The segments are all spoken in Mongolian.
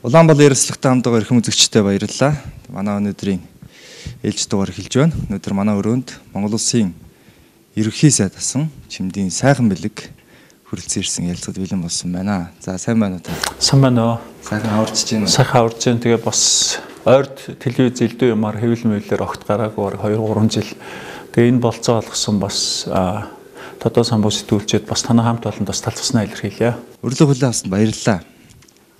Улаанбаатар ярилцлагатай хамтдаа эрхэм үзэгчтэй баярлалаа. Манай өнөөдрийн ээлж дугаар эхэлж байна. Өнөөдөр манай өрөөнд Монгол Улсын ерөнхий сайд асан Чимдийн сайхан бэлэг хүрэлцэн ирсэн ярилцлагад бэлэн болсон байна. За сайн байна уу та? Сайн байна уу? Сайхан аварч байна. Сайхан аварч байна. Тэгээ бас ойрд телевиз элдв юмар хэвлэл мэвлэр огт гараагүй 2-3 жил. Тэгээ энэ болцоо олгосон бас тодоо самбуу сэтгүүлчэд бас танай хамт олон бас талцснаа илэрхийлье. Өрлөг хүлээн авсанд баярлалаа.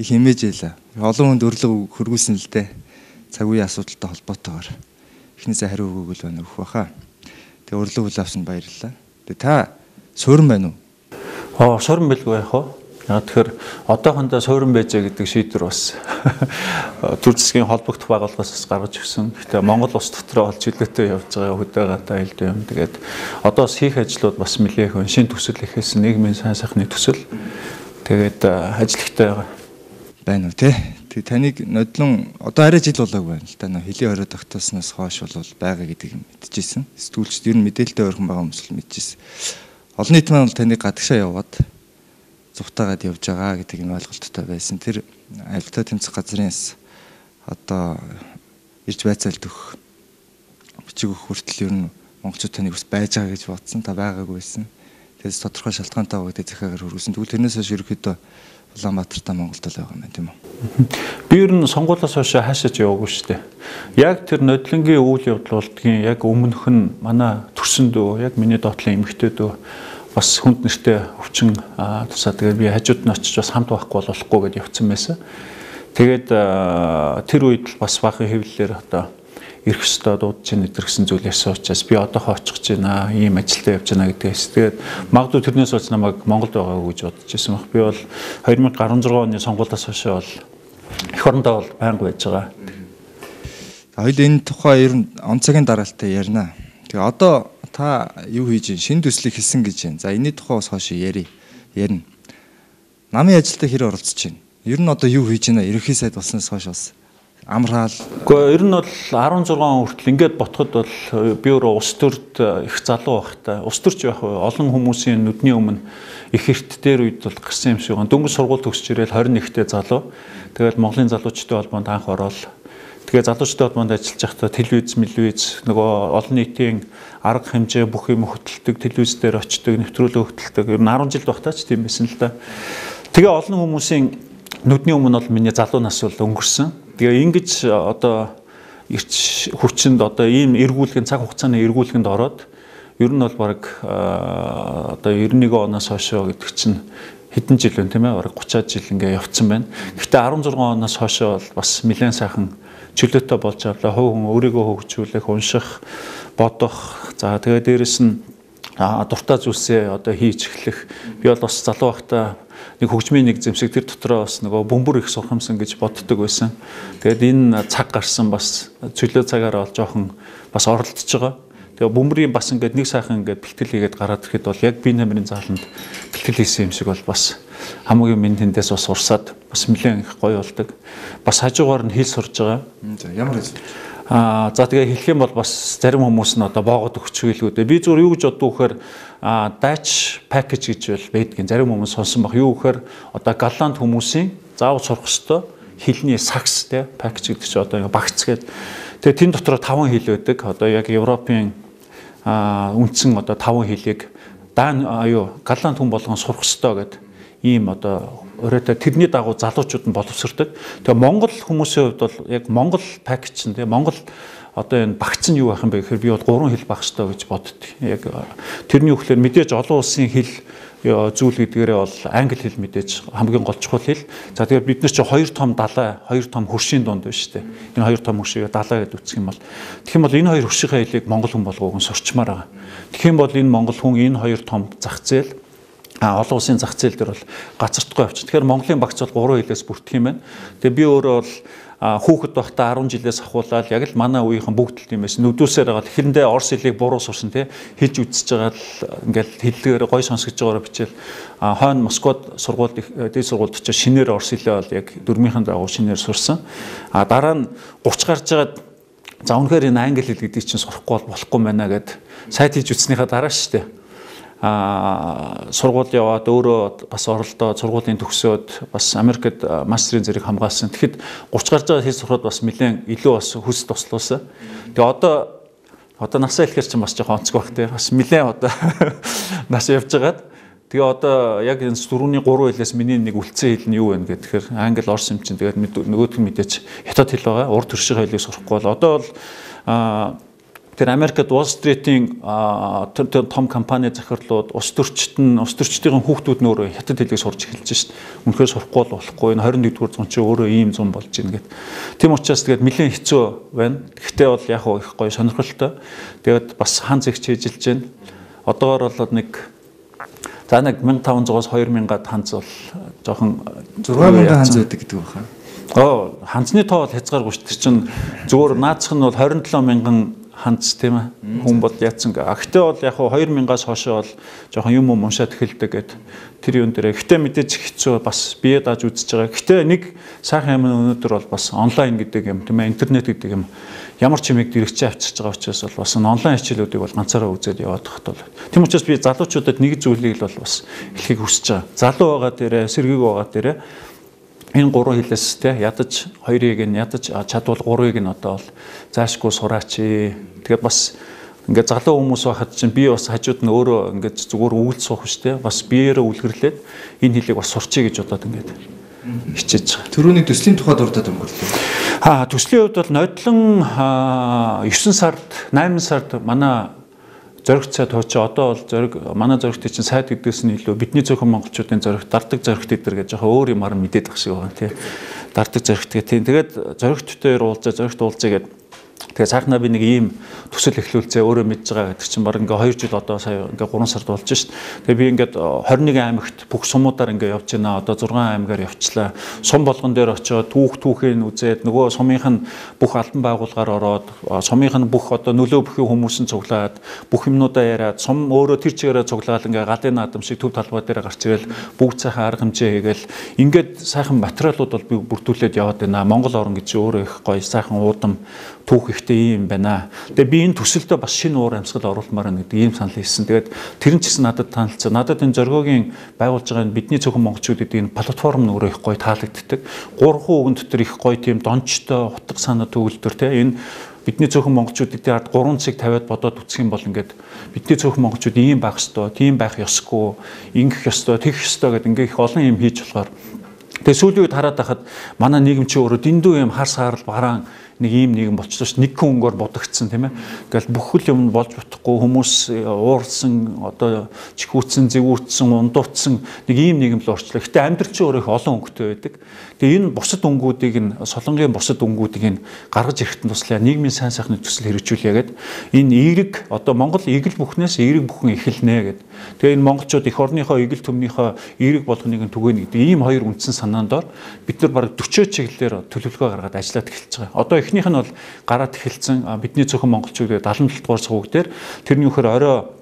Их хэмээж байлаа. Олон хүнд өрлөг хөргүүлсэн л дээ. Цаг үеийн асуудалтай холбоотойгоор. Эхнээсээ хариу өгөөгөл байна өгөх баха. Тэгээ өрлөг хүлээн авсанд баярлалаа. Тэгээ та суурин байна уу? Суурин байлгүй яах вэ? Яг тэгэхээр одоохондоо суурин байжээ гэдэг шийдвэр бас төр засгийн холбогдох байгууллагаас гаргаж өгсөн. Гэхдээ Монгол улс дотроо олж хилээтэй явж байгаа хөдөөгатай хэлдэг юм. Тэгээд одоо бас хийх ажлууд бас нэлээх өн шин төсөл ихээс нийгмийн сайн сайхны төсөл. Тэгээд ажилттай байна уу те. Тэг таныг нодлон одоо арай жил болоогүй байна л та. Хэлийн орой тогтоосноос хойш бол байгаа гэдгийг мэдчихсэн. Сэтгүүлчд ер нь мэдээлэлтэй ойрхон байгаа хүмүүс л мэдчихсэн. Олон нийт маань бол таныг гадагшаа яваад зугтаагаад явж байгаа гэдэг нь ойлголттой байсан. Тэр авилтаа тэмцэх газрынс одоо ирж байцаалт өгөх бичиг өгөх хүртэл ер нь монголчууд таныг бас байж байгаа гэж бодсон. Та байгаагүй байсан. Тэгээс тодорхой шалтгаантай байгаа гэдэг захиагаар хөргөсөн. Тэгвэл тэрнээс хойш ерөөхдөө Улаанбаатартай Монголд л байгаа юм байна тийм үү? Би ер нь сонгуулиас хойш хаашаач яваагүй шүү дээ. Яг тэр нодлонгийн үйл явдал болдгийн яг өмнөх нь манай төрсөн дөө яг миний доотлын эмэгтэй дөө бас хүнд нэртэй өвчин тусаа тэгээд би хажууд нь очиж бас хамт байхгүй болохгүй гэдээ явцсан байсан. Тэгээд тэр үед бас баахан хэвлэлээр одоо ирэх ёстой дуудаж ийн гэсэн зүйл ясан учраас би одоохоо очих гэж байна. Ийм ажилдаа явж байна гэдгээс. Тэгээд магадгүй тэрнээс болж намайг Монголд байгаагүй гэж бодож байсан баг. Би бол 2016 оны сонгуулиас хойш бол эх орондоо бол байнга байж байгаа. Хоёул энэ тухай ер нь он цагийн дараалтаа ярина. Тэгээ одоо та юу хийж шинэ төслийг хийсэн гэж байна. За энэний тухай бас хойш ярина. Намын ажилдаа хэр оролцож байна? Ер нь одоо юу хийж байна? Ерөнхий сайд болсноос хойш бас амраал. Гэхдээ ер нь бол 16 хүртэл ингээд ботход бол би өөрөө улс төрд их залуу байхтай. Улс төрч байх олон хүмүүсийн нүдний өмнө их эрт дээр үед бол гарсан юм шиг байна. Дөнгөж сургууль төгсөж ирээл 21-тэй залуу. Тэгэл Монголын залуучдын холбоонд анх ороод тэгээ залуучдын холбоонд ажиллаж байхдаа телевиз нөгөө олон нийтийн арга хэмжээ бүх юм хөтэлдэг, телевиз дээр очдог, нэвтрүүлэг хөтэлдэг. Ер нь 10 жил багтаач тийм байсан л да. Тэгээ олон хүмүүсийн нүдний өмнө бол миний залуу нас бол өнгөрсөн. Тэгээ ингэж одоо ирч хүчинд одоо ийм эргүүлгийн цаг хугацааны эргүүлгэнд ороод ер нь бол баг одоо 91 оноос хойш гэдэг чинь хэдэн жил вэ тийм ээ баг 30-аад жил ингээ явцсан байна. Гэхдээ 16 оноос хойш бол бас нэлээд сайхан чөлөөтэй болж авлаа. Хувь хүн өөрийгөө хөгжүүлэх, унших, бодох. За тэгээ дээрэс нь дуртай зүйлсээ одоо хийж эхлэх. Би бол бас залуу байхдаа нэг хөгжмийн нэг зэмсэг тэр дотроо бас нөгөө бөмбөр их сурах юмсан гэж боддог байсан. Тэгээд энэ цаг гарсан бас чөлөө цагаараа бол жоохон бас оролдож байгаа. Тэгээ бөмбөрийн бас ингээд нэг сайхан ингээд бэлтгэл хийгээд гараад ирэхэд бол яг би намрын зааланд бэлтгэл хийсэн юм шиг бол бас хамгийн минь тэндээс бас урсаад бас нэлээд их гоё болдог. Бас хажуугаар нь хэл сурж байгаа. За ямар хэл? За тэгээ хэлэх юм бол бас зарим хүмүүс нь одоо боогод өгч хэлгүүд. Би зүгээр юу гэж боддог вэхээр дайч пакэж гэж бол байдгийн зарим хүмүүс сонсон баг. Юу гэхээр одоо галланд хүмүүсийн заавал сурах ёстой хэлний сакс те пакэж гэдэг чинь одоо багц гэдэг. Тэгээ тэн дотор 5 хэл байдаг. Одоо яг Европын үндсэн одоо 5 хэлийг галланд хүн болгон сурах ёстой гэдэг ийм одоо өрөөтэй тэрний дагуу залуучууд нь боловсрдог. Тэгээ Монгол хүмүүсийн хувьд бол яг Монгол пакэж нь тэгээ Монгол одоо энэ багц нь юу байх юм бэ гэхээр би бол 3 хэл байх ёстой гэж боддог. Яг тэрний үгээр мэдээж олон улсын хэл зүйл гэдгээрээ бол англи хэл мэдээж хамгийн гол чухал хэл. За тэгээ бид нар чи 2 том далай, 2 том хөршийн дунд байна шүү дээ. Энэ 2 том хөршийг далай гэдэг үсэх юм бол. Тэгэх юм бол энэ 2 хөршийнхээ хэлийг монгол хүн болгоог нь сурчмаар байгаа. Тэгэх юм бол энэ монгол хүн энэ 2 том зах зээл олон улсын зах зээл дээр бол гацартгүй авчих. Тэгэхээр Монголын багц бол 3 хэлээс бүрдэх юм байна. Тэгээ би өөрөө бол хүүхэд байхдаа 10 жилээс ахуулаад яг л манай үеийнхэн бүгд л тийм байсан. Нүдүүсээр байгаа тэгэхэндээ орс хэлийг буруу сурсан тий хэлж үзэж байгаа л ингээл хэллэгээр гой сонсгож байгаагаар бичээл хойно Москвад сургууль дээд сургуульд очиж шинээр орс хэлээ бол яг дөрмийнхэн дагуу шинээр сурсан. Дараа нь 30 гарч байгаад за үнэхээр энэ англи хэл гэдэг чинь сурахгүй болохгүй байна гэд сайт хийж үтснийхаа дараа шүү дээ. сургууль яваад өөрөө бас оролдоод сургуулийн төгсөөд бас Америкт мастерын зэрэг хамгаалсан. Тэгэхэд 30 гарч байгаа хэл сурахад бас нэлээд илүү бас хүс туслуулсан. Тэгээ одоо насаа хэлэхэр чинь бас жоохон онцгой бах те. Бас нэлээд одоо нас явж байгаад тэгээ одоо яг энэ дөрөвний 3 хэлээс миний нэг үлдсэн хэл нь юу вэ гэхээр англи, орос юм чинь тэгээд нөгөөх нь мэдээч хятад хэл байгаа. Урд төршийн хэлийг сурахгүй бол одоо бол тэр Америкт Wall Street-ийн том компани захирлууд улс төрчдийн хүүхдүүд нь өөрөө хятад хэлийг сурч эхэлж шít. Үнэхээр сурахгүй болохгүй. Энэ 21-р зуун чинь өөрөө ийм зам болж байна гэд. Тийм учраас тэгээд нэлээд хэцүү байна. Гэхдээ бол яг их гоё сонирхолтой. Тэгээд бас хан зэгч хийжилж байна. Одоогоор бол нэг 1500-аас 2000-ад ханз бол жоохон 6000 ханз байдаг гэдэг байна. Ханзны тоо бол хязгааргүй шүү. Тэр чинь зүгээр наацх нь бол 27000 ханц тийм ээ. Хүн бол яатсан. Гэхдээ бол яг 2000-аас хойшоо бол жоохон юм уншаад эхэлдэг гэд тэр юм дээр. Гэхдээ мэдээж хэцүү бас бие дааж үзэж байгаа. Гэхдээ нэг сайхан юм өнөөдөр бол бас онлайн гэдэг юм тийм ээ. Интернет гэдэг юм ямар ч юмыг дэрэгчээ авчирч байгаа учраас бол бас онлайн хичээлүүдийг бол ганцаараа үзээд яваад тахт бол. Тийм учраас би залуучуудад нэг зүйлийг л бол бас хэлхийг хүсэж байгаа. Залуу байгаа дээрээ, сэргийг байгаа дээрээ энэ 3 хэлээс те ядаж 2-ыг нь ядаж чадвал 3-ыг нь одоо бол заашгүй сураач. Тэгээд бас ингээд залуу хүмүүс байхад чинь би бас хажууд нь өөрөө ингээд зүгээр үйл суух шүү дээ. Бас биеэрээ үлгэрлээд энэ хэлийг бас сурчий гэж бодоод ингээд хичээж байгаа. Төрөний төслийн тухай дурдаад өнгөрлөө. Төслийн хувьд бол нодлон 9 сард 8 сард манай зоригт сайд хууч одоо бол зориг манай зоригтын чинь сайд гэдгээс нь илүү бидний зөвхөн монголчуудын зориг дардаг зоригт эдэр гэж жоохон өөр юмар мэдээд ах шиг байгаа тийм дардаг зоригт гэх тийм тэгээд зоригттой зоригт уулзъя гэдэг тэгээ сайхнаа би нэг ийм төсөл эхлүүлцээ өөрөө мэдж байгаа гэдэг чинь баг ингээ 2 жил одоо сая ингээ 3 сард болж шít. Тэгээ би ингээд 21 аймагт бүх сумуудаар ингээ явж байна. Одоо 6 аймгаар явчлаа. Сум болгон дээр очиод түүхийг үзээд нөгөө сумынх нь бүх албан байгууллагаар ороод сумынх нь бүх одоо нөлөө бүхий хүмүүсийн цуглаад бүх юмнуудаа яриад сум өөрөө тэр чигээрээ цуглаад ингээ галын наадам шиг төв талбай дээр гарч ирэл бүгд сайхан арга хэмжээ хийгээл ингээд сайхан материалууд бол би бүрдүүлээд яваад байна. Монгол орн гэж өөрөө их гоё сайхан уудам түүх ихтэй юм байна. Тэгээ би энэ төсөлдөө бас шинэ уур амьсгал оруулмаар байна гэдэг ийм санал хийсэн. Тэгээд тэр нь ч гэсэн надад таалцсан. Надад энэ зоргоогийн байгуулж байгаа энэ бидний зөвхөн монголчууд гэдэг энэ платформ нь өөрөө их гоё таалагддаг. 3 үгэн дотор их гоё тийм дончтой утга санаа төгөлдөр те энэ бидний зөвхөн монголчууд эдийн ард 3 цэг тавиад бодоод үсэх юм бол ингээд бидний зөвхөн монголчууд ийм байх ёстой, тийм байх ёсгүй, ингэх ёстой, тэгэх ёстой гэдэг ингээ их олон юм хийж болохоор тэгээ сүүлийн үед хараад байхад манай нийгэм чи өөрөө дэндүү юм хар саарл бараан нэг ийм нийгэм болчихсон ш нэг хүн өнгөөр бодогдсон тийм ээ. Ингээл бүх юм болж утахгүй хүмүүс уурсан одоо чихүүцсэн, зэвүүцсэн, ундуутсан нэг ийм нийгэм л орчлоо. Гэтэ амьдрал чи өөрөө их олон өнгөтэй байдаг. Тэгээ энэ бусад өнгүүдийг нь солонгийн бусад өнгүүдийг нь гаргаж ирэхэд туслаа нийгмийн сайн сайхны төсөл хэрэгжүүлье гэдэг. Энэ эерэг одоо Монгол эгэл бүхнээс эерэг бүхэн эхэлнэ гэдэг. Тэгээ энэ монголчууд эх орныхоо эгэл төмнийхөө эерэг болгоныг нь түгээнэ гэдэг ийм хоёр үндсэн санаанд дор бид нар бараг 40 чиглэлээр төлөвлөгөө гаргаад ажиллаад эхэлж байгаа. Одоо эхнийх нь бол гараад эхэлсэн бидний зөвхөн монголчууд 77 дугаар цуг дээр тэрний үхээр орой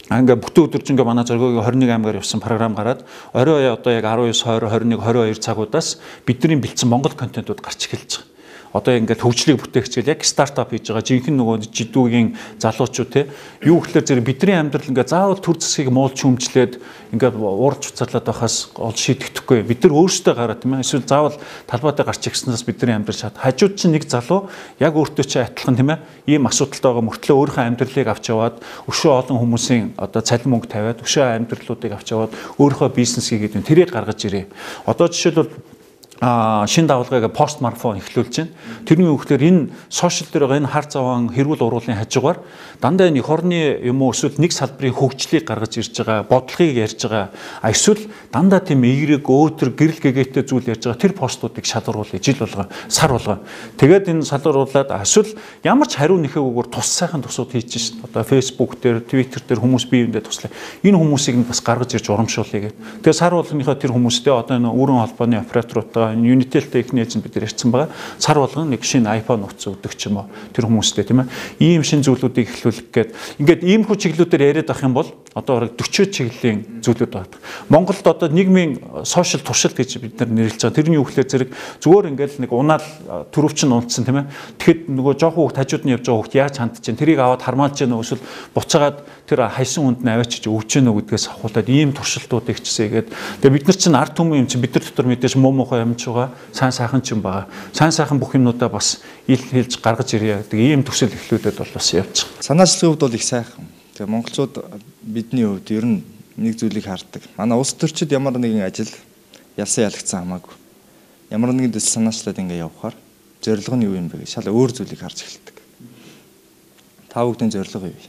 ингээ бүтэн өдөржингөө манай зоргоогийн 21 аймгаар явсан програм гараад орой одоо яг 19 20 21 22 цагуудаас бидний бэлдсэн монгол контентууд гарч эхэлж байгаа. Одоо ингээд хөгжлийг бүтээгчгээл яг стартап хийж байгаа жинхэнэ нөгөө жидүүгийн залуучууд те юу гэхээр зэрэг бидний амьдрал ингээд заавал төр засгийг муулж хүмжлээд ингээд уурж уцаалаад байхаас ол шийдэхгүй бид нар өөрсдөө гараа тийм ээ эсвэл заавал талбайдаа гарч ирснээс бидний амьдрал шат хажууд чинь нэг залуу яг өөртөө чи адилхан тийм ээ ийм асуудалтай байгаа мөртлөө өөрийнхөө амьдралыг авч яваад өшөө олон хүмүүсийн одоо цалин мөнгө тавиад өшөө амьдралуудыг авч яваад өөрийнхөө бизнес хийгээд тэрийг гаргаж ирээ. Одоо жишээлбэл шин давалгаагаа пост марафон эхлүүлж байна. Тэрний үгээр энэ сошиал дээр байгаа энэ хар заван хэрүүл уруулын хажуугаар дандаа энэ эх орны юм уу эсвэл нэг салбарын хөгжлийг гаргаж ирж байгаа, бодлогыг ярьж байгаа. Эсвэл дандаа тийм эерэг өөтөр гэрэл гэгээтэй зүйл ярьж байгаа тэр постуудыг шалгаруулъя жил болго, сар болго. Тэгээд энэ шалгаруулад эсвэл ямар ч хариу нэхээгээр тус сайхан тусууд хийж шин. Одоо Facebook дээр, Twitter дээр хүмүүс биеиндээ туслаа. Энэ хүмүүсийг нь бас гаргаж ирж урамшуулъя гэдэг. Тэгээд сар болгоныхоо тэр хүмүүстэй одоо энэ өрөн холбооны операторуудаа Unitel-тэй ихний эзэн бид нар ярьсан байгаа. Сар болгон нэг шинэ iPhone утас өгдөг ч юм уу тэр хүмүүстэй тийм ээ. Ийм шинэ зүйлүүдийг эхлүүлэх гээд ингээд ийм хүү чиглэлүүдээр яриад ах юм бол одоо 40 чиглэлийн зүйлүүд байна. Монголд одоо нийгмийн сошиал туршилт гэж бид нар нэрлэж байгаа. Тэрний юу гэхээр зэрэг зүгээр ингээл нэг унаал төрөвч нь унтсан тийм ээ. Тэгэхэд нөгөө жоохон хүүхд хажууд нь явж байгаа хүүхд яаж хандж чинь тэрийг аваад хармаалж яана эсвэл буцаагаад тэр хайсан хүнд нь аваачиж өгч яана гэдгээс ахуулаад ийм туршилтуудыг хийчихсэн. Тэгээ бид нар чинь ард түмэн юм чинь бид нар дотор мэдээж муу муухай юмч байгаа. Сайн сайхан ч юм байгаа. Сайн сайхан бүх юмнуудаа бас ил хэлж гаргаж ирье гэдэг ийм төсөл эхлүүлээд бол бас явж байгаа. Санаачлагын хувьд бол их сайхан. Тэгээ монголчууд бидний хувьд ер нь нэг зүйлийг хардаг. Манай улс төрчид ямар нэгэн ажил ялсан ялагдсан хамаагүй. Ямар нэгэн төсөл санаачлаад ингээ явхаар зорилго нь юу юм бэ гэж шал өөр зүйлийг харж эхэлдэг. Та бүхэн зорилго юу вэ?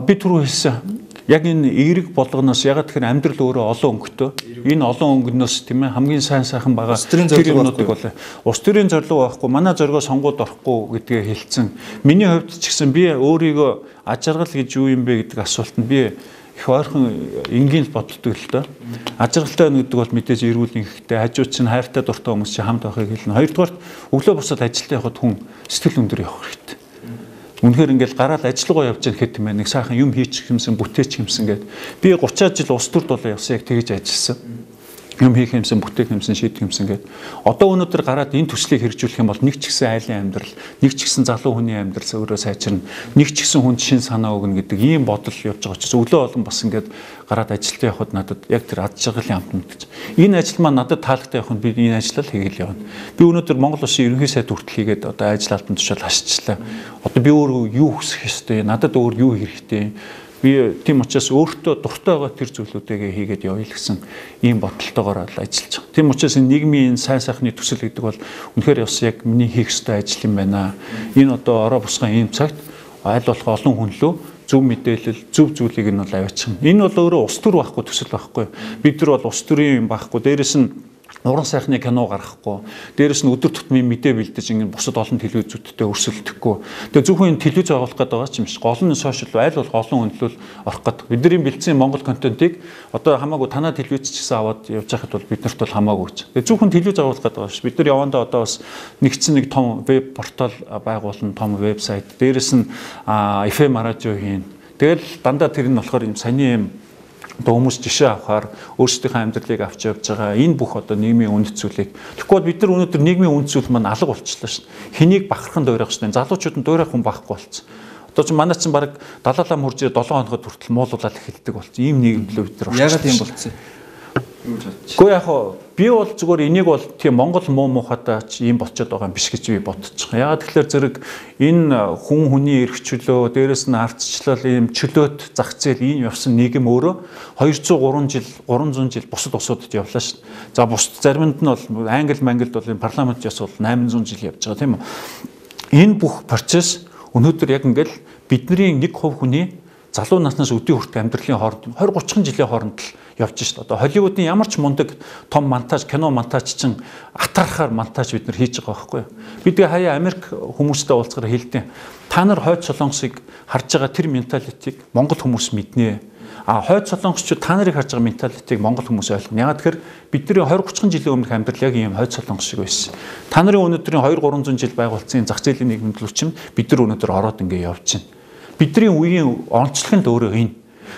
Би түрүү хэлсэн. Яг энэ эерэг болгоноос ягаад тэгэхээр амьдрал өөрөө олон өнгөтэй. Энэ олон өнгөнөөс тийм ээ хамгийн сайн сайхан байгаа тэр юмнуудыг болоо. Улс төрийн зорилго байхгүй, манай зорилгоо сонгоод орохгүй гэдгээ хэлсэн. Миний хувьд ч гэсэн би өөрийгөө аж аргал гэж юу юм бэ гэдэг асуултанд би их ойрхон энгийн боддог л доо. Аж аргалтай байна гэдэг бол мэдээж эрүүл ингээдтэй хажууд чинь хайртай дуртай хүмүүс чинь хамт байхыг хэлнэ. Хоёрдугаар өглөө босоод ажилдаа явхад хүн сэтгэл өндөр явах хэрэгтэй. Үнэхээр ингээл гараад ажиллагаа явж байгаа гэхэд тийм ээ нэг сайхан юм хийчих юмсан бүтээчих юмсан гэд би 30 жил улс төрд болоо явсан яг тэгэж ажилласан. Юм хийх юмсан бүтээх юмсан шийдэх юмсан гэд одоо өнөөдөр гараад энэ төслийг хэрэгжүүлэх юм бол нэг ч гэсэн айлын амьдрал, нэг ч гэсэн залуу хүний амьдрал өөрөө сайжирна, нэг ч гэсэн хүнд шин санаа өгнө гэдэг ийм бодол явж байгаа ч өглөө олон бас ингээд гараад ажилдаа явхад надад яг тэр ад жаргалын амт мэдэж. Энэ ажил маань надад таалагдтай явахад би энэ ажлаа л хийгээл явна. Би өнөөдөр Монгол Улсын ерөнхий сайд хүртэл хийгээд одоо ажил албан тушаал хашчихлаа. Одоо би өөрөө юу хүсэх ёстой, надад өөр юу хэрэгтэй. Би тийм учраас өөртөө дуртай байгаа тэр зүйлүүдээ хийгээд явъя л гэсэн ийм бодолтойгоор л ажиллаж байгаа. Тийм учраас энэ нийгмийн сайн сайхны төсөл гэдэг бол үнэхээр бас яг миний хийх ёстой ажил юм байна. Энэ одоо ороо босгон ийм цагт аль болох олон хүн лөө зөв мэдээлэл, зөв зүйлийг нь бол аваачих. Энэ бол өөрөө ус төр байхгүй төсөл байхгүй. Бид нар бол ус төрийн юм байхгүй. Дээрээс нь уран сайхны кино гаргахгүй. Дээрээс нь өдөр тутмын мэдээ бэлдэж ингэ бусад олон телевизүүдтэй өрсөлдөхгүй. Тэгээ зөвхөн энэ телевиз агуулах гэдэг байгаа ч юм шиг гол нь сошиал айл болох олон хүндлэл орох гэдэг. Бидний бэлдсэн Монгол контентыг одоо хамаагүй танаа телевиз ч гэсэн аваад явж байхад бол биднэрт бол хамаагүй ч. Тэгээ зөвхөн телевиз агуулах гэдэг байгаа ш. Бид нар явандаа одоо бас нэгдсэн нэг том веб портал байгуулна, том вебсайт. Дээрээс нь FM радио хийн. Тэгэл дандаа тэр нь болохоор юм саний юм хүмүүс жишээ авахаар өөрсдийнхөө амьдралыг авч явж байгаа энэ бүх одоо нийгмийн үнэт зүйлийг тэгэхгүй бид нар өнөөдөр нийгмийн үнэт зүйл маань алга болчихлоо шин. Хэнийг бахархан дуурайх шин. Залуучууд нь дуурайх хүн байхгүй болцсон. Одоо ч манай чинь баг далаалаа мөрж 7 хоногт хүртэл муулуулаад эхэлдэг болцсон. Ийм нийгэм лөө бид нар. Ягаад ийм болцсон? Гэхдээ яг би бол зүгээр энийг бол тийм Монгол муу мухатай ч ийм болчиход байгаа юм биш гэж би бодчих. Ягаад тэгэхээр зэрэг энэ хүн хүний эрх чөлөө, дээрэс нь ардчлал ийм чөлөөт зах зээл ийм явсан нийгэм өөрөө 200 300 жил бусад усуудад явлаа шүү. За бусад заримд нь бол Англид бол энэ парламент яс бол 800 жил явж байгаа тийм үү. Энэ бүх процесс өнөөдөр яг ингээл бидний 1% хүний залуу наснаас өдөө хүртэл амьдралын хооронд 20-30 жилийн хооронд л явж шít. Одоо Холливуудын ямар ч мундаг том монтаж, кино монтаж чинь атархаар монтаж бид нар хийж байгаа байхгүй юу? Бид хаяа Америк хүмүүстэй уулзгаар хэлдэг. Та нар хойд солонгосыг харж байгаа тэр менталитийг Монгол хүмүүс мэднэ. Хойд солонгосчууд та нарыг харж байгаа менталитийг Монгол хүмүүс ойлгоно. Ягаад тэгэхээр бидний 20-30 жилийн өмнөх амьдрал яг ийм хойд солонгос шиг байсан. Та нарын өнөөдрийн 2-300 жил байгуулсан зах зээлийн нийгэмд л чинь бид нар өнөөдөр ороод ингэ явж байна. Бидний үеийн онцлог нь өөрөө энэ.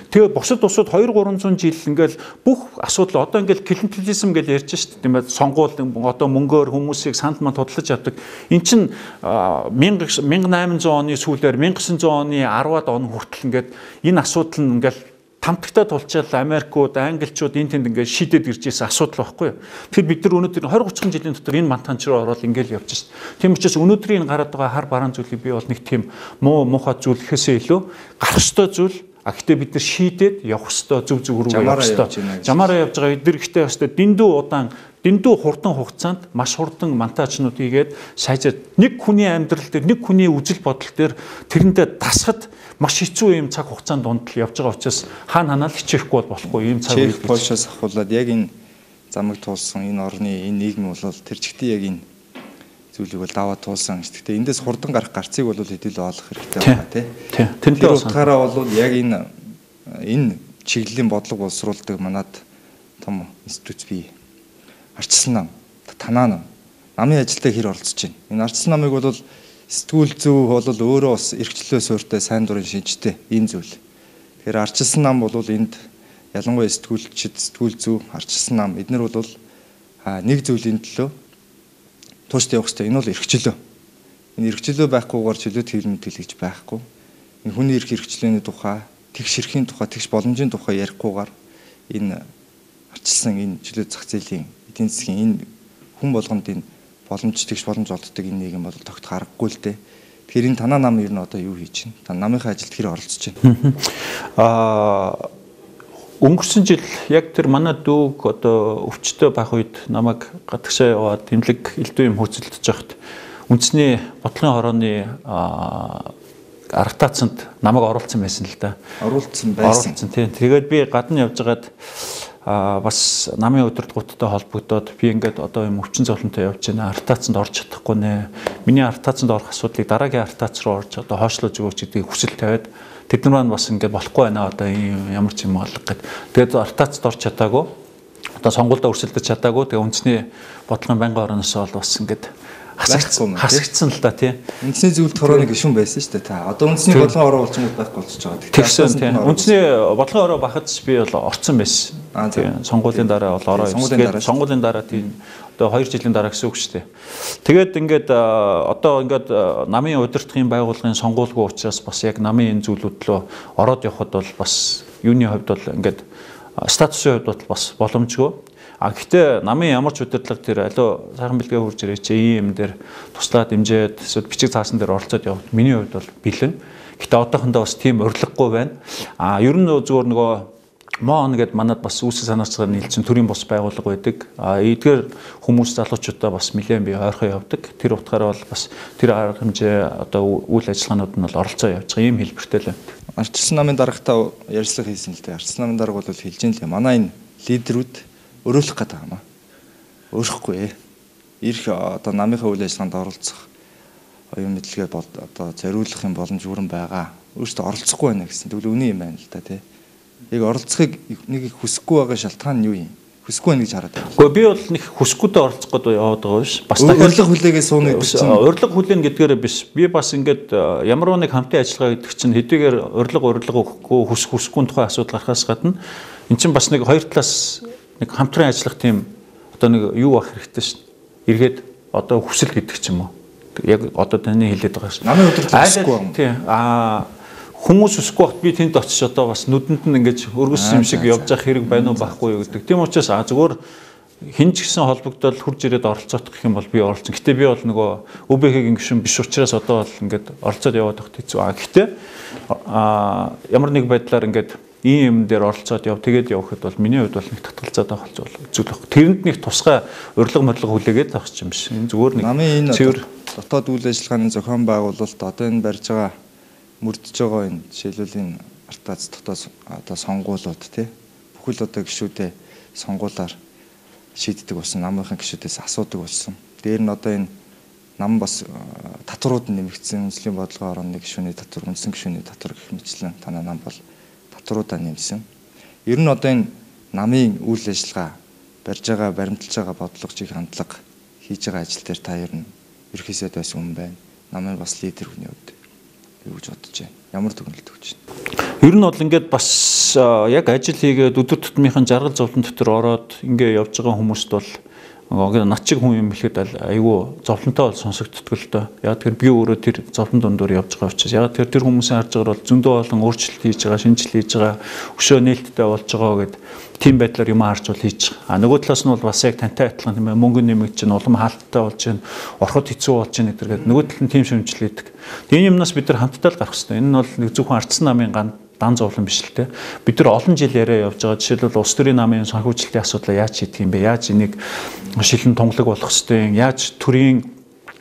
Тэгээ бусад усууд 2-300 жил ингээл бүх асуудал одоо ингээл клиентелизм гэж ярьж шít тийм ээ сонгуул одоо мөнгөөр хүмүүсийг санал манд тодлож явдаг. Эн чин 1800 оны сүүлээр 1900 оны 10-аад он хүртэл ингээд энэ асуудал нь ингээл тамтагтаа тулчаал Америкууд, Англичууд энэ тэнд ингээд шийдээд ирж байсан асуудал байхгүй юу. Тэгэхээр бид нар өнөөдөр 20-30 жилийн дотор энэ мантанч руу ороод ингээл явж шít. Тийм учраас өнөөдрийн гараад байгаа хар бараан зүйлийг би бол нэг тийм муухай зүйл гэхээсээ илүү гарах ёстой зүйл. Гэхдээ бид нар шийдээд явах ёстой зөв рүүгээ явах ёстой. Жамаараа явж байгаа эдгээр ихтэй ёстой дэндүү хурдан хугацаанд маш хурдан монтажнууд хийгээд сайжаад нэг хүний амьдрал дээр нэг хүний үжил бодол дээр тэрэндээ дасахад маш хэцүү юм цаг хугацаанд дунд л явж байгаа учраас хаана хичээхгүй бол болохгүй ийм цаг үед Польшоос ахуулаад яг энэ замыг туулсан энэ орны энэ нийгэм бол тэр чигтээ яг энэ зүйлийг бол даваа туулсан. Гэхдээ эндээс хурдан гарах гарцыг бол хэдүүл олох хэрэгтэй байна тий. Тэр утгаараа бол яг энэ чиглэлийн бодлого боловсруулдаг манад том институт бий. Ардчилсан нам, танаа нам. Намын ажилдаа хэр оролцож байна. Энэ ардчилсан намыг бол сэтгүүл зөв бол өөрөө бас эрхчлөө суурьтай сайн дурын шинжтэй ийм зүйл. Тэгэхээр ардчилсан нам бол энд ялангуяа сэтгүүлчид, сэтгүүл зүй, ардчилсан нам эднэр бол нэг зүйлийн төлөө тууштай явах хэрэгтэй. Энэ бол эрхчлөө. Энэ эрхчлөө байхгүйгээр чөлөөт хэвлэл мэдээлж байхгүй. Энэ хүний эрх эрхчлөөний тухай, тэгш эрхийн тухай, тэгш боломжийн тухай ярихгүйгээр энэ ардчилсан энэ чөлөөт зах зээлийн эдийн засгийн энэ хүн болгонд энэ боломж тэгш боломж олддог энэ нийгэм бол тогт харахгүй л дээ. Тэгэхээр энэ танаа нам ер нь одоо юу хийж байна? Та намынхаа ажилд хэр оролцож байна? Өнгөрсөн жил яг тэр манай дүүг одоо өвчтөй байх үед намайг гадагшаа яваад тэмлэг элдв юм хөөцөлдөж байхад үндэсний бодлогын хорооны арга таацанд намайг оруулсан байсан л да. Оруулсан байсан. Тийм. Тэгээд би гадна явжгаад бас намын удирдгуудтай холбогдоод би ингээд одоо юм өвчин зовлонтой явж байна. Арга таацанд орж чадахгүй нэ. Миний арга таацанд орох асуудлыг дараагийн арга таац руу орж одоо хойшлуулж өгөөч гэдгийг хүсэл тавиад тэд нар маань бас ингээд болохгүй байна одоо ямар ч юм алга гэд. Тэгээд арга таацд орж чадаагүй. Одоо сонгуульд өрсөлдөж чадаагүй. Тэгээ үндэсний бодлогын байнгын орноос бол бас ингээд хасагдсан л да тий. Үндэсний зөвлөлт хорооны гишүүн байсан шүү дээ та. Одоо үндэсний бодлогын ороо болчихмод байхгүй болчихж байгаа. Тэгсэн тий. Үндэсний бодлогын ороо бахад би бол орцсон байсан. Тий. Сонгуулийн дараа бол ороо явсан. Сонгуулийн дараа тий. Одоо 2 жилийн дараа гэсэн үг шүү дээ. Тэгээд ингээд одоо ингээд намын удирдлагын байгууллагын сонгуулгүй учраас бас яг намын энэ зүйлүүд лөө ороод явхад бол бас юуны хувьд бол ингээд статусын хувьд бол бас боломжгүй. Гэхдээ намын ямар ч удирдлага тэр аливаа сайхан бэлгээ хурж ирээ чи ийм юм дээр туслаад дэмжээд эсвэл бичиг цаасан дээр оролцоод явах миний хувьд бол бэлэн. Гэхдээ одоохондоо бас тийм урилгагүй байна. Ер нь зүгээр нөгөө МООН гэдэг манад бас үүсэл санаачаар нийлсэн төрийн бус байгууллага байдаг. Эдгээр хүмүүс залуучуудаа бас нэлээд би ойрхон явдаг. Тэр утгаараа бол бас тэр арга хэмжээ одоо үйл ажиллагаанууд нь бол оролцоо явж байгаа юм хэлбэртэй л байна. Ардчилсан намын дарагтаа ярилцлага хийсэн л дээ. Ардчилсан намын дарга бол хэлж ин л манай энэ лидерүүд өрөөлөх гэдэг юм аа. Өөрөхгүй. Ирэх одоо намынхаа үйл ажиллагаанд оролцох оюун мэдлэгээ одоо зориулах юм боломж бүрэн байгаа. Өөрөөсөө оролцохгүй байна гэсэн. Тэгвэл үний юм байна л да тий. Яг оролцохыг нэг их хүсэхгүй байгаа шалтгаан нь юу юм? Хүсэхгүй байна гэж хараад байна. Гэхдээ би бол нэг хүсэхгүйдээ оролцох гээд яваад байгаа биш. Бас урилга хүлээгээ сууна гэдэг чинь урилга хүлээн гэдгээрээ биш. Би бас ингээд ямар нэг хамтын ажиллагаа гэдэг чинь хэдийгээр урилга өгөхгүй хүсэхгүй тухай асуудал гарахаас гадна эн чинь бас нэг хоёр талаас нэг хамтран ажиллах тийм одоо нэг юу ах хэрэгтэй шин. Эргээд одоо хүсэл гэдэг ч юм уу. Яг одоо таны хэлээд байгаа шин. Намын удирдлага хүсэхгүй юм. Тийм. Хүмүүс өсөхгүй бат би тэнд очиж одоо бас нүдэнд нь ингэж өргөс юм шиг явж явах хэрэг байна уу байхгүй юу гэдэг. Тийм учраас зүгээр хинж гисэн холбогдол хурж ирээд оролцоох гэх юм бол би оролцсон. Гэтэ би бол нөгөө ÖБХ-ийн гишүүн биш учраас одоо бол ингээд оролцоод яваад байхад хэцүү. Гэтэ ямар нэг байдлаар ингээд ийм юм дээр оролцоод тэгээд явахад бол миний хувьд бол нэг татгалзаад байх зүйл баг. Тэрэнд нэг тусгай урилга модлого хүлээгээд авах юм биш. Энэ зүгээр нэг намын энэ дотоод үйл ажиллагааны зохион байгуулалт одоо энэ барьж байгаа мөрдөж байгаа энэ жишээлбэл энэ артаац дотоод одоо сонгуулиуд тий бүхэл одоо гишүүдээ сонгуулаар шийддэг болсон намынхан гишүүдээс асуудаг болсон. Дээр нь одоо энэ нам бас татварууд нэмэгдсэн үндэсний бодлогын орооны гишүүний татвар, үндсэн гишүүний татвар гэх мэтлэн танаа нам бол татваруудаа нэмсэн. Ер нь одоо энэ намын үйл ажиллагаа барьж байгаа, баримталж байгаа бодлогочийг хандлага хийж байгаа ажил дээр та ер нь ерхийсэд бас хүн байна. Намын бас лидер хүний хувьд юу гэж бодож байна? Ямар дүгнэлт өгч байна? Ер нь бол ингээд бас яг ажил хийгээд өдөр тутмынхын жаргал зовлон дотор ороод ингээд явж байгаа хүмүүст бол над чиг хүн юм хэлэхэд айгүй зовлонтой бол сонсогддог л доо. Яг тэр би өөрөө тэр зовлон дундуур явж байгаа учраас яг тэр хүмүүсийн харж байгаа бол зөндөө олон өөрчлөлт хийж байгаа, шинжил хийж байгаа, өшөө нээлттэй болж байгаа гэд тийм байдлаар юм харж бол хийж байгаа. Нөгөө талаас нь бол бас яг тантай адилхан тийм ээ мөнгө нэмэгдэж чинь улам хаалттай болж чинь ороход хэцүү болж чинь гэдэг. Нөгөө тал нь тийм шимжлээдэг. Тийм юмнаас бид нар хамтдаа л гарах хэрэгтэй. Энэ нь бол нэг зөвхөн ардчилсан намын дан зовлон биш л те. Бид нар олон жил яриа явж байгаа. Жишээлбэл улс төрийн намын санхүүжилтийн асуудлаа яаж шийдэх юм бэ? Яаж энийг шилэн тунгалаг болох ёстой юм? Яаж төрийн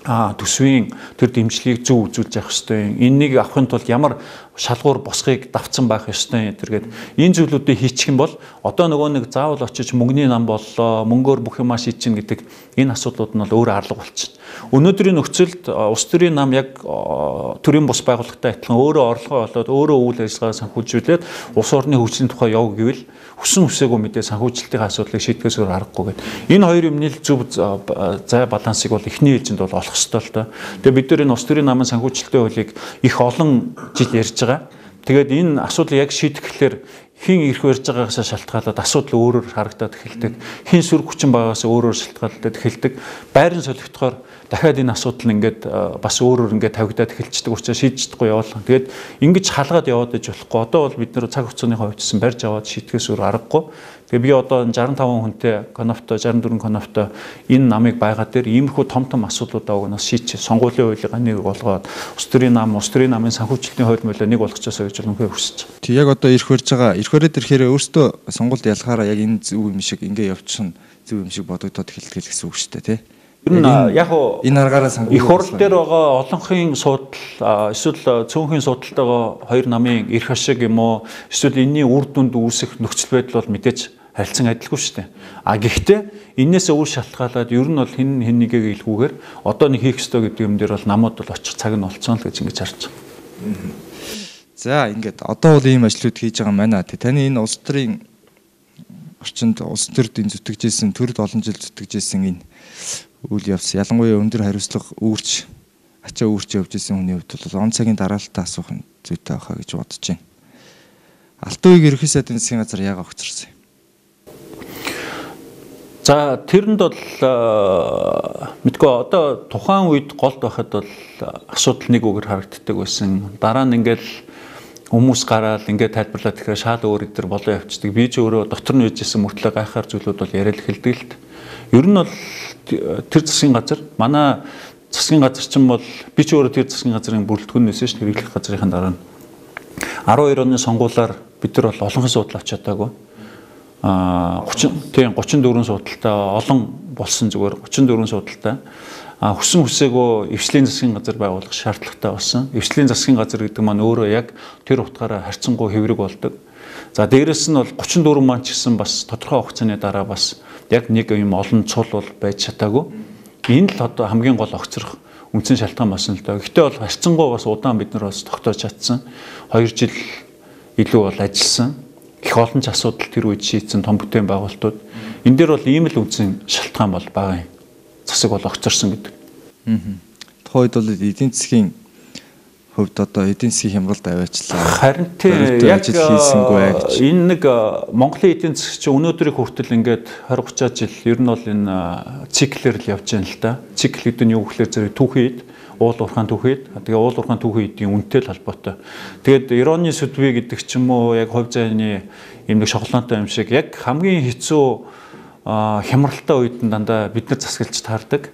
төсвийн тэр дэмжлэгийг зөв үзүүлж явах ёстой юм? Энэнийг авахын тулд ямар шалгуур босхийг давцсан байх ёстой юм тэргээд энэ зүйлүүдийг хийчих юм бол одоо нөгөө нэг заавал очиж мөнгөний нам боллоо, мөнгөөр бүх юмаа шийдчихнэ гэдэг энэ асуудлууд нь бол өөр арга болчихно. Өнөөдрийн нөхцөлд улс төрийн нам яг төрийн бус байгууллагатай адилхан өөрөө орлогоо олоод өөрөө үйл ажиллагаа санхүүжүүлээд улс орны хөгжлийн тухай яв гэвэл хүсэн хүсээгүй мэдээ санхүүжилтийн асуудлыг шийдгээс өөр аргагүй гэдэг. Энэ хоёр юмны зөв зай балансыг бол эхний ээлжинд бол олох ёстой л доо. Тэгээ бид нар энэ улс төрийн намын санхүүжилтийн хуулийг их олон жил ярьж байгаа. Тэгээд энэ асуудлыг яг шийдэхлээр хин ирэх барьж байгаагаас шалтгаалаад асуудал өөрөөр харагдаад эхэлдэг. Хин сөрөг хүчин байгаагаас өөрөөр шалтгаалаад эхэлдэг. Байрын солигдохоор дахиад энэ асуудал нь ингээд бас өөрөөр ингээд тавигдаад эхэлчихдэг учраас шийдэж чадахгүй явуулах. Тэгээд ингэж халгаад яваад иж болохгүй. Одоо бол бид нэр цаг хугацааны хувьдсан барьж аваад шийтгэхээс өөр аргагүй. Тэгээ би одоо 65 хүнтэй конопто 64 конопто энэ намыг байгаа дээр иймэрхүү том асуудлуудаа угнаас шийдчих. Сонгуулийн хуулийг нэг болгоод улс төрийн намын санхүүжилтийн хууль мөлөө нэг болгочихсоо гэж үнэхээр хүсэж байна. Тэг яг одоо ирэх барьд ирэхээр өөртөө сонгуульд ялахаараа яг энэ зөв юм шиг ингээ явчихна зөв юм шиг бодогдоод эхэлдэг гэсэн үг шүү дээ тий. Ер нь яг энэ аргаараа их хурл дээр байгаа олонхын судал эсвэл цөөнхийн судалтайгаа хоёр намын эрх ашиг юм уу эсвэл энэний үр дүнд үүсэх нөхцөл байдал бол мэдээж харилцан адилгүй шүү дээ. Гэхдээ энээс өөр шалтгаалаад ер нь бол хэн нэгийг илгүүгээр одоо нэг хийх ёстой гэдэг юм дээр бол намууд бол очих цаг нь олцсон л гэж ингэж харж байна. За ингээд одоо бол ийм ажлууд хийж байгаа маань таны энэ улс төрийн орчинд улс төрд энэ зүтгэжсэн төрд олон жил зүтгэжсэн энэ үйл явц ялангуяа өндөр хариуцлага үүрч ачаа үүрч явж исэн хүний хувьд бол он цагийн дараалтаа асуух нь зүйтэй байхаа гэж бодож байна. Алтан үеийг ерөнхий сайдын засгийн газар яагаад огцорсон юм? За тэрэнд бол мэдгүй одоо тухайн үед голд байхад бол асуудал нэг үгээр харагддаг байсан. Дараа нь ингээл хүмүүс гараад ингээд тайлбарлаад тэгэхээр шал өөр идэр болоо явцдаг. Би ч өөрөө дотор нь үжсэн мөртлөө гайхаар зүйлүүд бол яриад эхэлдэг л т. Ер нь бол тэр засгийн газар манай засгийн газар чинь бол би ч өөрөө тэр засгийн газрын бүрэлдэхүүнээс ш хэрэглэх газрын дараа нь 12 оны сонгуулиар бид нар бол олонхын судал авч чадаагүй. 34 судалтай олон болсон зүгээр 34 судалтай хүссэн хүсээгүй эвслийн засгийн газар байгуулах шаардлагатай болсон. Эвслийн засгийн газар гэдэг маань өөрөө яг тэр утгаараа харьцангуй хэврэг болдог. За дээрэс нь бол 34 маань ч гэсэн бас тодорхой хугацааны дараа бас яг нэг юм олон цул бол байж чадаагүй. Энэ л одоо хамгийн гол огцрох үндсэн шалтгаан болсон л доо. Гэхдээ бол харьцангуй бас удаан бид нар бас тогтоож чадсан. 2 жил илүү бол ажилласан. Их олон ч асуудал тэр үед шийдсэн том бүтээн байгуулалтууд. Энэ дээр бол ийм л үндсэн шалтгаан бол байгаа юм. Засаг бол огцорсон гэдэг. Тухайд бол эдийн засгийн хувьд одоо эдийн засгийн хямралд аваачлаа. Харин тийм яг энэ нэг Монголын эдийн засаг чинь өнөөдрийг хүртэл ингээд 20-30 жил ер нь бол энэ циклээр л явж байна л да. Цикл гэдэг нь юу гэхээр зэрэг түүхийн үед уул уурхаан түүхэд тэгээ уул уурхаан түүхийн эдийн үнэтэй л холбоотой. Тэгээд ироны сэдвээ гэдэг ч юм уу яг хувь зайны юм нэг шоколадтай юм шиг яг хамгийн хэцүү хямралтай үед нь дандаа бид нар засаглаж таардаг.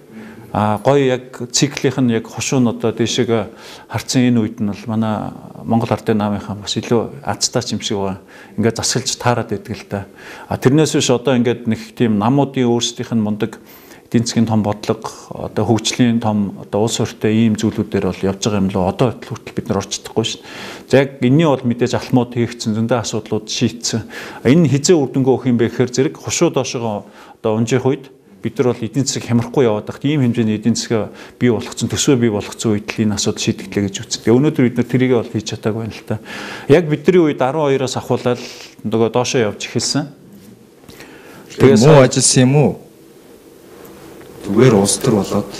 Гоё яг циклийнх нь яг хушуун одоо дэшег харцсан энэ үед нь бол манай Монгол ардын намынхаа бас илүү азтай юм шиг байгаа. Ингээд засаглаж таарад байдаг л да. Тэрнээс биш одоо ингээд нэг тийм намуудын өөрсдийнх нь мундаг эдийн засгийн том бодлого одоо хөгжлийн том одоо улс ортой ийм зүйлүүдээр бол явж байгаа юм лөө одоо хүртэл бид нар орч чадахгүй шин. За яг энэний бол мэдээж алхмууд хийгдсэн зөндөө асуудлууд шийдсэн. Энэ хизээ үр дүнгээ өгөх юм бэ гэхээр зэрэг хушуу доошоо одоо унжих үед бид нар бол эдийн засаг хямрахгүй яваад байхад ийм хэмжээний эдийн засаг бий болгоцсон төсвөө бий болгоцсон үед л энэ асуудал шийдэгдлээ гэж үздэг. Тэгээ өнөөдөр бид нар тэрийгээ бол хийж чадаагүй байна л та. Яг бидний үед 12-оос ахуулаад нөгөө доошоо явж эхэлсэн. Тэгээ муу ажилласан юм уу? Зүгээр улс төр болоод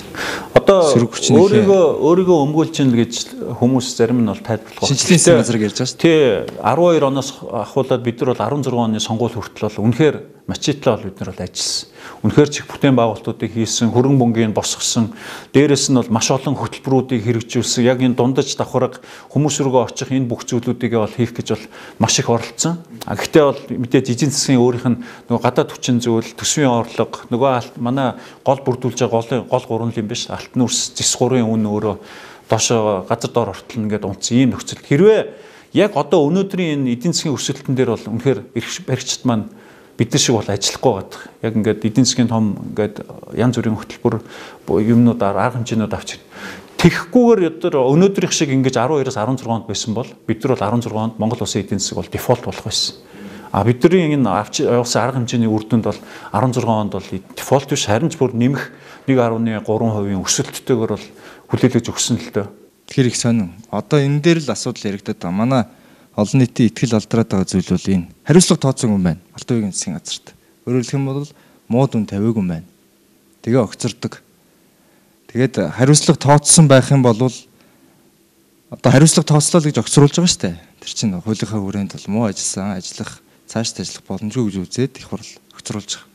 одоо өөрийгөө өмгөөлж ийн л гэж хүмүүс зарим нь бол тайлбарлах байна. Шинжлэлийн засгийн газар ярьж байгаа шүү. Тий 12 оноос ахуулаад бид нар бол 16 оны сонгуул хүртэл бол үнэхээр мачитлаа бол бид нар бол ажилласан. Үнэхээр чих бүтээн байгуулалтуудыг хийсэн, хөрөнгө мөнгийг босгосон, дээрэс нь бол маш олон хөтөлбөрүүдийг хэрэгжүүлсэн. Яг энэ дундаж давхарга хүмүүс рүүгээ очих энэ бүх зүйлүүдийг бол хийх гэж бол маш их оролцсон. Гэхдээ бол мэдээж эдийн засгийн өөрийнх нь нөгөө гадаад хүчин зүйл, төсвийн орлого, нөгөө манай гол бүрдүүлж байгаа гол гурван юм биш. Алтан үрс, зис гурын үн өөрөө доошоо газар доор ортолно гэдэг унтсан ийм нөхцөл. Хэрвээ яг одоо өнөөдрийн энэ эдийн засгийн өсөлтөн дээр бол үнэхээр баригчид маань бид нар шиг бол ажиллахгүй байдаг. Яг ингээд эдийн засгийн том ингээд янз бүрийн хөтөлбөр юмнуудаар арга хэмжээнүүд авч тэгэхгүйгээр өнөөдрийнх шиг ингээд 12-оос 16-нд байсан бол бид нар бол 16-нд Монгол улсын эдийн засаг бол дефолт болох байсан. Бидний энэ авч явсан арга хэмжээний үр дүнд бол 16 онд бол дефолт биш харин ч бүр нэмэх 1.3% өсөлттэйгээр бол хүлээлгэж өгсөн л дөө. Тэр их сонин. Одоо энэ дээр л асуудал яригдаад байгаа. Манай олон нийтийн итгэл алдраад байгаа зүйл бол энэ. Хариуцлага тооцсон юм байна. Алтан үеийн засгийн газарт. Өөрөөр хэлэх юм бол муу дүн тавиагүй юм байна. Тэгээ огцордог. Тэгээд хариуцлага тооцсон байх юм бол одоо хариуцлага тооцоолол гэж огцруулж байгаа шүү дээ. Тэр чинь хуулийнхаа хүрээнд бол муу ажилласан, ажиллах, цаашд ажиллах боломжгүй гэж үзээд их хурл огцруулж байгаа.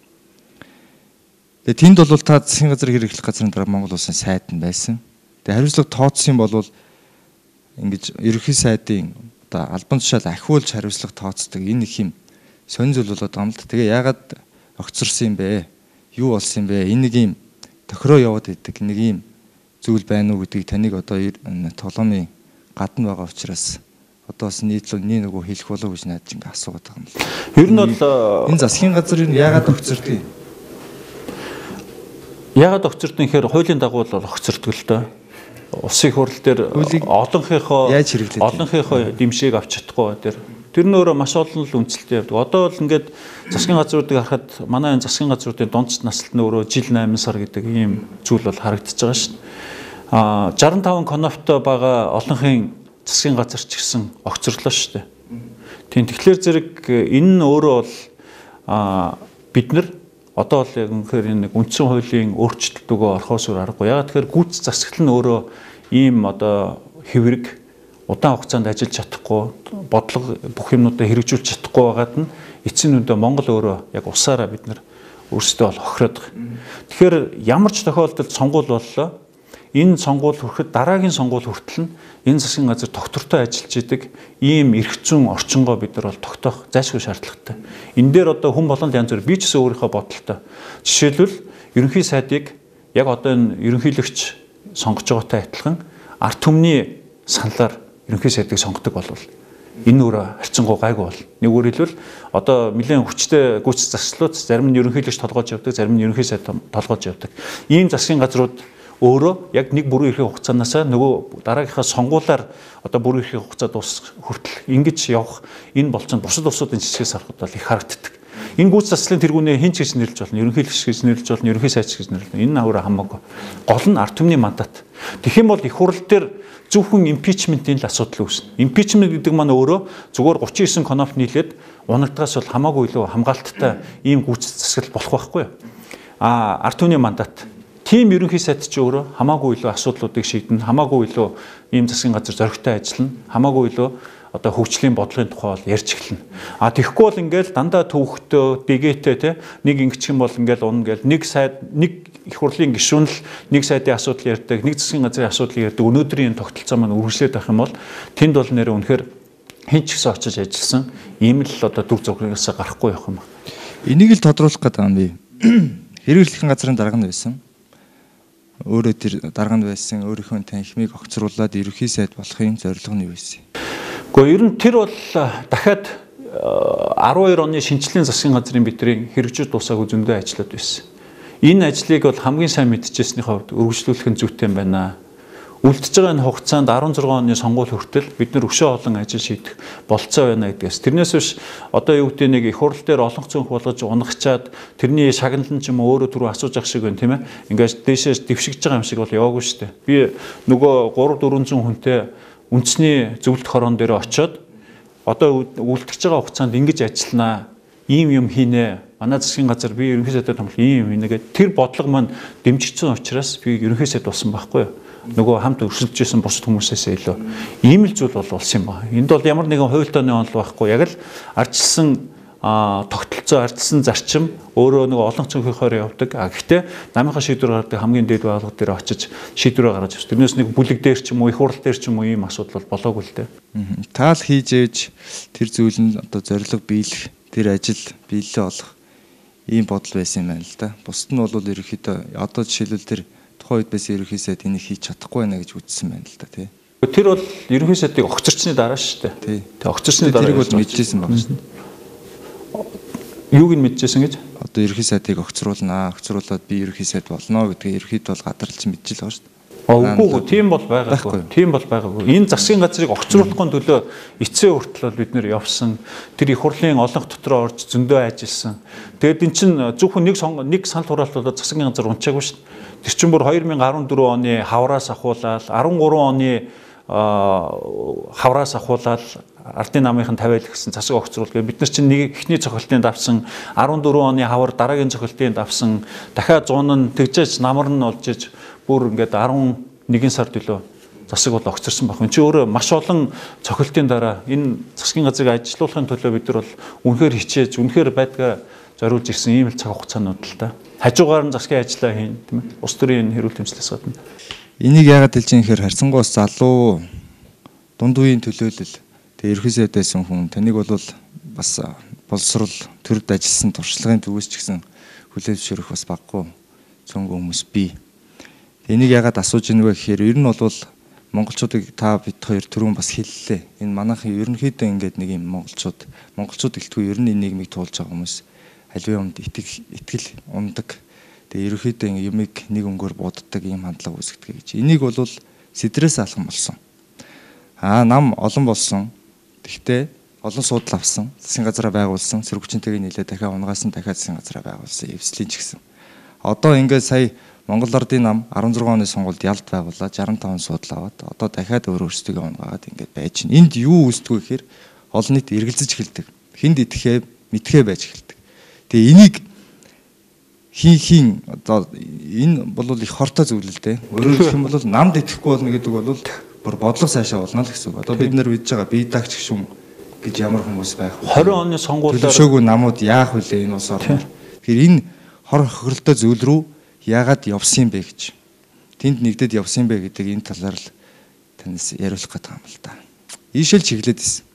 Тэгээ тэнд бол та засгийн газар хэр эхлэх газрын дараа Монгол улсын сайд нь байсан. Тэгээ хариуцлага тооцсон бол ингэж ерөнхий сайдын одоо албан тушаал ахиулж хариуцлага тооцдог энэ их юм сонь зүйл болоод байгаа юм л. Тэгээ яагаад огцорсон юм бэ? Юу болсон юм бэ? Энэ нэг юм тохироо яваад идэг нэг юм зүйл байна уу гэдгийг таныг одоо тоглоомын гадна байгаа учраас одоо бас нийтлэн нөгөө хэлэх болов гэж надад ингэ асуугаад байгаа юм л. Ер нь бол энэ засгийн газар нь яагаад огцордог юм? Яагаад огцордог юм гэхээр хуулийн дагуу бол огцордог л доо. Улсын хурал дээр олонхийнхоо дэмжийг авч чадахгүй тэр нь өөрөө маш олон л үнэлттэй явдаг. Одоо бол ингээд засгийн газруудыг харахад манай энэ засгийн газруудын дундч насалт нь өөрөө жил 8 сар гэдэг ийм зүйл бол харагдаж байгаа шин. 65 коноптой байгаа олонхын засгийн газар ч гэсэн огцорлоо шүү дээ. Тийм тэгэхээр зэрэг энэ нь өөрөө бол бид нар одоо л яг үнэхээр нэг үндсэн хуулийн өөрчлөлт өгөө орхоос өөр аргагүй. Ягаад тэгэхээр гүйц засаглал нь өөрөө ийм одоо хэврэг удаан хугацаанд ажиллаж чадахгүй, бодлого бүх юмнуудаа хэрэгжүүлж чадахгүй байгаад нь эцсийн үндэ Монгол өөрөө яг усаараа бид нар өөрсдөө бол хохироод байгаа. Тэгэхээр ямар ч тохиолдолд сонгуул боллоо. Энэ сонгуул хүрэхэд дараагийн сонгуул хүртэл нь энэ засгийн газар доктортой ажиллаж идэг ийм эрх зүйн орчингоо бид нар бол тогтоох зайлшгүй шаардлагатай. Энэ дээр одоо хүн болгонд янз бүр би ч гэсэн өөрийнхөө бодолтой. Жишээлбэл ерөнхий сайдыг яг одоо энэ ерөнхийлөгч сонгож байгаатай адилхан ард түмний саналаар ерөнхий сайдыг сонгодог болвол энэ өөрөө харьцангуй гайгүй бол. Нэггээр хэлбэл одоо нэлээд хүчтэй гүйц засаглалууд зарим нь ерөнхийлөгч толгойж явдаг, зарим нь ерөнхий сайд толгойж явдаг. Ийм засгийн газрууд өөрөө яг нэг бүрийн эрхийн хугацаанаас нөгөө дараагийнхаа сонгуулаар одоо бүрийн эрхийн хугацаа дуусах хүртэл ингэж явах энэ болцоонд бусад улсуудын жишгээс харахад бол их харагддаг. Энэ гүйц засаглалын тэргүүнээ хин ч гэж нэрлэж болно, ерөнхийлөгч гэж нэрлэж болно, ерөнхий сайд гэж нэрлэж болно. Энэ өөрөө хамаагүй. Гол нь ард түмний мандат. Тэгэх юм бол их хурал дээр зөвхөн импичментийн л асуудал үүснэ. Импичмент гэдэг маань өөрөө зүгээр 39 коноп нийлээд унагдгаас бол хамаагүй илүү хамгаалттай ийм гүйц засаглал болох байхгүй юу? Ард түмний мандат. Тим ерөнхий сайд ч өөрөө хамаагүй илүү асуудлуудыг шийднэ, хамаагүй илүү ийм засгийн газар зоригтой ажиллана, хамаагүй илүү одоо хөгжлийн бодлогын тухай бол ярьж эхэлнэ. Тэгэхгүй бол ингээл дандаа төвхтөө, дэгээтэй те нэг ингэчих юм бол ингээл унна гээл нэг сайд нэг их хурлын гишүүн л нэг сайдын асуудал ярьдаг, нэг засгийн газрын асуудал ярьдаг. Өнөөдрийн тогтолцоо маань үргэлжлээд байх юм бол тэнд бол нэр үнэхээр хэн ч гэсэн очиж ажилласан ийм л одоо дүр зургаас гарахгүй явах юм байна. Энийг л тодруулах гэдэг юм би. Хэрэглэхийн газрын дарга нь байсан. Өөрөө тэр дарга нь байсан өөрийнхөө танхимыг огцруулад ерөнхий сайд болохын зорилго нь юу байсан? Гэхдээ ер нь тэр бол дахиад 12 оны шинжлэлийн засгийн газрын бидрийн хэрэгжиж дуусаагүй зөндөө ажлууд байсан. Энэ ажлыг бол хамгийн сайн мэдчихсэний хувьд үргэлжлүүлэх нь зүйтэй юм байна. Үлдэж байгаа энэ хугацаанд 16 оны сонгуул хүртэл бид нар өшөө олон ажил шийдэх болцоо байна гэдгээс. Тэрнээс биш одоо юу гэдэг нэг их хурал дээр олон цөөнх болгож унагчаад тэрний шагналан ч юм уу өөрөө түрүү асууж ах шиг байна тийм ээ. Ингээд дээшээс дэвшигж байгаа юм шиг бол яваагүй шүү дээ. Би нөгөө 300-400 хүнтэй үндэсний зөвлөлт хорон дээр очиод одоо үлдэж байгаа хугацаанд ингэж ажилланаа, ийм юм хийнэ. Манай засгийн газар би ерөнхий сайдад томлох ийм юм нэгээд тэр бодлого маань дэмжигдсэн учраас би ерөнхий сайд болсон байхгүй юу? Нөгөө хамт өрсөлдөж исэн бусад хүмүүсээс илүү ийм л зүйл бол болсон юм байна. Энд бол ямар нэгэн хуйлтааны онол байхгүй. Яг л ардчилсан тогтолцоо, ардчилсан зарчим өөрөө нөгөө олон цонхийнхоор явдаг. Гэхдээ намынхаа шийдвэр гаргадаг хамгийн дээд байгууллага дээр очиж шийдвэрээ гаргаж авч. Тэрнээс нэг бүлэг дээр ч юм уу, их хурал дээр ч юм уу ийм асуудал бол болоогүй л дээ. Таал хийж ээж тэр зүйл нь одоо зорилго биелэх, тэр ажил биелэлээ олох ийм бодол байсан юм байна л да. Бусд нь бол ерөнхийдөө одоо жишээлбэл тэр тухайн үед байсан ерөнхий сайд энийг хийж чадахгүй байна гэж үзсэн байна л да тий. Тэр бол ерөнхий сайдыг огцорчны дараа шүү дээ. Тий. Тэг огцорчны дараа тэрийг бол мэдчихсэн байна шүү дээ. Юуг нь мэдчихсэн гэж? Одоо ерөнхий сайдыг огцруулнаа, огцруулаад би ерөнхий сайд болно гэдгийг ерөнхийд бол гадарлаж мэдчихэл байгаа шүү дээ. Үгүй тийм бол байгаагүй. Тийм бол байгаагүй. Энэ засгийн газрыг огцруулахын төлөө эцсийн хүртэл бол бид нэр явсан. Тэр их хурлын олонх дотроо орж зөндөө ажилласан. Тэгэд эн чинь зөвхөн нэг санал хураалт болоод засгийн газар унчаагүй шүү дээ. Тэр чинь бүр 2014 оны хавраас ахуулаад 13 оны хавраас ахуулаад ардын намынхан тавиал гэсэн засаг огцруулал гэ бид нар чинь нэг эхний цохилтын давсан 14 оны хавар дараагийн цохилтын давсан дахиад 100 нь тэгжээж намар нь олж иж бүр ингээд 11 сард илүү засаг бол огцорсон баг. Энд чинь өөрөө маш олон цохилтын дараа энэ засгийн газрыг ажилуулахын төлөө бид нар бол үнэхээр хичээж, үнэхээр байдгаа зориулж ирсэн ийм л цаг хугацаанууд л та. Хажуугаар нь засгийн ажиллаа хийн, тийм ээ. Улс төрийн хэрүүл тэмцлээс гадна. Энийг яагаад хэлж юм гэхээр харьцангуйс залуу дунд үеийн төлөөлөл тэгээ ерхий сайд байсан хүн таныг бол бас боловсрол төрд ажилласан туршлагын төвөөс ч гэсэн хүлээлт бас баггүй цөөнгөө хүмүүс бий. Энийг яагаад асууж ийн вэ гэхээр ер нь бол монголчуудыг та бид хоёр түрүүн бас хэллээ. Энэ манайхан ерөнхийдөө ингээд нэг юм монголчууд гэлтгүй ер нь энэ нийгмийг туулж байгаа хүмүүс аливаа юмд итгэл ундаг. Тэгээ ерөнхийдөө юмыг нэг өнгөөр буддаг ийм хандлага үүсгдэг гэж. Энийг бол сэдрээс алхам болсон. Нам олон болсон. Тэгтээ олон суудл авсан. Засгийн газараа байгуулсан. Сэргүүчнтэйгээ нийлээ дахиад унгаас нь дахиад засгийн газараа байгуулсан. Эвслийн ч гэсэн. Одоо ингээд сая Монгол Ардын нам 16 оны сонгуульд ялт байгуулаад 65 суудл аваад одоо дахиад өөрсдөө унгаагаад ингээд байж байна. Энд юу үүсдэг вэ гэхээр олон нийт эргэлзэж эхэлдэг. Хинд идэхээ мэдхээ байж эхэлдэг. Тэгээ энийг хийн одоо энэ бол их хортой зүйл л дээ. Өөрөөр хэлэх юм бол намд итгэхгүй болно гэдэг бол бүр бодлого сайшаа болно л гэсэн үг. Одоо бид нар видж байгаа бие даагч гүшүүн гэж ямар хүмүүс байх вэ? 20 оны сонгуулиар төлөвшөөгүй намууд яах вүлээ энэ улс орноор. Тэгэхээр энэ хор хохиролтой зүйл рүү яагаад явсан бэ гэж. Тэнд нэгдэд явсан бэ гэдэг энэ талаар л танаас яриулах гэдэг юм л да. Ийшэл чиглээд ирсэн.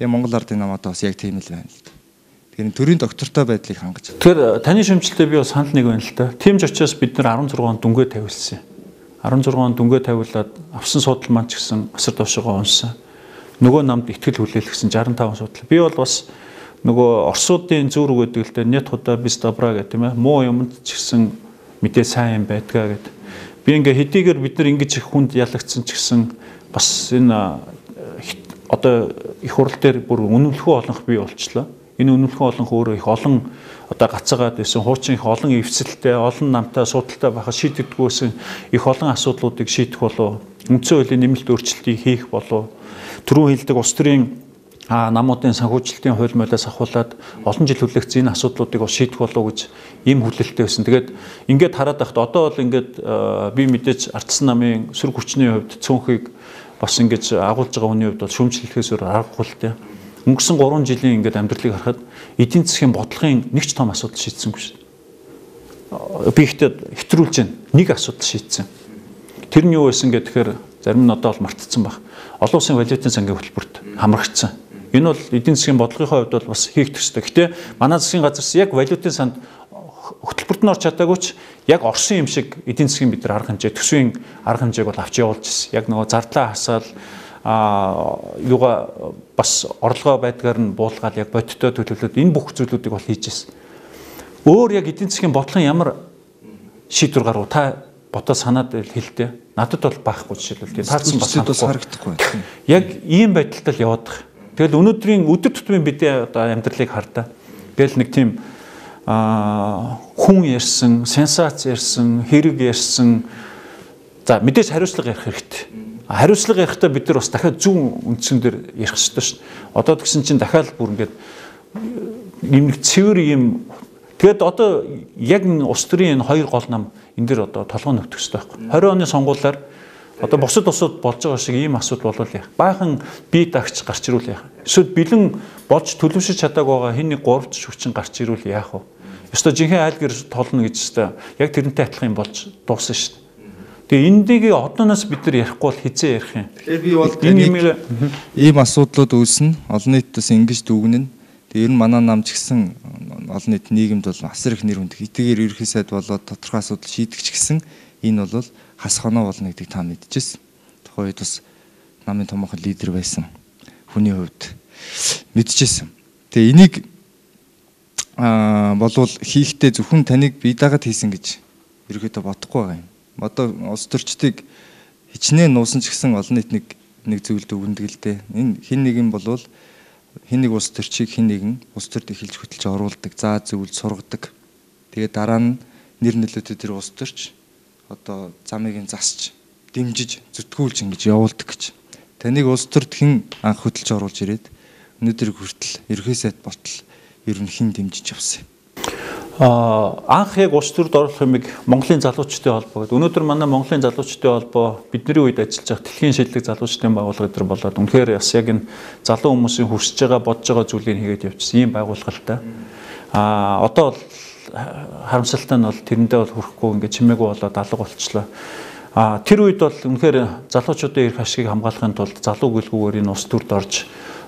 Тэгээ Монгол Ардын нам одоо бас яг тийм л байна л да. Тэгэхээр төрийн доктортой байдлыг хангаж. Тэгэхээр таны шимжилтээ би бас санал нэг байна л да. Тимж очиос бид нар 16 он дүнгээ тавилсан. 16 он дүнгээ тавиулаад авсан судал маань ч гэсэн асар товшоогоо унсан. Нөгөө намд итгэл хүлээлгэсэн 65 судал. Би бол бас нөгөө Оросуудын зүүр үг гэдэг л дээ нет худа бис добра гэх тийм ээ. Муу юмд ч гэсэн мэдээ сайн юм байдгаа гэдэг. Би ингээ хэдийгээр бид нар ингэж их хүнд ялагдсан ч гэсэн бас энэ одоо их хурал дээр бүр үнэмлэхүү олонх бий болчлоо. Энэ үнэмлэхүү олонх өөрөө их олон одоо гацаагаад байсан хуучин их олон эвсэлтэй, олон намтай судалтай байхад шийдэгдгүйсэн их олон асуудлуудыг шийдэх болов. Үндсэн хуулийн нэмэлт өөрчлөлтийг хийх болов. Түрүүн хэлдэг улс төрийн намуудын санхүүжилтийн хууль молиос ахуулаад олон жил хүлээгдсэн энэ асуудлуудыг бас шийдэх болов гэж ийм хүлээлттэй байсан. Тэгээд ингээд хараад байхад одоо бол ингээд би мэдээж ардсан намын сөрөг хүчний хувьд цөөнхийг бас ингэж агуулж байгаа хүний хувьд бол шүүмжлэхээс өөр аргагүй л дээ. Өнгөрсөн 3 жилийн ингээд амьдралыг харахад эдийн засгийн бодлогын нэг ч том асуудал шийдсэнгүй шүү дээ. Би ихтэй хэтрүүлж байна. Нэг асуудал шийдсэн. Тэр нь юу байсан гэхээр зарим нь одоо бол мартцсан баг. Олон улсын валютын сангийн хөтөлбөрт хамрагдсан. Энэ бол эдийн засгийн бодлогын хувьд бол бас хийх төстэй. Гэтэ манай засгийн газарс яг валютын санд хөтөлбөрт нь орч чадаагүй ч яг Оросын юм шиг эдийн засгийн бид нар арга хэмжээ, төсвийн арга хэмжээг бол авч явуулж ирсэн. Яг нөгөө зардлаа хасаал юугаа бас орлогоо байдгаар нь буулгаад яг бодиттой төлөвлөлт энэ бүх зүйлүүдийг бол хийж ирсэн. Өөр яг эдийн засгийн бодлогын ямар шийдвэр гаргав та бодоод санаад хэлдэ. Надад бол байхгүй жишээлбэл тийм таарсан бас харагдахгүй. Яг ийм байдалтай л яваад байгаа. Тэгэл өнөөдрийн өдөр тутмын бидний одоо амьдралыг хардаа. Тэгэл нэг тийм хүн ярьсан, сенсац ярьсан, хэрэг ярьсан. За мэдээж хариуцлага ярих хэрэгтэй. Хариуцлага ярихдаа бид нар бас дахиад зүүн үндсэн дээр ярих хэрэгтэй шүү дээ. Одоо тэгсэн чинь дахиад бүр ингээд нэг цэвэр юм. Тэгэд одоо яг улс төрийн энэ хоёр гол нам энэ дэр одоо толгой нөхөх хэрэгтэй байхгүй. 20 оны сонгуулиар одоо бусад улсууд болж байгаа шиг ийм асуудал болвол яах. Баахан бие даагч гарч ирүүл яах. Эсвэл бэлэн болж төлөвшөж чадаагүй байгаа хин нэг 3 хүчин гарч ирүүл яах вэ? Ёстой жинхэнэ айл гэр толно гэж өстой яг тэрнтэй адилхан юм болж дууссан шүү дээ. Тэгээ эндийг одооноос бид нар ярихгүй бол хизээ ярих юм. Тэгэхээр би бол энэ ийм асуудлууд үүснэ. Олон нийтээс ингэж дүгнэн. Тэгээ ер нь манай нам ч гэсэн олон нийт нийгэмд бол асар их нэр хүнд. Хэдийгээр ерөнхий сайд болоод тодорхой асуудал шийдэх ч гэсэн энэ бол хас хоноо болно гэдгийг та мэдчихсэн. Тухайн үед бас намын томоохон лидер байсан хүний хувьд мэдчихсэн. Тэгээ энийг болвол хийхдээ зөвхөн таныг бие даагаад хийсэн гэж ерөөдөө бодохгүй байгаа юм. Одоо улс төрчдийг хичнээн нуусан ч гэсэн олон нийт нэг зөвлөлд өгөндөг л дээ. Энэ хин нэг юм болвол хин нэг улс төрчийг хин нэгэн улс төрд эхэлж хөтөлж оруулдаг, заа зөвлөж сургадаг. Тэгээд дараа нь нэр нөлөөтэй тэр улс төрч одоо замыг нь засч, дэмжиж, зүтгүүлж ингэж явуулдаг гэж. Таныг улс төрд хэн анх хөтөлж оруулж ирээд өнөөдөр хүртэл ерхий сайд болтол ер нь хэн дэмжиж явсан юм. Анх яг улс төрд оруулах юмыг Монголын залуучдын холбоо гэдэг. Өнөөдөр манай Монголын залуучдын холбоо бидний үед ажиллаж байгаа дэлхийн шилдэг залуучдын байгууллага гэдэг болоод үнэхээр бас яг энэ залуу хүмүүсийн хүсэж байгаа, бодож байгаа зүйлийг хийгээд явчихсан ийм байгууллагатай. Одоо бол харамсалтай нь бол тэрэндээ бол хүрэхгүй ингээд чимээгүй болоод алга болчихлоо. Тэр үед бол үнэхээр залуучуудын эрх ашигыг хамгаалахын тулд залуу гэлгүүгээр энэ улс төрд орж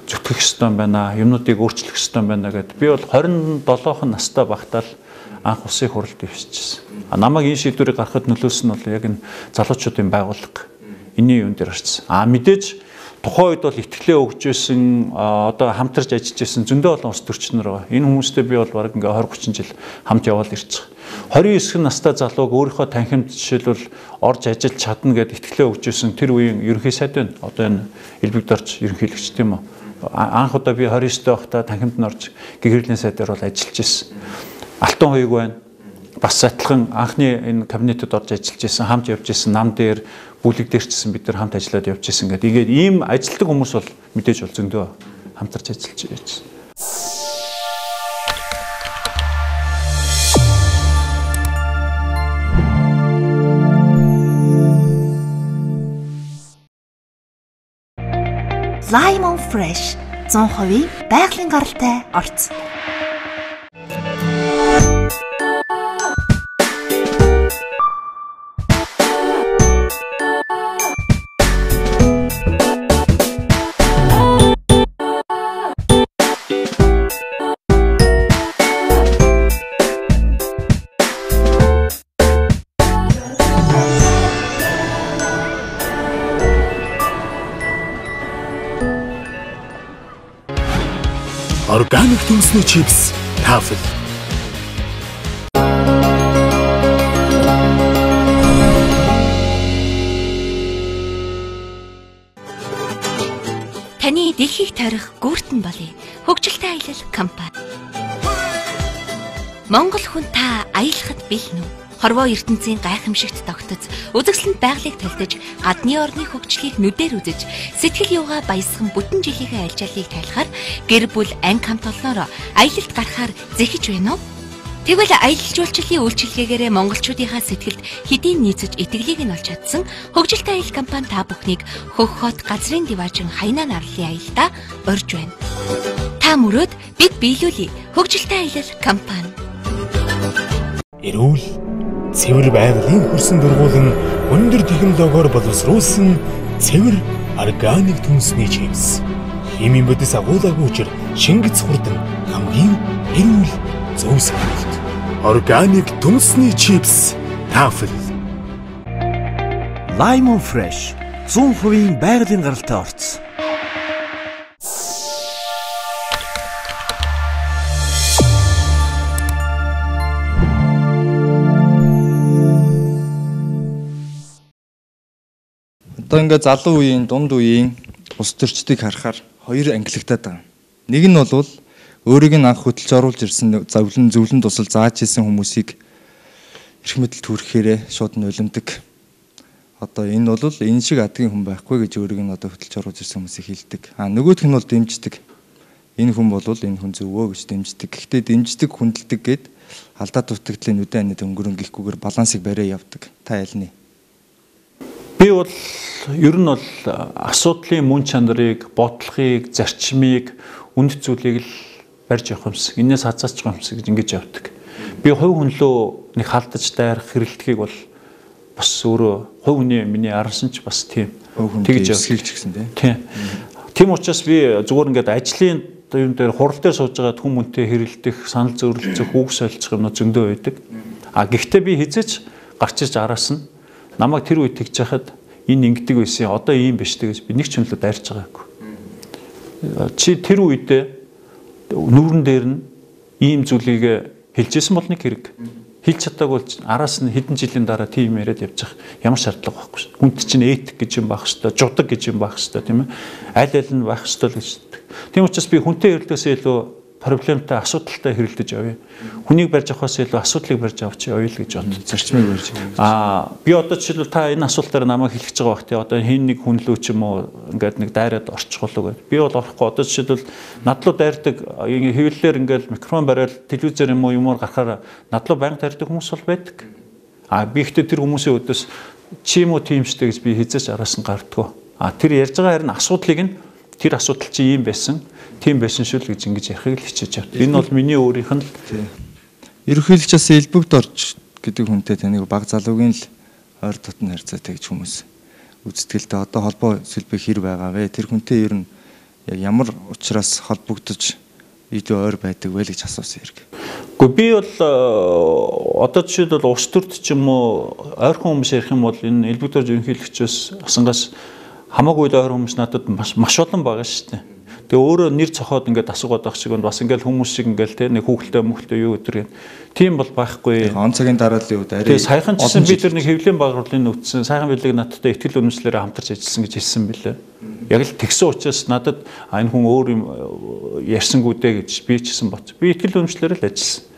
зүтгэх ёстой байна, юмнуудыг өөрчлөх ёстой байна гэдэг. Би бол 27 настай багтаал анх улсын хурлд ивчижсэн. Намайг энэ шийдвэрийг гаргахад нөлөөсөн нь бол яг энэ залуучуудын байгууллага. Энийн юун дээр орчихсон. Мэдээж тухайн үед бол итгэлээ өгж байсан, одоо хамтарч ажиллаж байсан зөндөө олон улс төрчнөр байгаа. Энэ хүмүүстэй би бол бараг ингээ 20-30 жил хамт яваал ирж байгаа. 29 настай залууг өөрийнхөө танхимд жишээлбэл орж ажиллаж чадна гэдээ итгэлээ өгж байсан тэр үеийн ерөнхий сайд байна. Одоо энэ Элбэг Дорж ерөнхийлөгч тийм үү. Анх удаа би 29-тэй байхдаа танхимд нь орж гэгэрлийн сайдаар бол ажиллаж ирсэн. Алтан хоёг байна. Бас адилхан анхны энэ кабинетэд орж ажиллаж ирсэн, хамт явж ирсэн, нам дээр, бүлэг дээр ч гэсэн бид нар хамт ажиллаад явж ирсэн гэдэг. Тэгээд ийм ажилтдаг хүмүүс бол мэдээж бол зөндөө хамтарч ажиллаж байсан. Limon Fresh 100% байгалийн гаралтай орц. Органик түнсний чипс Tafel. Таны дэлхийг тойрох гүртэн болъё. Хөгжилтэй аялал компани. Монгол хүн та аялахад бэлэн үү? Хорвоо ертөнцийн гайхамшигт тогтоц, үзэсгэлэнт байгалыг тайлдаж, гадны орны хөгжлийг нүдээр үзэж, сэтгэл юугаа баясган бүтэн жилийнхээ альчааллыг тайлахаар гэр бүл анги хамт олноороо аялалд гарахаар зэхэж байна уу? Тэгвэл аялал жуулчлалын үйлчилгээгээрээ монголчуудынхаа сэтгэлд хэдийн нийцэж итгэлийг нь олж чадсан хөгжилтэй аялал компани та бүхнийг хөх хот газрын диваажин Хайнаа нарлын аялалдаа урьж байна. Та мөрөөд бид биелүүлье хөгжилтэй аялал компани. Эрүүл цэвэр байгалийн хөрсөн дургуулан өндөр технологиор боловсруулсан цэвэр органик түнсний чипс. Химийн бодис агуулгаагүй учир шингэц хурдан хамгийн эрүүл зөв сонголт. Органик түнсний чипс Tafel. Limon Fresh 100% байгалийн гаралтай орц. Одоо ингээд залуу үеийн, дунд үеийн улс төрчдийг харахаар хоёр ангилагдаад байгаа. Нэг нь бол өөрийг нь анх хөдөлж оруулж ирсэн зөвлөн тусал зааж ирсэн хүмүүсийг эрх мэдэлд хүрэхээрээ шууд нулимдаг. Одоо энэ бол энэ шиг адгийн хүн байхгүй гэж өөрийг нь одоо хөдөлж оруулж ирсэн хүмүүсийг хэлдэг. Нөгөөх нь бол дэмждэг. Энэ хүн бол энэ хүн зөвөө гэж дэмждэг. Гэхдээ дэмждэг, хүндэлдэг гэд алдаа дутагдлын үдэн анид өнгөрөн гихгүйгээр балансыг бариа явдаг. Та ялны. Би бол ер нь бол асуудлын мөн чанарыг, бодлогыг, зарчмыг, үнд зүйлийг л барьж явах юмс. Энээс хазаач байгаа юмс гэж ингэж явдаг. Би хувь хүнлөө нэг халдаж дайрах хэрэлдэхийг бол бас өөрөө хувь хүний миний арансан ч бас тийм тэгж эсхийгч гэсэн тийм. Тийм учраас би зүгээр ингээд ажлын юм дээр хурал дээр сууж байгаа хүмүүнтэй хэрэлдэх, санал зөрөлцөх, үг солилцох юм зөндөө байдаг. Гэхдээ би хизээч гарч ирж араас нь намайг тэр үед тэгж яхад энэ ингэдэг байсан. Одоо ийм биш гэж би нэг ч хүнлөө дайрч байгаагүй. Чи тэр үедээ нүүрэн дээр нь ийм зүйлийг хэлжсэн бол нэг хэрэг. Хэлж чадаагүй бол араас нь хэдэн жилийн дараа тийм яриад явж байгаа. Ямар шаардлага байхгүй шүү. Хүнд чинь этик гэж юм байх хэвээр, жудаг гэж юм байх хэвээр тийм ээ. Аль аль нь байх хэвээр л гэж. Тийм учраас би хүнтэй хэрэлдээсээ илүү проблемтай асуудалтай хэрэлдэж явъя. Хүнийг барьж авахаас илүү асуудлыг барьж авч явъя л гэж боддог. Зарчмыг барьж. Би одоо жишээлбэл та энэ асуултаар намайг хэлчихэж байгаа бах тий. Одоо хин нэг хүнлүү ч юм уу ингээд нэг дайраад орчихголоо гэдэг. Би бол орохгүй. Одоо жишээлбэл надлуу дайрдаг хэвлэлээр ингээд микрофон бариад телевизээр юм уу юмор гарахаар надлуу байнга дайрдаг хүмүүс бол байдаг. Би ихтэй тэр хүмүүсийн өдөөс чи юм уу тиймштэй гэж би хизээч араас нь гардггүй. Тэр ярьж байгаа харин асуудлыг нь тэр асуудал чи ийм байсан, тийм байсан шүү л гэж ингэж ярихыг л хичээж явдаг. Энэ бол миний өөрийнх нь л ерөнхийлөгч бас элбэгт орж гэдэг хүнтэй таныг баг залуугийн л ойр дотн харьцаатай гэж хүмүүс үздэг л дээ. Одоо холбоо сэлбэг хэр байгаа вэ? Тэр хүнтэй ер нь яг ямар учраас холбогдож илүү ойр байдаг вэ гэж асуусан хэрэг. Гэхдээ би бол одоо жишээлбэл улс төрд ч юм уу ойрхон хүмүүс ярих юм бол энэ элбэгт орж ерөнхийлөгчөөс асангаас хамаагүй л ойр хүмүүс надад маш олон байгаа шүү дээ. Тэгээ өөрөө нэр цохоод ингээд асуугаад байх шиг бас ингээд хүмүүс шиг ингээд те нэг хүүхэлтэй мөхөлтэй юу гэдэг. Тийм бол байхгүй. Он цагийн дарааллын үед арай. Тэгээ саяхан ч гэсэн би тэр нэг хэвлэлийн байгууллагын нөхцөл сайхан билег надтай ихтгэл үнэмшлэрээ хамтарч ажилласан гэж хэлсэн билээ. Яг л тэгсэн учраас надад энэ хүн өөр юм ярьсангүй дээ гэж би ч гэсэн бот. Би ихтгэл үнэмшлэрээ л ажилласан.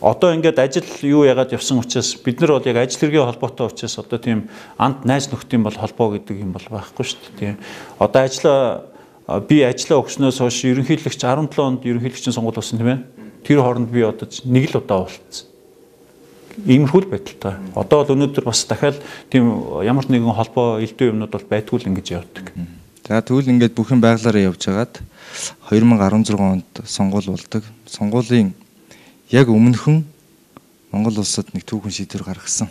Одоо ингээд ажил юу яагаад явсан учраас бид нар бол яг ажил хэргийн холбоотой учраас одоо тийм анд найз нөхдийн бол холбоо гэдэг юм бол байхгүй шүү дээ. Тийм. Одоо би ажиллаа өгснөөс хойш ерөнхийлөгч 17 онд ерөнхийлөгчийн сонгуул болсон тийм ээ. Тэр хооронд би одоо нэг л удаа уулзсан. Иймэрхүү л байдалтай. Одоо бол өнөөдөр бас дахиад тийм ямар нэгэн холбоо элдв юмнууд бол байдгүй л ингэж явдаг. За тэгвэл ингээд бүхэн байглаараа явж хагаад 2016 онд сонгуул болдог. Сонгуулийн яг өмнөхөн Монгол улсад нэг түүхэн шийдвэр гаргасан.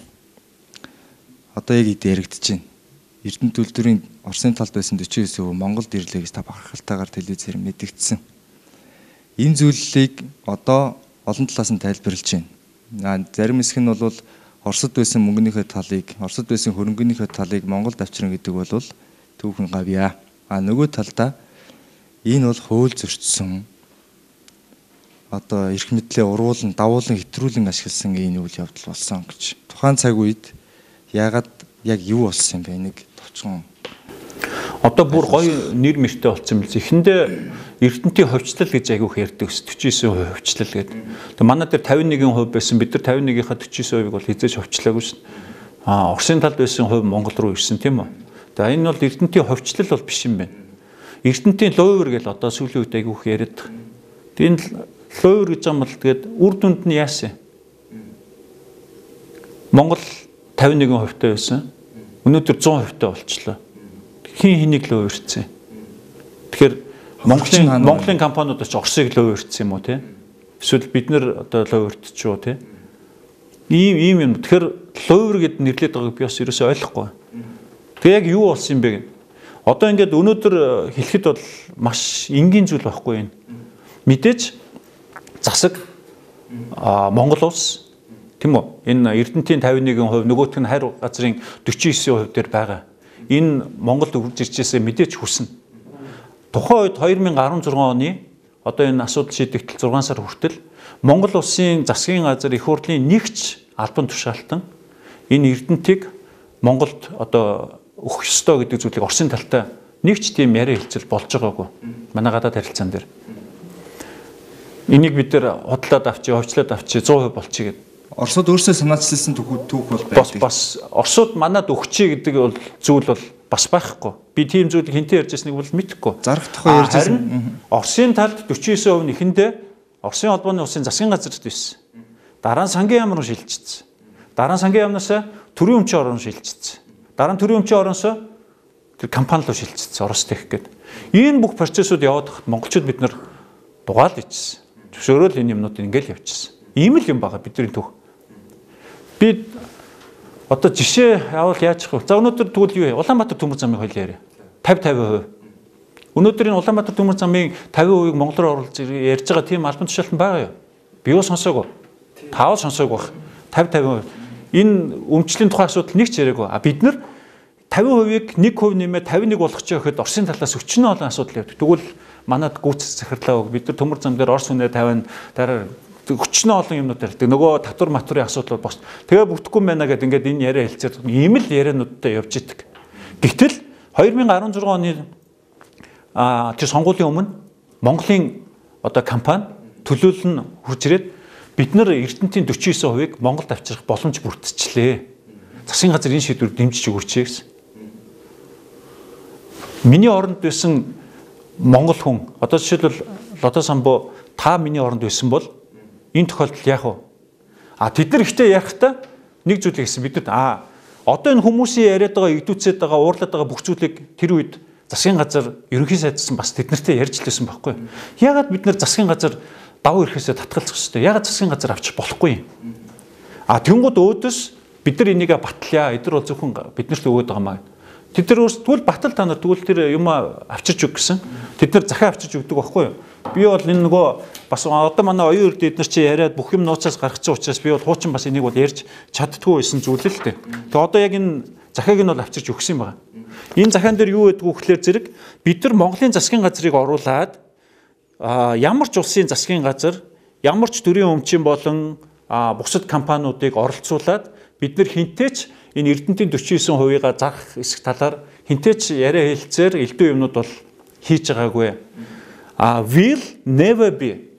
Одоо яг эд яригдж байна. Эрдэнэ төлөвлөрийн Оросын талд байсан 49% Монголд ирлээ гэж та бахархалтайгаар телевизээр мэдэгдсэн. Энэ зүйлийг одоо олон талаас нь тайлбарлаж байна. Зарим хэсэг нь бол Оросд байсан мөнгөнийхөө талыг, Оросд байсан хөрөнгөнийхөө талыг Монголд авчрна гэдэг бол түүхэн гавья. Нөгөө талдаа энэ бол хууль зөрчсөн. Одоо эрх мэдлээ уруулан, давуулан хэтрүүлэн ашигласан энэ үйл явдал болсон гэж. Тухайн цаг үед яагаад яг юу болсон юм бэ? Нэг товчхон. Одоо бүр гоё нэр мэртэй болсон юм л. Эхэндээ Эрдэнтийн ховчлал гэж айгүйх ярьдаг 49% ховчлал гэдэг. Тэгээ манай дээр 51% байсан. Бид нар 51-ийнхаа 49%-ыг бол хизээж ховчлаагүй шин. Оросын талд байсан хувь Монгол руу ирсэн тийм үү? Тэгээ энэ бол Эрдэнтийн ховчлал бол биш юм байна. Эрдэнтийн ловер гэж одоо сүүлийн үед айгүйх яриад. Тэгээ энэ ловер гэж юм бол тэгээд үр дүнд нь яасан? Монгол 51% таа байсан. Өнөөдөр 100% таа болчихлоо. Хин хэнийг л өөрчсөн. Тэгэхээр Монголын компаниуд ч Оросыг л өөрчсөн юм уу те? Эсвэл бид нар одоо л өөрччихөө те? Ийм юм. Тэгэхээр ловер гэд нэрлээд байгааг би бас ерөөсөй ойлгохгүй. Тэгээ яг юу болсон юм бэ гэх. Одоо ингээд өнөөдөр хэлэхэд бол маш энгийн зүйл байхгүй юм. Мэдээж засаг Монгол улс тийм үү? Энэ Эрдэнтийн 51% нөгөөх нь хайр газрын 49% дээр байгаа. Энэ Монголд үрж иржээсээ мэдээж хүснэ. Тухайн үед 2016 оны одоо энэ асуудал шийдэгдэл 6 сар хүртэл Монгол улсын засгийн газар их хурлын нэгч албан тушаалтан энэ Эрдэнтийг Монголд одоо өгөх ёстой гэдэг зүйлийг Оросын талтай нэгч тийм яриа хэлцэл болж байгаагүй. Манай гадаад харилцаан дээр. Энийг бид нэр худлаад авчи, ховчлоод авчи 100% болчих гэдэг. Оросууд өөрсдөө санаачилсан түүх бол байдаг. Бас Оросууд манад өгчий гэдэг бол зүйл бол бас байхгүй. Би тийм зүйлийг хинтээ ярьж байсныг бол мэдэхгүй. Зарах тухай ярьж байсан. Оросын талд 49% нь эхэндээ Оросын холбооны улсын засгийн газарт байсан. Дараа нь сангийн яам руу шилжчихсэн. Дараа нь сангийн яамнаас төрийн өмчийн орон шилжчихсэн. Дараа нь төрийн өмчийн ороноос тэр компани руу шилжчихсэн Орос тех гэдэг. Энэ бүх процессыг яваад хахад монголчууд бид нар дугаал ичсэн. Зөвшөөрөл энэ юмнууд ингээл явчихсан. Ийм л юм байгаа бидний түүх. Би одоо жишээ явал яаж их вэ? За өнөөдөр тэгвэл юу вэ? Улаанбаатар төмөр замын хууль яриа. 50%. Өнөөдөр энэ Улаанбаатар төмөр замын 50%-ийг монголоор оруулж ярьж байгаа тийм албан тушаалтан байгаа юу? Би юу сонсоогүй. Таавал сонсоогүй байх. 50%. Энэ өмчлийн тухай асуудал нэг ч яриаггүй. Бид нар 50%-ийг 1% нэмээ 51 болгох ч гэхэд Оросын талаас өчнөө олон асуудал явдаг. Тэгвэл манад гүйцэс захирлаа үг. Бид нар төмөр зам дээр Орос үнэ 50 дараа өчнөө олон юмнууд ярьдаг. Нөгөө татвар матурын асуудал бос. Тэгээ бүтэхгүй байна гэдэг ингээд энэ яриа хэлцээд ийм л яриануудтай явж идэг. Гэтэл 2016 оны тэр сонгуулийн өмнө Монголын одоо компани төлөөлөл нь хурж ирээд бид нар Эрдэнэтийн 49%-ийг Монголд авчрах боломж бүрдчихлээ. Засгийн газар энэ шийдвэрийг дэмжиж өгөөч гэсэн. Миний оронд байсан Монгол хүн одоо жишээлбэл Лодо Самбо та миний оронд байсан бол энэ тохиолдолд яах вэ? Тэд нар ихтэй ярихдаа нэг зүйлийг хэлсэн. Бид нар одоо энэ хүмүүсийн яриад байгаа, идүүцээд байгаа, уурлаад байгаа бүх зүйлийг тэр үед засгийн газар ерөнхий сайдсан бас тэднэртэй ярьж лээсэн байхгүй. Яагаад бид нар засгийн газар давуу эрхээсээ татгалзах хэрэгтэй? Яагаад засгийн газар авчих болохгүй юм? Тэнгууд өөдөөс бид нар энийг батлая. Эдгээр бол зөвхөн биднэрт өгөөд байгаа маа. Тэд нар өөрсдөө батал та нар тэгвэл тэр юм авчирч өг гэсэн. Тэд нар захиа авчирч өгдөг байхгүй юу? Би бол энэ нөгөө бас одоо манай оюун эрд эднэр чи яриад бүх юм нууцаас гаргацсан учраас би бол хуучин бас энийг бол ярьж чаддгүй байсан зүйл л дээ. Тэгээ одоо яг энэ захиаг нь бол авчирч өгсөн юм байна. Энэ захиан дээр юу байдг вэ гэхээр зэрэг бид нар Монголын засгийн газрыг оруулаад ямар ч улсын засгийн газар, ямар ч төрийн өмчийн болон бусад компаниудыг оролцуулаад бид нар хинтээч энэ Эрдэнэтийн 49%-ийг зарах эсэх талаар хинтээч яриа хэлцээр элдв юмнууд бол хийж байгаагүй. Will never be.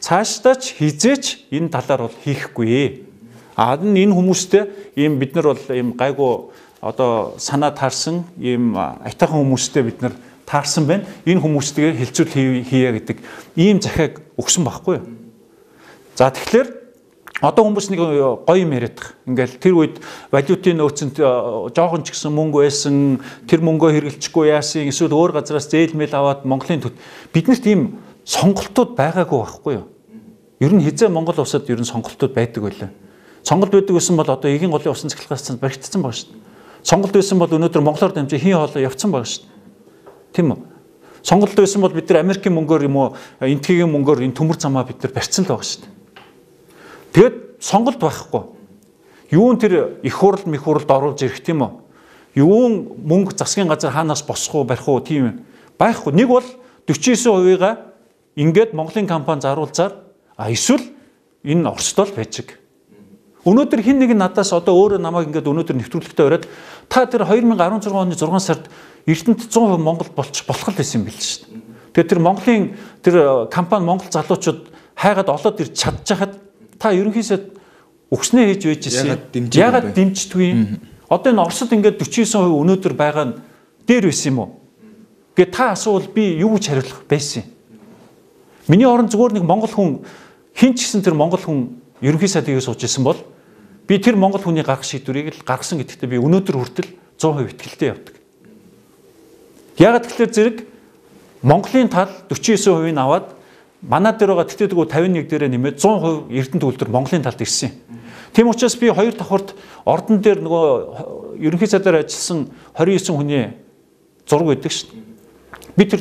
Цаашдаач хизээч энэ талаар бол хийхгүй. Энэ хүмүүстэй ийм бид нар бол ийм гайгүй одоо санаа таарсан ийм айтайхан хүмүүстэй бид нар таарсан байна. Энэ хүмүүстэйгээ хилцүүл хийе гэдэг ийм захиаг өгсөн байхгүй юу? За тэгэхээр одоо хүмүүс нэг гоё юм яриад байгаа. Ингээл тэр үед валютын нөөцөнд жоохон ч гэсэн мөнгө байсан, тэр мөнгөө хэрэглэчихгүй яасан, эсвэл өөр газараас зээлмэл аваад Монголын биднэрт ийм сонголтууд байгаагүй байхгүй юу? Ер нь хизээ Монгол улсад ер нь сонголтууд байдаг байлаа. Сонголт байдаг байсан бол одоо Эгийн голын усан цахилгаан цанд баригдсан байгаа шүү дээ. Сонголт байсан бол өнөөдөр Монголоор дамжиж хийн хоолой явцсан байгаа шүү дээ. Тийм үү? Сонголт байсан бол бид нар Америкийн мөнгөөр юм уу, энтгийн мөнгөөр энэ төмөр замаа бид нар барьцсан л байгаа шүү дээ. Тэгэд сонголт байхгүй. Юун тэр их хурал мөхөрлд оруулж ирэх тийм үү? Юун мөнгө засгийн газар хаанаас босох уу, барих уу тийм юм байхгүй. Нэг бол 49%-ийг ингээд Монголын компани заруулзаар эсвэл энэ Оросдол байж байгаа. Өнөөдөр хин нэг надаас одоо өөрөө намайг ингээд өнөөдөр нэвтрүүлэгтээ ороод та тэр 2016 оны 6 сард Эрдэнэт 100% Монгол болох л байсан юм биш шүү дээ. Тэгээд тэр Монголын тэр компани Монгол залуучууд хайгаад олоод ирж чадчихад та ерөнхийдөө өгснээ хийж байж ирсэн. Ягаад дэмждэггүй юм? Одоо энэ Оросд ингээд 49% өнөөдөр байгаа нь дээр байсан юм уу? Гэ та асуувал би юу гэж хариулах байсан юм? Миний орон зүгээр нэг монгол хүн хин ч гэсэн тэр монгол хүн ерөнхий сайдыг сууж исэн бол би тэр монгол хүний гаргах шийдвэрийг л гаргасан гэдэгтээ би өнөөдөр хүртэл 100% итгэлтэй явдаг. Ягаад гэвэл зэрэг Монголын тал 49%-ийг аваад манай дээр байгаа тэтгэлгүй 51 дээрээ нэмээд 100% Эрдэнэт үйлдвэр Монголын талд ирсэн. Тийм учраас би хоёр давхарт ордон дээр нөгөө ерөнхий сайдаар ажилласан 29 хүний зураг өгдөг шүү дээ. Би тэр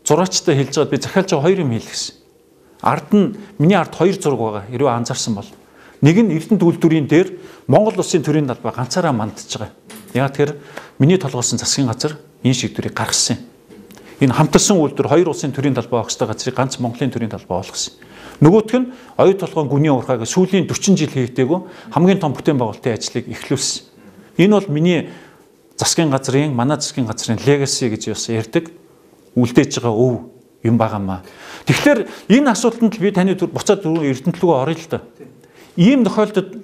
зураачтай хэлж байгаад би захиалж байгаа хоёр юм хэлгэсэн. Ард нь миний ард хоёр зураг байгаа. Хэрвээ анзаарсан бол нэг нь Эрдэнэт үйлдвэрийн дээр Монгол улсын төрийн талбай ганцаараа мандж байгаа. Яг тэр миний толгойсон засгийн газар энэ шийдвэрийг гаргасан. Энэ хамтарсан үйлдвэр хоёр улсын төрийн талбай огцтой газрыг ганц Монголын төрийн талбай болгосон. Нөгөөх нь оюу толгойн гүний урхааг сүүлийн 40 жил хийгдээгүй хамгийн том бүтээн байгуулалтын ажлыг эхлүүлсэн. Энэ бол миний засгийн газрын манай засгийн газрын legacy гэж бас ярьдаг үлдээж байгаа өв юм байгаамаа. Тэгэхээр энэ асуудалд би таны буцаад Эрдэнэт рүү орё л да. Ийм тохиолдолд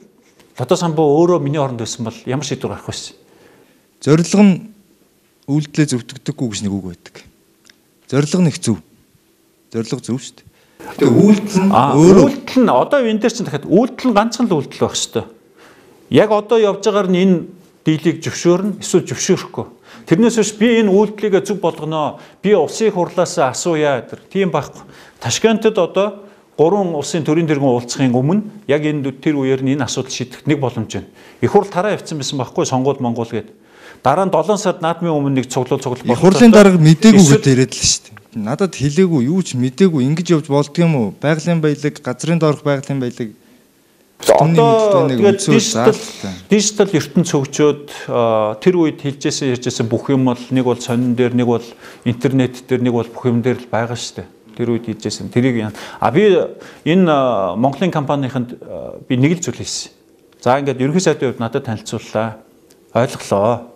Лодо Самбо өөрөө миний оронд байсан бол ямар шийдвэр гарах вэ? Зорилго нь үйлдэлээ зөвтгдөггүй гэж нэг үг байдаг. Зорилго нэг зөв. Зорилго зөв шүү дээ. Тэгээ үйлдэл нь одоо энэ дээр чинь дахиад үйлдэл нь ганцхан л үйлдэл байх шүү дээ. Яг одоо явж байгаагаар нь энэ дийлийг зөвшөөрнө эсвэл зөвшөөрөхгүй. Тэрнээс биш би энэ үйлдэлийг зөв болгоно. Би улсын их хурлаас асууя гэдэг. Тийм байхгүй. Ташкентод одоо 3 улсын төрийн тэргүүн уулзахын өмнө яг энэ тэр үеэр нь энэ асуудал шийдэх нэг боломж байна. Их хурл тараа явцсан байсан байхгүй сонгуул Монгол гэдэг. Дараа нь 7 сард наадмын өмнө нэг цуглуул болох. Их хурлын дарга мдээгүй гэж яриад л шүү дээ. Надад хэлээгүй юу ч мдээгүй ингэж явж болдго юм уу? Байгалийн баялаг, газрын доорх байгалийн баялаг одоо тэгээд дижитал ертөнц хөгжөөд тэр үед хэлжсэн ярьжсэн бүх юм бол нэг бол сонин дээр, нэг бол интернет дээр, нэг бол бүх юм дээр л байгаа шүү дээ. Тэр үед хэлжсэн. Тэрийг би энэ Монголын компанийханд би нэг л зүйл хэлсэн. За ингээд ерөнхий сайдын хувьд надад танилцууллаа. Ойлголоо.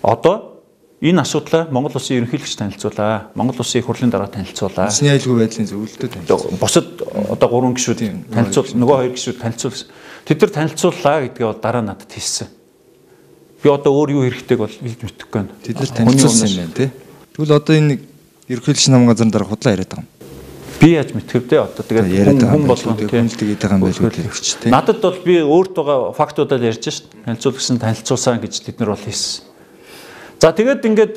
Одоо энэ асуудлаа Монгол Улсын ерөнхийлөгч танилцуулаа. Монгол Улсын их хурлын дараа танилцуулаа. Улсын аюулгүй байдлын зөвлөлтөд танилцуулаа. Бусад одоо 3 гишүүд танилцуул, нөгөө 2 гишүүд танилцуулсан. Тэд нар танилцууллаа гэдгээ бол дараа надад хэлсэн. Би одоо өөр юу хэрэгтэйг бол хэлж мэдэхгүй байна. Тэд нар танилцуулсан юм байна тий. Тэгвэл одоо энэ ерөнхийлөгч нам газрын дараа худлаа яриад байгаа юм. Би яаж мэдхэр дээ одоо тэгээд хүн болгоно тийм тэгээд байгаа юм байлгүй тий. Надад бол би өөртөө фактуудаар ярьж шít. Танилцуулсан танилцуулсан гэж тэд нар бол хэлсэн. За тэгээд ингээд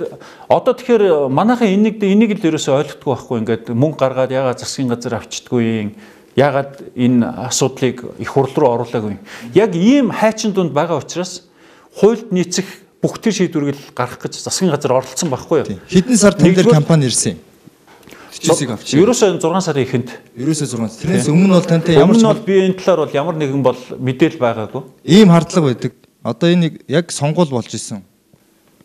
одоо тэгэхээр манайхан энийг л ерөөсөй ойлгохгүй байхгүй ингээд мөнгө гаргаад ягаад засгийн газар авчдаггүй юм. Ягаад энэ асуудлыг их хурл руу оруулаагүй юм. Яг ийм хайчин дунд байгаа учраас хуульд нийцэх бүх төр шийдвэрийг гаргах гэж засгийн газар оролцсон байхгүй юу? Хэдэн сар тэн дээр кампани ирсэн юм. Төчөөсийг авчих. Ерөөсөө 6 сарын эхэнд. Ерөөсөө 6. Тэрнээс өмнө бол тантай ямар ч би энэ талаар бол ямар нэгэн бол мэдээл байгаагүй. Ийм хардлага байдаг. Одоо энийг яг сонгуул болж исэн.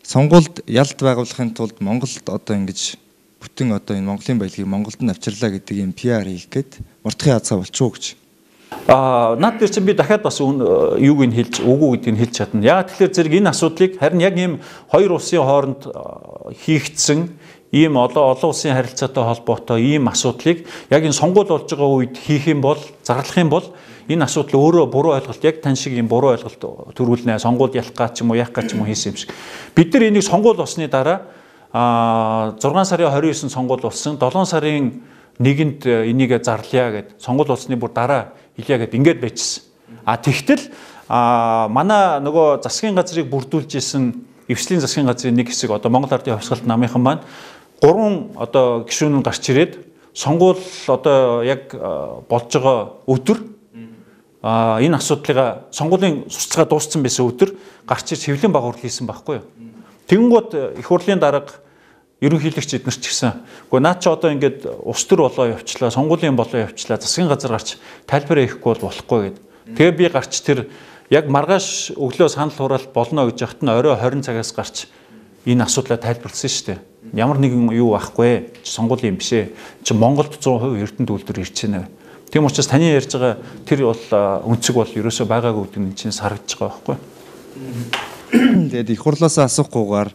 Сонгуульд ялд байгуулахын тулд Монголд одоо ингэж бүтэн одоо энэ Монголын баялагийг Монголд нь авчирлаа гэдэг юм PR хийх гээд мартахын азгаа болчихоо гэж. Наад дээр чинь би дахиад бас юуг нь хэлж үгүй гэдгийг хэлж чадна. Яг тэгэхээр зэрэг энэ асуудлыг харин яг ийм хоёр улсын хооронд хийгдсэн ийм олон улсын харилцаатай холбоотой ийм асуудлыг яг энэ сонгуул болж байгаа үед хийх юм бол зарлах юм бол энэ асуудал өөрөө буруу ойлголт яг тань шиг ийм буруу ойлголт төрүүлнэ. Сонгуульд ялах гэж юм уу яах гэж юм уу хийсэн юм шиг. Бид нар энийг сонгуул болсны дараа 6 сарын 29-нд сонгуул болсон. 7 сарын 1-нд энийг зарлая гэд сонгуул болсны бүр дараа хэлье гэд ингээд байжсэн. Тэгтэл манай нөгөө засгийн газрыг бүрдүүлж исэн эвслийн засгийн газрын нэг хэсэг одоо Монгол Ардын Хувьсгалт намынхан маань 3 одоо гишүүн гарч ирээд сонгуул одоо яг болж байгаа өдөр энэ асуудлыг сонгуулийн сурталчилгаа дууссан байсан өдөр гарч ирж хэвлэн багуур хийсэн байхгүй юу. Тэгэнгүүт их хурлын дарга ерөнхийлөгч эднэр ч гэсэн үгүй наа чи одоо ингээд ус төр болоо явчлаа, сонгуулийн болоо явчлаа, засгийн газар гарч тайлбараа хийхгүй бол болохгүй гэд. Тэгээ би гарч тэр яг маргааш өглөө санал хураалт болно гэж яхад нь орой 20 цагаас гарч энэ асуудлаа тайлбарласан шүү дээ. Ямар нэгэн юу байхгүй, сонгуулийн юм бишээ. Чи Монголд 100% эрдэнэ үйлдвэр ирж байна. Тийм учраас таны ярьж байгаа тэр бол өнцөг бол ерөөсөө байгаагүй гэдэг нь чинь сарагдж байгаа байхгүй. Тэгээд их хурлаас асуухгүйгээр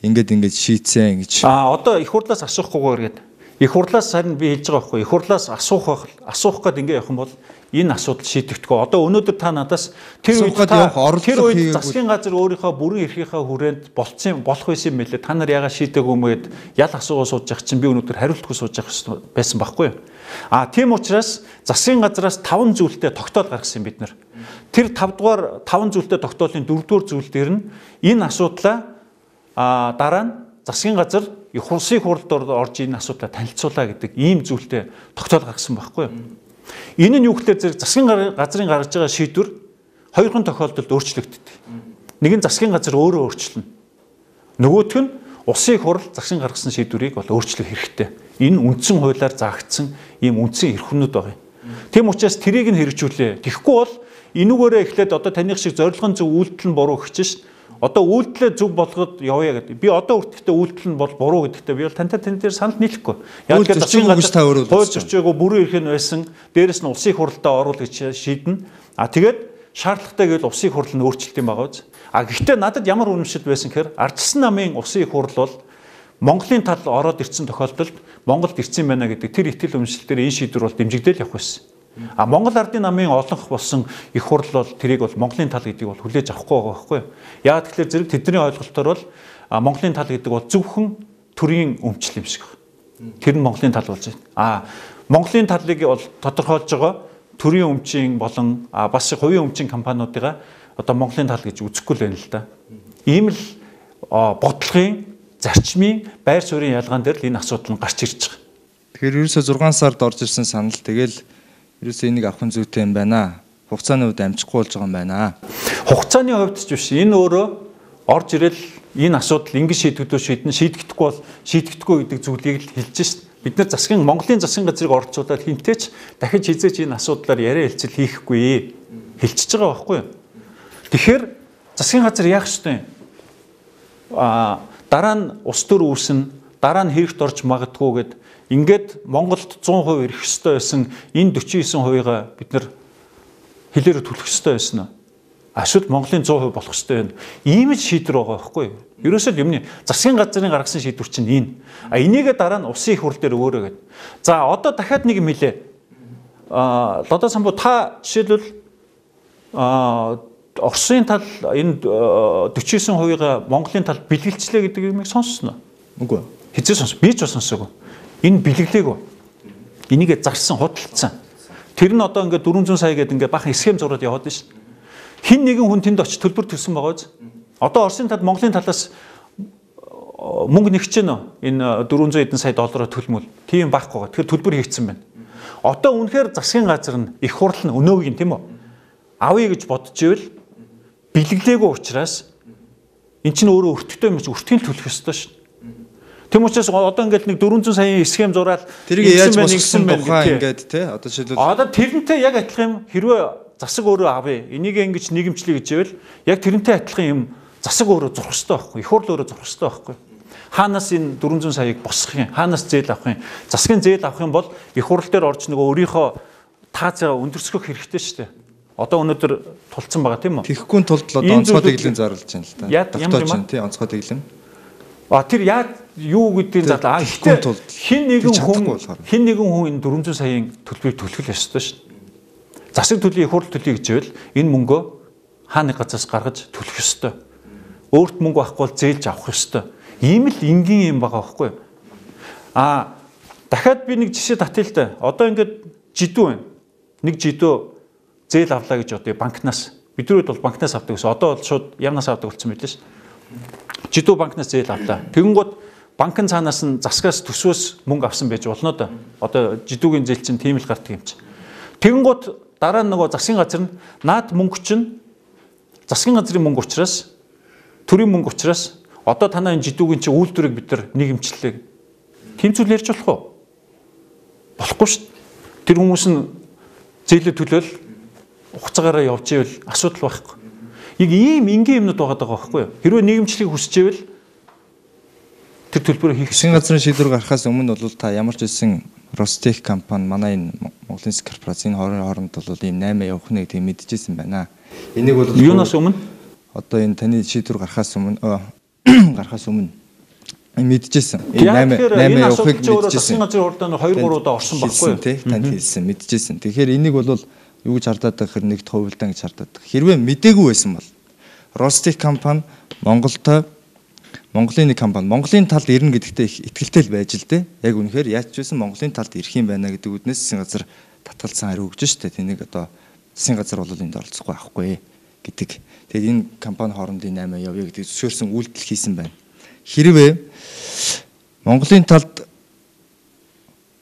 ингээд шийдсэн гэж. Одоо их хурлаас асуухгүйгээр гээд их хурлаас харин би хэлж байгаа байхгүй. Их хурлаас асуух гээд ингээд явах юм бол энэ асуудал шийдэгдэхгүй. Одоо өнөөдөр та надаас тэр үед засгийн газар өөрийнхөө бүрэн эрхийнхээ хүрээнд болох байсан юм билээ. Та нар яагаад шийдээгүй юм гээд ял асуугаа сууж явах чинь би өнөөдөр хариултгүй сууж явах байсан байхгүй юу? Тийм учраас засгийн газраас 5 зүйлтэй тогтоол гаргасан бид нар. Тэр 5 зүйлтэй тогтоолын 4-р зүйл дээр нь энэ асуудлаа дараа нь засгийн газар их улсын хурлд орж энэ асуудлаа танилцуулаа гэдэг ийм зүйлтэй тогтоол гаргасан байхгүй юу? Энэ нь юу гэхээр зэрэг засгийн газрын гаргаж байгаа шийдвэр хоёрхан тохиолдолд өөрчлөгддөг. Нэг нь засгийн газар өөрөө өөрчлөнө. Нөгөөх нь улсын их хурл засгийн гаргасан шийдвэрийг бол өөрчлөх хэрэгтэй. Энэ үндсэн хуулиар заагдсан ийм үндсэн эрх хүнүүд байгаа юм. Тийм учраас тэрийг нь хэрэгжүүлээ. Тэгэхгүй бол энүүгээрээ эхлээд одоо таних шиг зорилгын зөв үйлдэл нь буруу гэж шин. Одоо үйлдэлээ зөв болгоод явъя гэдэг. Би одоо үргэлжлээ үйлдэл нь бол буруу гэдэгтээ би бол тань дээр санал нийлэхгүй. Яг гэж засгийн газар хууль зөрчөөгүй бүрэн эрх нь байсан. Дээрэс нь улсын хурлдаа оруул гэж шийднэ. Тэгээд шаардлагатай гэвэл улсын хурл нь өөрчлөлт юм байгаа биз. Гэхдээ надад ямар үнэмшил байсан гэхээр Ардчилсан намын улсын их хурл бол Монголын тал ороод ирсэн тохиолдолд Монголд ирсэн байна гэдэг тэр итгэл үнэмшилтээр энэ шийдвэр бол дэмжигдэл явах байсан. Монгол Ардын намын олонх болсон их хурл бол тэрийг бол Монголын тал гэдгийг бол хүлээж авахгүй байгаа байхгүй юу? Яг тэгэхээр зэрэг тэдний ойлголтоор бол Монголын тал гэдэг бол зөвхөн төрийн өмчл юм шиг байна. Тэр нь Монголын тал болж байна. Монголын талыг бол тодорхойлж байгаа төрийн өмчийн болон бас хувийн өмчийн компаниудыгаа одоо Монголын тал гэж үзэхгүй л байна л да. Ийм л бодлогын зарчмын байр суурийн ялгаан дээр л энэ асуудал нь гарч ирж байгаа. Тэгэхээр ерөөсөө 6 сард орж ирсэн санал тэгэл ерөөсөө энийг авах зүйтэй юм байна. Хугацааны үед амжихгүй болж байгаа юм байна. Хугацааны хувьд ч биш. Энэ өөрөө орж ирэл энэ асуудал ингэж шийдэгдүү шийдэгдэхгүй бол шийдэгдэхгүй гэдэг зүйлийг л хэлж шít. Бид нар Монголын засгийн газрыг орцуулаад хинтээч дахиж хизээч энэ асуудлаар яриа хэлцэл хийхгүй хэлчихэж байгаа байхгүй юу? Тэгэхээр засгийн газар яах ёстой юм? Дараа нь ус төр үүснэ, дараа нь хэрэгт орж магадгүй гэд ингээд Монголд 100% ирэх ёстой байсан энэ 49%-га бид нар хэлээрээ түлхэх ёстой байсан нь. Эсвэл Монголын 100% болох ёстой байна. Ийм л шийдвэр байгаа байхгүй юу? Ерөөсөө л юмны засгийн газрын гаргасан шийдвэр чинь энэ. Энийгээ дараа нь улсын их хурл дээр өгөөрэй гэдэг. За одоо дахиад нэг юм хэлээ. Лодо самбуу та жишээлбэл Оросын тал энэ 49%-га Монголын тал бэлгэлчлээ гэдэг юмыг сонссноо. Үгүй. Хэзээ сонс? Би ч бас сонсоогүй. Энэ бэлгэлээгүй. Энийгээ зарсан, худалдсан. Тэр нь одоо ингээд 400 сая гэдэг ингээд бахан схем зураад яваад байна шүү. Хин нэгэн хүн тэнд очиж төлбөр төлсөн байгаа биз? Одоо Оросын тал Монголын талаас мөнгө нэгч гэнэ энэ 400 эдэн сая доллараар төлмөл. Тийм байхгүй. Тэгэхээр төлбөр хийгдсэн байна. Одоо үнэхээр засгийн газар нь их хурл нь өнөөгийн тийм үү? Авъя гэж бодож ивэл бэлгэлээгүй учраас эн чинь өөрөө өртөгтэй юм чи өртгийн төлөх ёстой шүү. Тэм учраас одоо ингээд нэг 400 саяын схем зураад тэрийг яаж босгосон тухай ингээд тий одоо жишээлбэл одоо тэрнтэй яг адилхан юм хэрвээ засаг өөрөө авъя энийг ингэж нийгэмчлэе гэж ивэл яг тэрнтэй адилхан юм засаг өөрөө зурх ёстой байхгүй их хурл өөрөө зурх ёстой байхгүй хаанаас энэ 400 саяыг босгох юм хаанаас зээл авах юм засгийн зээл авах юм бол их хурл дээр орж нөгөө өөрийнхөө таацаа өндөрсгөх хэрэгтэй шүү дээ. Одоо өнөөдөр тулцсан байгаа тийм үү? Тэхгүй тулд одоо онцгой дэглэм зарлж байна л да. Давтаач юм тий онцгой дэглэм. Тэр яг юу гэдгийг зарлаа. Гэхдээ хин нэгэн хүн энэ 400 саяын төлбөрийг төлөх ёстой шүү. Засаг төлөв их хурл төлөе гэж байвал энэ мөнгөө хааны газраас гаргаж төлөх ёстой. Өөрт мөнгө авахгүй бол зээлж авах ёстой. Ийм л энгийн юм байгаа байхгүй юу? Дахиад би нэг жишээ татъя л да. Одоо ингээд жидүү байна. Нэг жидүү зээл авлаа гэж одоо банкнаас бидрүүд бол банкнаас авдаг гэсэн. Одоо бол шууд ямнаас авдаг болсон байлээ шүү. Жидүү банкнаас зээл авлаа. Тэгэнгүүт банкн цаанаас нь засгаас төсвөөс мөнгө авсан байж болно да. Одоо жидүүгийн зээл чинь тийм л гардаг юм чи. Тэгэнгүүт дараа нь нөгөө засгийн газар нь наад мөнгө чинь засгийн газрын мөнгө учраас төрийн мөнгө учраас одоо танаа энэ жидүүгийн чи үйлдвэрийг бид нар нийгэмчлээ. Тийм зүйл ярьж болох уу? Болохгүй шүү. Тэр хүмүүс нь зээлээ төлөөл хугацаагаараа явж ивэл асуудал байхгүй. Яг ийм энгийн юмнууд байгаа байхгүй юу? Хэрвээ нийгэмчлэгийг хүсэж ивэл тэр төлбөрөө хийх. Засгийн газрын шийдвэр гарахаас өмнө бол та ямар ч хэлсэн Ростех компани манай энэ Монголын корпорацийн хооронд бол ийм 8 явах нэг тийм мэдчихсэн байна. Энийг бол юунаас өмнө? Одоо энэ таны шийдвэр гарахаас өмнө мэдчихсэн. Энэ 8 явахыг мэдчихсэн. Засгийн газрын хурдаа 2-3 удаа орсон байхгүй юу? Танд хэлсэн мэдчихсэн. Тэгэхээр энийг бол юу гэж хардаад байгаа хэрэг нэгт хувилдан гэж хардаад байгаа. Хэрвээ мдээгүй байсан бол Ростех компани Монголын нэг компани Монголын талд ирнэ гэдэгтээ их итгэлтэй л байж л дээ. Яг үнэхээр яаж ч байсан Монголын талд ирэх юм байна гэдэг үднээс засгийн газар татгалзсан хариу өгч штэ. Тэнийг одоо засгийн газар бол энд оролцохгүй авахгүй гэдэг. Тэгээд энэ компани хоорондын 8 явъя гэдэг зөвшөөрсөн үйлдэл хийсэн байна. Хэрвээ Монголын талд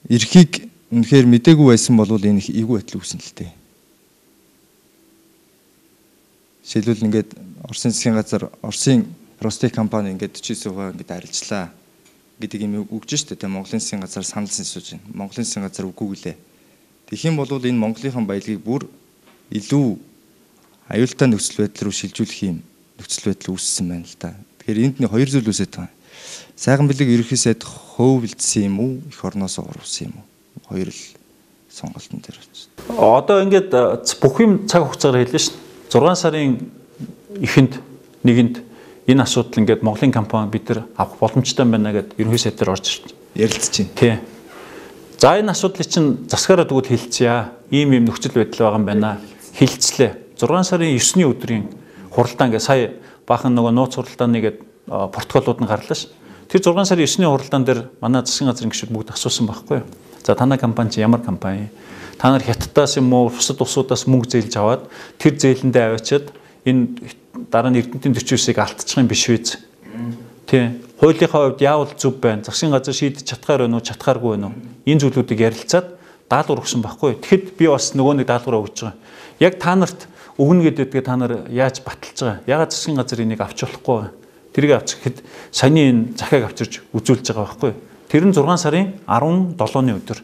ирэхийг үнэхээр мдээгүй байсан бол энэ эвгүй байдал үүснэ л дээ. Жишээлбэл ингээд Оросын засгийн газар Оросын Ростех компани ингээд 49% ингээд арилжлаа гэдэг юм өгж штэ. Тэгээ Монголын засгийн газар санал сонсож байна. Монголын засгийн газар үгүй гэлээ. Тэгэх юм бол энэ Монголынхон баялагийг бүр илүү аюултай нөхцөл байдал руу шилжүүлэх юм нөхцөл байдал үүссэн байна л да. Тэгэхээр энд нэг хоёр зүйл үүсэж байгаа. Сайхан бэлэг ерөнхий сайд хөвөлдсөн юм уу? Эх орноос урвсан юм уу? Хоёр л сонголтын дээр байна. Одоо ингээд бүх юм цаг хугацаагаар хэллээ шүү. 6 сарын эхэнд нэгэнд энэ асуудал ингээд Монголын компани бид нар авах боломжтой байна гэдээ ерөнхий сайд дээр орж ярилцж байна. Тий. За энэ асуудлыг чинь засгаараа тэгвэл хэлцъя. Ийм нөхцөл байдал байгаа юм байна. Хэлцлээ. 6 сарын 9-ний өдрийн хуралдаа ингээд сая баахан нөгөө нууц хуралдааны гээд протоколууд нь гарлаа ш. Тэр 6 сарын 9-ний хуралдаан дээр манай засгийн газрын гишүүд бүгд асуусан байхгүй юу? За танай компани чи ямар компани? Та нар хятадаас юм уу бусад улсуудаас мөнгө зээлж аваад тэр зээлэндээ аваачаад энэ дараа нь Эрдэнэтийн 49-ыг алдчих юм биш үү? Тий. Хуулийнхаа хувьд яавал зөв байна? Засгийн газар шийдэж чадхаар байна уу, чадхааргүй байна уу? Энэ зүйлүүдийг ярилцаад даалгавар өгсөн байхгүй юу? Тэгэхэд би бас нөгөө нэг даалгавраа өгч байгаа. Яг та нарт өгнө гэдэгтээ та нар яаж баталж байгаа? Ягаад засгийн газар энийг авч болохгүй вэ? Тэрийг авчих гэхэд саяны энэ захиаг авчирч үзүүлж байгаа байхгүй юу? Тэр нь 6 сарын 17-ны өдөр.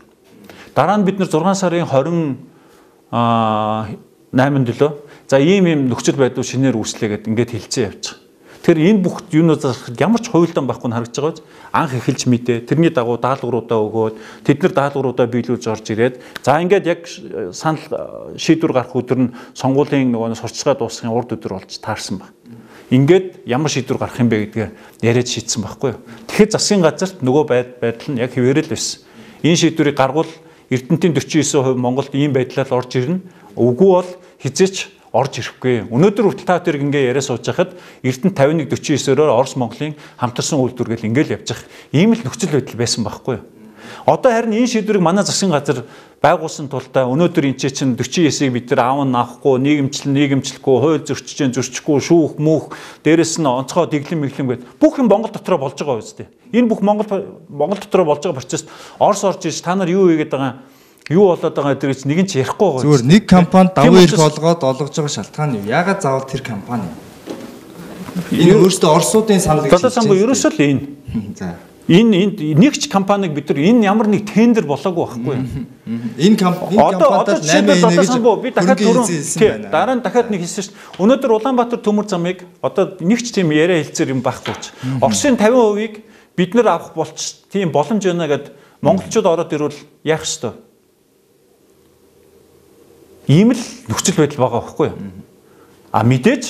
Дараа нь бид нар 6 сарын 28-нд лөө. За ийм нөхцөл байдал шинээр үүслээ гэдээ ингээд хэлцээ явчих. Тэгэхээр энэ бүх юунууд зарахад ямар ч хуйлдаан байхгүй нь харагдаж байгаа биз. Анх эхэлж мэдээ. Тэрний дагуу даалгавруудаа өгөөд тэд нар даалгавруудаа биелүүлж орж ирээд за ингээд яг санал шийдвэр гарах өдөр нь сонгуулийн нөгөө сурчлагаа дуусгахын урд өдөр болж таарсан баг. Ингээд ямар шийдвэр гарах юм бэ гэдгээ яриад шийдсэн байхгүй юу. Тэгэхээр засгийн газарт нөгөө байдал нь яг хэвээрэл байсан. Энэ шийдвэрийг гаргуул Эрдэнэтийн 49% Монголд ийм байдлаар орж ирнэ. Үгүй бол хизээч орж ирэхгүй. Өнөөдөр хүртэл та тэр ингээ яриа сууж байхад Эрдэнэт 51-49-оор Орос Монголын хамтарсан үйлдвэр гэл ингээл явж байгаа. Ийм л нөхцөл байдал байсан байхгүй юу. Одоо харин энэ шийдвэрийг манай засгийн газар байгуулсан тулдаа өнөөдөр энэ чинь 49-ийг бид нар аав нь авахгүй, нийгэмчлэхгүй, хууль зөрчихгүй, шүүх, мөнх, дээрэс нь онцгой дэглэм мэглэм гэдэг бүх юм Монгол дотроо болж байгаа үстэй. Энэ бүх Монгол дотроо болж байгаа процесс Орос орж иж та нар юу хийгээд байгаа юу болоод байгаа гэдгийг нэг нь ч ярихгүй байгаа. Зүгээр нэг компанид давуу эрх олгоод олгож байгаа шалтгаан юу? Яагаад заавал тэр компани? Энэ өөрөөсөө Оросуудын саналыг шийдсэн. Самбуу ерөөсөө л энэ. За. Энэ нэгч компаниг бид нар энэ ямар нэг тендер болоогүй байхгүй юу? Энэ компанид 8 би дахиад түрүүн дараа нь дахиад нэг хэлсэн шүү дээ. Өнөөдөр Улаанбаатар төмөр замыг одоо нэгч тийм яриа хэлцээр юм байхгүй ч. Оросын 50%-ийг бид нар авах болч тийм боломж байна гэд монголчууд ороод ирвэл яах ёстой? Ийм л нөхцөл байдал байгаа байхгүй юу? Мэдээж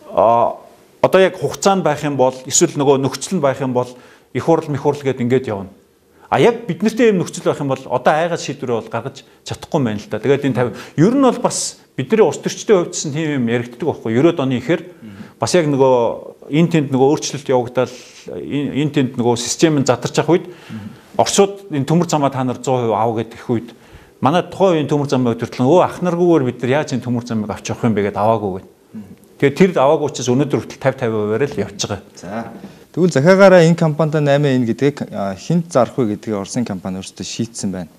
одоо яг хугацаанд байх юм бол эсвэл нөгөө нөхцөл нь байх юм бол их хурл гэд ингээд явна. Яг бид нартэй юм нөхцөл байх юм бол одоо айгаад шийдвэрээ бол гаргаж чадахгүй байна л да. Тэгээд энэ 50 ер нь бол бас бидний улс төрчдийн хувьд ч тийм юм яригддаг байхгүй. 90-ад оны ихээр бас яг нөгөө энэ тэнд нөгөө өөрчлөлт явагдал энэ тэнд нөгөө систем нь задарч явах үед Оросууд энэ төмөр замаа та нар 100% аав гэдэг их үед манай тухайн үеийн төмөр замын өдөртлөн ах наргүйгээр бид нар яаж энэ төмөр замыг авч явах юм бэ гэдээ аваагүй гэв. Тэгээд тэр аваагүй учраас өнөөдөр хүртэл 50-50%-аар л явж байгаа. За. Тэгвэл захиагаараа энэ компанид 8 гэдгийг хинт зарах вэ гэдгийг Оросын компани өөрсдөө шийдсэн байна.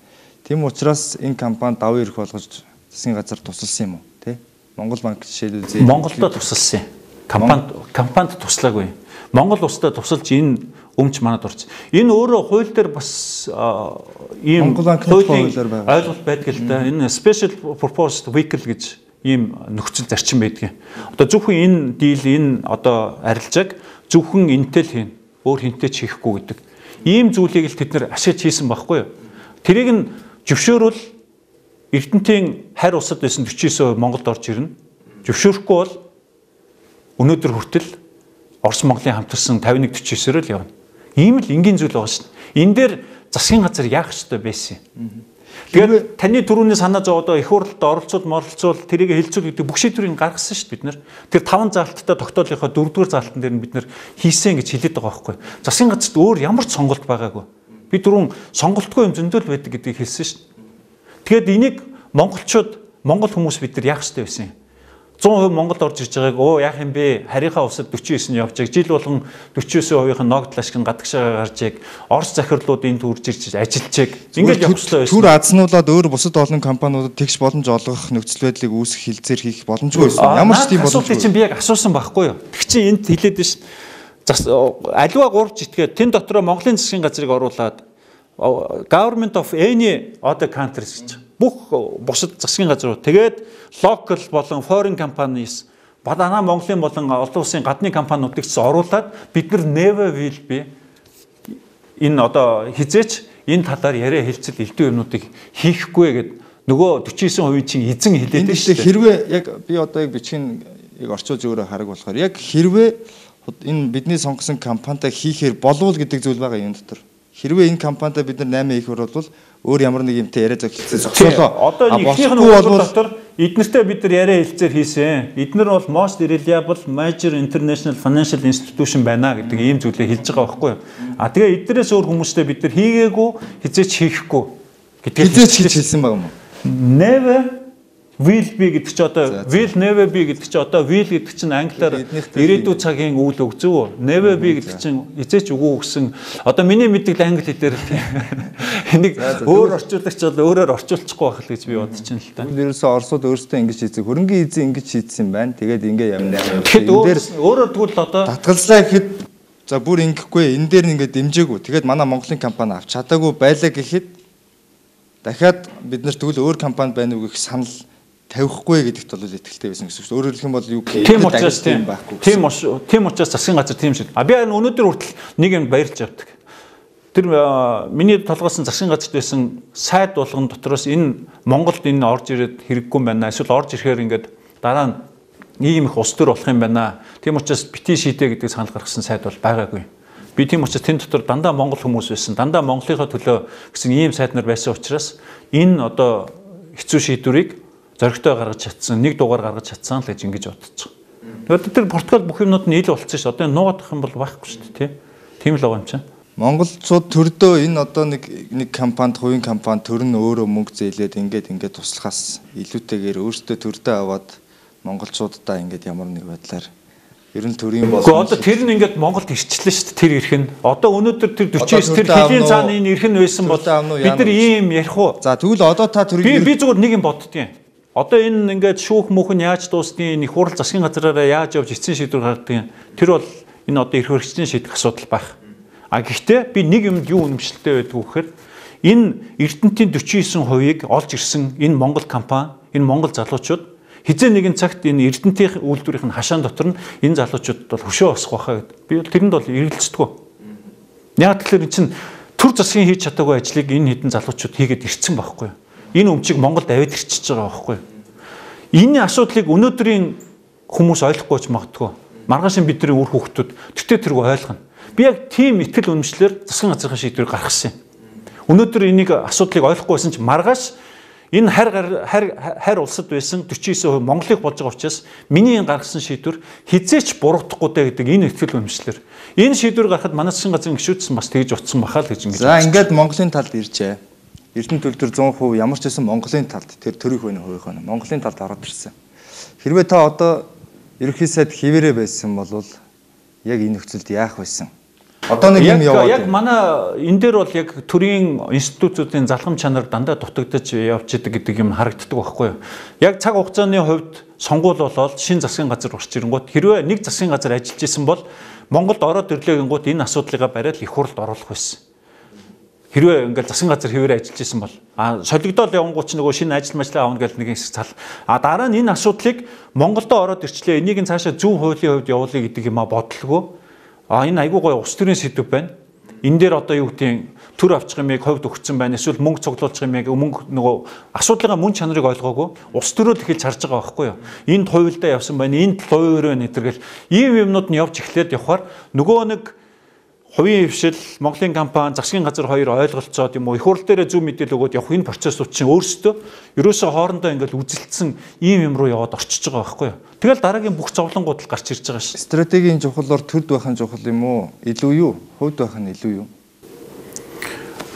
Тийм учраас энэ компанид давуу эрх болгож засгийн газар тусалсан юм уу? Тэ? Монгол банк жишээлбэл Монголдо тусалсан. Компанид туслаагүй. Монгол улстай тусалж энэ өмч манад орсон. Энэ өөрөө хууль дээр бас ийм хуулийн ойлголт байдаг л да. Энэ special purpose vehicle гэж ийм нөхцөл зарчим байдаг. Одоо зөвхөн энэ дийл энэ одоо арилжааг зөвхөн энтэй л хийн. Өөр хинтэй ч хийхгүй гэдэг. Ийм зүйлийг л тэд нэр ашиглаж хийсэн байхгүй юу? Тэрийг нь зөвшөөрвөл Эрдэнэтийн харь улсад байсан 49% Монголд орж ирнэ. Зөвшөөрөхгүй бол өнөөдөр хүртэл Орос Монголын хамтарсан 51-49-оор л явна. Ийм л энгийн зүйл байгаа шин. Энэ дээр засгийн газар яах ёстой байсан юм. Тэгээд таны түрүүний санаа зовоодоо их хурлд оролцуул тэрийг хэлцүүл гэдэг бүх шийдвэрийг гаргасан шүү дээ бид нар. Тэр 5 заалттай тогтоолынхоо 4-р заалтан дээр нь бид нар хийсэн гэж хэлээд байгаа байхгүй. Засгийн газарт өөр ямар ч сонголт байгаагүй. Би түрүүн сонголтгүй юм зөндөл байдаг гэдгийг хэлсэн шүү дээ. Тэгээд энийг монгол хүмүүс бид нар яах ёстой байсан юм. 100% Монголд орж ирж байгааг яах юм бэ? Харийнхаа улсад 49 нь явж байгааг жил болгон 49%-ийн ногдол ашиг гадагшаа гарч ийг Орос захирлууд энд үрж ирж ажиллаж байгааг ингээд явуулсан байсан. Түр азнуулаад өөр бусад олон компаниудад тэгш боломж олгох нөхцөл байдлыг үүсгэх хилцээр хийх боломжгүй байсан. Ямар ч тийм боломжгүй. Чинь би яг асуусан байхгүй юу? Тэг чи энд хэлээд биш. Аливаа 3 житгээд тэн дотроо Монголын засгийн газрыг оруулаад government of any other countries гэж бүх бусад засгийн газрууд тэгээд local болон foreign companies бадана Монголын болон олон улсын гадны компаниудыг ч оруулаад бид нар never will be энэ одоо хизээч энэ талаар яриа хэлцэл элдв юмнуудыг хийхгүй гэд нөгөө 49% чинь эзэн хэлээд байна шүү дээ. Хэрвээ яг би одоо яг бичгийн орчуулж өөрөө хараг болохоор яг хэрвээ энэ бидний сонгосон компанитай хийхээр болов гэдэг зүйл байгаа юм дотор. Хэрвээ энэ компанитай бид нар 8 их орвол өөр ямар нэг юмтай яриа зогсоолоо. Одоо эхнийх нь дотор эднэртэй бид нар яриа хэлцээр хийсэн. Эднэр бол most reliable major international financial institution байна гэдэг ийм зүйлээ хэлж байгаа байхгүй юу? Тэгээ эднэрээс өөр хүмүүстэй бид нар хийгээгүй, хизээч хийхгүй гэдгийг хэлсэн байгаа юм уу? Never will be гэдэг чи одоо will never be гэдэг чи одоо will гэдэг чинь англиар ирээдүйн цагийн үйл өгзөө. Never be гэдэг чинь эзээч үгүй гэсэн. Одоо миний мэддэг англи хэлээр энийг өөр орчуулагч бол өөрөөр орчуулчихгүй байх л гэж би бодож байна л та. Ерөөсөө Оросууд өөрсдөө ингэж хийдэг. Хөрөнгөний эзэн ингэж шийдсэн байна. Тэгээд ингэ явна. Тэгэхээр өөрөөр тэгвэл одоо татгалзлаа гэхэд за бүр ингэхгүй энэ дээр нь ингэ дэмжээгүй. Тэгээд манай Монголын компани авч чадаагүй байлаа гэхэд дахиад бид нар тэгвэл өөр компани байна уу гэх санал тавихгүй гэдэгт бол итгэлтэй байсан гэсэн үг. Өөрөөр хэлэх юм бол юу гэх тийм учраас тийм учраас засгийн газар тийм шиг. Би өнөөдөр хүртэл нэг юм баярлж явдаг. Тэр миний толгойсон засгийн газарт байсан сайд болгон дотроос энэ Монголд энэ орж ирээд хэрэггүй юм байна. Эсвэл орж ирэхээр ингээд дараа нь ийм их улс төр болох юм байна. Тийм учраас бити шийдэ гэдэг санал гаргасан сайд бол байгаагүй. Би тийм учраас тэн дотор дандаа монгол хүмүүс байсан. Дандаа Монголынхаа төлөө гэсэн ийм сайд нар байсан учраас энэ одоо хэцүү шийдвэрийг зоригтой гаргаж чадсан, нэг дугаар гаргаж чадсан л гэж ингэж бодож байгаа. Тэгээд тэр Португал бүх юмнууд нь ил болчихсон шүү. Одоо нуугдах юм бол байхгүй шүү дээ, тийм л байгаа юм чинь. Монголчууд төрдөө энэ одоо нэг компанид, хувийн компани төр нь өөрөө мөнгө зээлээд ингээд туслахаас илүүтэйгээр өөртөө төрдөө аваад монголчуудаа ингээд ямар нэг байдлаар ер нь төрийн болон одоо тэр нь ингээд Монголд ирчлээ шүү дээ, тэр ирэх нь. Одоо өнөөдөр тэр 49 тэр хэлийн цааны энэ ирэх нь байсан бол бид нар ийм ярих уу? За тэгвэл одоо та төрийн би зүгээр нэг юм боддгийн. Одоо энэ ингээд шүүх мөхөн яаж дуусны их хурал засгийн газраараа яаж явж эцсийн шийдвэр гаргадгийг тэр бол энэ одоо эрх хөрөгчдийн шийдэх асуудал байх. А гэхдээ би нэг юмд юу үнэмшилтэй байдг вэ гэхээр энэ Эрдэнэтийн 49%-ийг олж ирсэн энэ Монгол компани, энэ Монгол залуучууд хизээ нэгэн цагт энэ Эрдэнэтийн үйлдвэрийн хашаан дотор нь энэ залуучуудад бол хөшөө босох байхаа гэдэг. Би бол тэрэнд бол эргэлздэг. Яг тэгэхээр эн чинь төр засгийн хийж чадаагүй ажлыг энэ хэдэн залуучууд хийгээд ирсэн байхгүй юу? Энэ өмчийг Монголд аваад ирчихэж байгаа байхгүй юу? Энэ асуудлыг өнөөдрийн хүмүүс ойлгохгүй ч магадгүй. Маргаашийн бидний үр хүүхдүүд тэгтээ тэргүй ойлгоно. Би яг тийм итгэл үнэмшлэр засгийн газрын шийдвэр гаргасан юм. Өнөөдөр энийг асуудлыг ойлгохгүй байсан ч маргааш энэ хайр улсад байсан 49% Монголыг болж байгаа учраас миний энэ гаргасан шийдвэр хизээч буруудахгүй дэ гэдэг энэ итгэл үнэмшлэр энэ шийдвэр гаргахад манай засгийн газрын гишүүдсэн бас тэгж утсан бахаа л гэж ингэж. За ингээд Монголын талд иржээ. Эрдэнэт төлтөр 100% ямар ч байсан Монголын талд тэр төрөх байна хувийнх нь Монголын талд ороод ирсэн. Хэрвээ та одоо ерөнхий сайд хിവэрэ байсан бол яг энэ нөхцөлд яах байсан? Одоо нэг юм яваад яг манай энэ дээр бол яг төрийн институтуудын залхам чанар дандаа дутагдаж явж идэг гэдэг юм харагддаг байхгүй юу? Яг цаг хугацааны хувьд сонгуул болоод шинэ засгийн газар урч ирэнгүүт хэрвээ нэг засгийн газар ажиллаж исэн бол Монголд ороод ирлээгэнгүүт энэ асуудлыгаа бариад их хурлд оруулах байсан. Хэрвээ ингээл засгийн газар хിവэрэ ажиллаж исэн бол солигдоод явангууд ч нөгөө шинэ ажил ажлаа авна гэж нэг хэсэг цал. Дараа нь энэ асуудлыг Монголдо ороод ирчлээ. Энийг нь цаашаа зүүн хуулийн хувьд явуулъя гэдэг юм бодлого. Энэ айгүй гоё улс төрийн сэдв байна. Энэ дээр одоо юу гэдгийг төр авчих юмыг ховд өгсөн байна. Эсвэл мөнгө цуглуулчих юмыг мөнгө нөгөө асуудлынхаа мөн чанарыг ойлгоогүй. Улс төрөө л эхэлж харж байгаа байхгүй юу? Энд хуйлдаа явсан байна. Энд хувийн өрөө нэтэргэл ийм юмнууд нь явж эхлээд явхаар нөгөө нэг хувийн хвшил, Монголын компани, засгийн газар хоёр ойлголцоод юм уу их хурл дээрээ зөв мэдээлэл өгөөд явах энэ процессууд чинь өөрсдөө ерөөсөө хоорондоо ингээл үзэлцсэн ийм юм руу яваад орчиж байгаа байхгүй юу? Тэгэл дараагийн бүх зовлонгууд л гарч ирж байгаа шүү. Стратегийн чухлаар төрд байх нь чухал юм уу? Илүү юу? Хувьд байх нь илүү юу?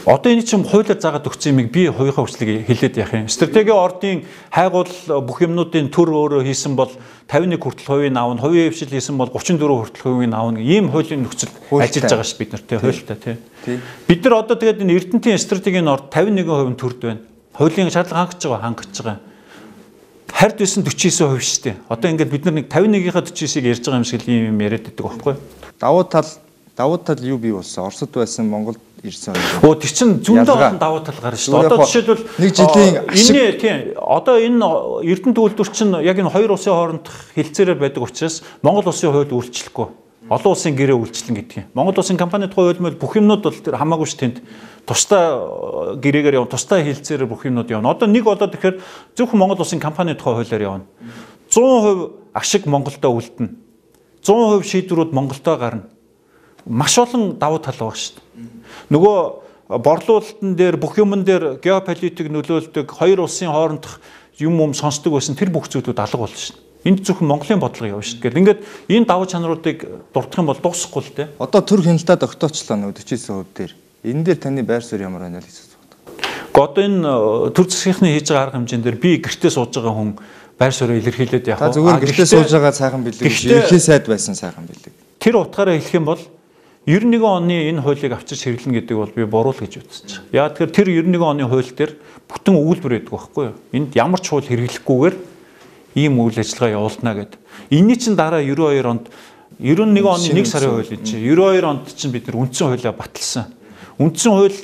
Одоо энэ чинь хуулиар заагаад өгсөн юмыг би хувийнхаа хүслийг хэлээд яах юм. Стратегийн ордын хайгуул бүх юмнуудын төр өөрөө хийсэн бол 51 хүртэл хувийн аавна, хувийн хвшил хийсэн бол 34 хүртэл хувийн аавна. Ийм хуулийн нөхцөл ажиллаж байгаа шүү бид нар тий хуультай тий. Бид нар одоо тэгээд энэ Эрдэнэтийн стратегийн орд 51% төрд байна. Хуулийн шаардлага хангаж байгаа. Хард байсан 49% шүү дээ. Одоо ингээд бид нар нэг 51-ийнхаа 49-ийг ярьж байгаа юм шиг л юм яриад байдаг байхгүй юу? Давуу тал юу бий болсон? Оросд байсан Монголд ирсэн. Оо тэр чин зөндөө олон давуу тал гарна шүү дээ. Одоо жишээлбэл нэг жилийн энэ тийм одоо энэ Эрдэнэт үйлдвэр чинь яг энэ хоёр улсын хоорондох хилцээрээр байдаг учраас Монгол улсын хууль үйлчлэхгүй. Олон улсын гэрээ үйлчлэн гэдэг юм. Монгол улсын компанид хууль мөл бүх юмнууд бол тэр хамаагүй ш тэнд тусдаа гэрээгээр явна, тусдаа хилцээрээр бүх юмнууд явна. Одоо нэг болоод тэгэхээр зөвхөн Монгол улсын компанид хуулиар явна. 100% ашиг Монголдо үлдэнэ. 100% шийдвэрүүд Монголдо гарна. Маш олон давуу тал байгаа шүү дээ. Нөгөө борлуулалтын дээр бүх юмн дээр геополитик нөлөөлдөг хоёр улсын хоорондох юм сонсдог байсан тэр бүх зүйлүүд алга болно шүү дээ. Энд зөвхөн Монголын бодлого явна шүү дээ. Ингээд энэ давуу чанаруудыг дурдах юм бол дуусахгүй л дээ. Одоо төр хяналтаа тогтоочлоо нөгөө 49% дээр. Энэ дээр таны байр суурь ямар байна л гэж боддог. Одоо энэ төр засгийнхны хийж байгаа арга хэмжээнд дээр би гэртээ сууж байгаа хүн байр суурь илэрхийлээд явах. Та зүгээр гэртээ сууж байгаа сайхан бэлэг. Ерхий сайд байсан сайхан бэлэг. Тэр утгаараа хэлэх юм бол 91 оны энэ хуулийг авчирч хэрэглэнэ гэдэг бол би буруу л гэж үзэж байгаа. Яа тэгэхээр тэр 91 оны хууль дээр бүтэн өгүүлбэр байдаг байхгүй юу? Энд ямар ч хууль хэрэглэхгүйгээр ийм үйл ажиллагаа явуулна гэдэг. Энийний чинь дараа 92 онд 91 оны 1 сарын хууль чинь 92 онд чинь бид нар үндсэн хуулиа баталсан. Үндсэн хууль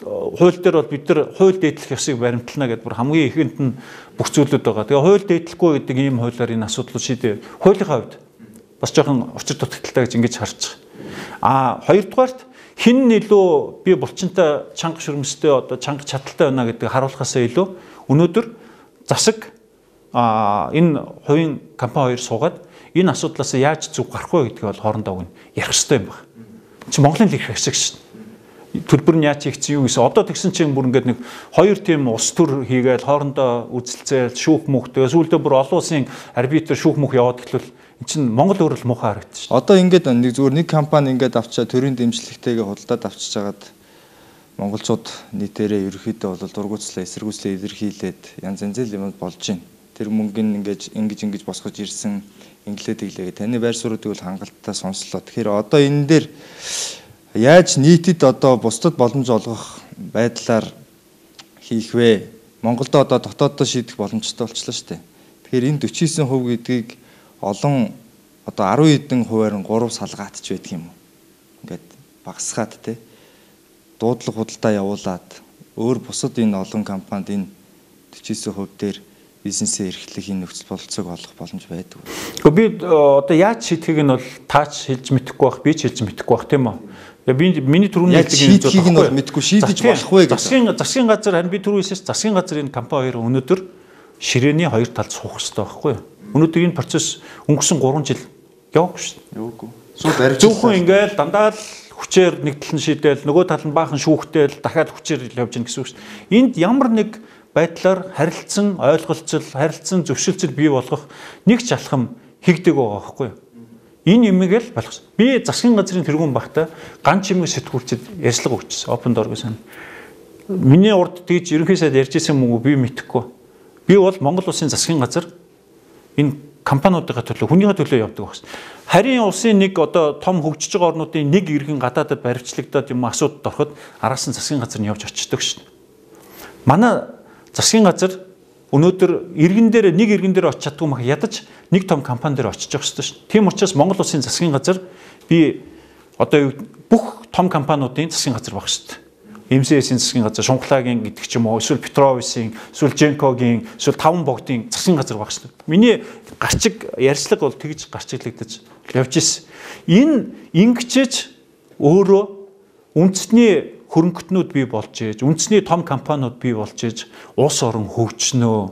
хууль дээр бол бид нар хууль дээдлэх ёсыг баримтлана гэдэг бүр хамгийн ихэнд нь бүх зүйлүүд байгаа. Тэгээ хууль дээдлэхгүй гэдэг ийм хуулиар энэ асуудлыг шийдээ. Хуулийнхаа хувьд бас жоохон учир дутагдaltaй гэж ингэж харж байгаа. Хоёрдугаарт хин нь илүү би булчинтай чанга шүрмэстэй одоо чанга чадaltaй байна гэдгийг харуулахаасаа илүү өнөөдөр засаг энэ хувийн компани хоёр суугаад энэ асуудлаас яаж зүг гарах вэ гэдгийг бол хоорондоо ярих хэрэгтэй юм байна. Чи Монголын их хэсэг шин. Төлбөр нь яаж хийгдсэн юу гэсэн. Одоо тэгсэн чинь бүр ингээд нэг хоёр тийм улс төр хийгээл хоорондоо үзэлцээл шүүх мөхтэй сүүлдээ бүр олон улсын арбитр шүүх мөх яваад эхлвэл эн чинь Монгол өөрөө муухай харагдчих. Одоо ингээд нэг зүгээр нэг компани ингээд авчаа төрийн дэмжлэгтэйгээ худалдаад авчиж хагаад монголчууд нийтээрээ ерөөхдөө бол дургуутслаа эсэргүүцлээ илэрхийлээд янз янзын юм болж байна. Тэр мөнгөний ингэж босгож ирсэн инглээд иглээ. Таны байр суурьдыг бол хангалттай сонслоо. Тэгэхээр одоо энэ дээр яаж нийтэд одоо бусдад боломж олгох байдлаар хийх вэ? Монголд одоо дотооддоо шийдэх боломжтой болчихлоо шүү дээ. Тэгэхээр энэ 49% гэдгийг олон одоо 10 хэдэн хувиар нь 3 салгаатч байдаг юм уу? Ингээд багасгаад те дуудлага худалдаа явуулаад өөр бусад энэ олон компанид энэ 49% дээр бизнесээ эрхлэх энэ нөхцөл бололцоог олох боломж байдаг. Гэхдээ би одоо яаж шийдэхийг нь бол таач хэлж мэдэхгүй байх, би ч хэлж мэдэхгүй байх тийм үү? Тэгээ би миний түрүүний хэлдэг юм нь бол мэдэхгүй шийдэж болохгүй гэж. Засгийн газар харин би түрүү хэлсэн засгийн газар энэ компани хоёр өнөөдөр ширээний хоёр талд суух хэрэгтэй байхгүй юу? Өнөөдөр энэ процесс өнгөрсөн 3 жил яваагүй шүү дээ. Яваагүй. Сул барьж зөвхөн ингээл дандаа л хүчээр нэг тал нь шийдээл нөгөө тал нь баахан шүүхтэл дахиад хүчээр явж гин гэсэн үг шүү дээ. Энд ямар нэг байдлаар харилцсан ойлголцол, харилцсан зөвшөлтсөл бий болгох нэг ч алхам хийгдэг байгаа байхгүй юу? Энэ юмыг л болох. Би засгийн газрын тэргүүн багтаа ганц юмыг сэтгүүлчэд ярьслага өгчсөн. Open Door гэсэн. Миний урд тэгж ерөнхий сайд ярьж исэн мөнгө би мэдэхгүй. Би бол Монгол улсын засгийн газар энэ компаниудын төлөө хүнийхээ төлөө явдаг байна. Харин улсын нэг одоо том хөгжиж байгаа орнуудын нэг иргэн гадаадад баривчлагдаад юм асуудад ороход араас нь засгийн газар нь явж очдог шин. Манай засгийн газар өнөөдөр иргэн дээр нэг иргэн дээр очиж чаддгүй мах ядаж нэг том компани дээр очиж явах хэрэгтэй шин. Тийм учраас Монгол улсын засгийн газар би одоо бүх том компаниудын засгийн газар байх хэрэгтэй. МСС-ийн засгийн газар, Шунхлагийн гэдэг ч юм уу, эсвэл Петровисын, эсвэл Женкогийн, эсвэл Таван богдын засгийн газар байх шүү дээ. Миний гарчиг ярьцлага бол тэгж гарчиглагдаж явж ирсэн. Энэ ингэчээж өөрөө үндэсний хөрөнгөтнүүд бий болж ээж, үндэсний том компаниуд бий болж ээж, улс орон хөгжнөө.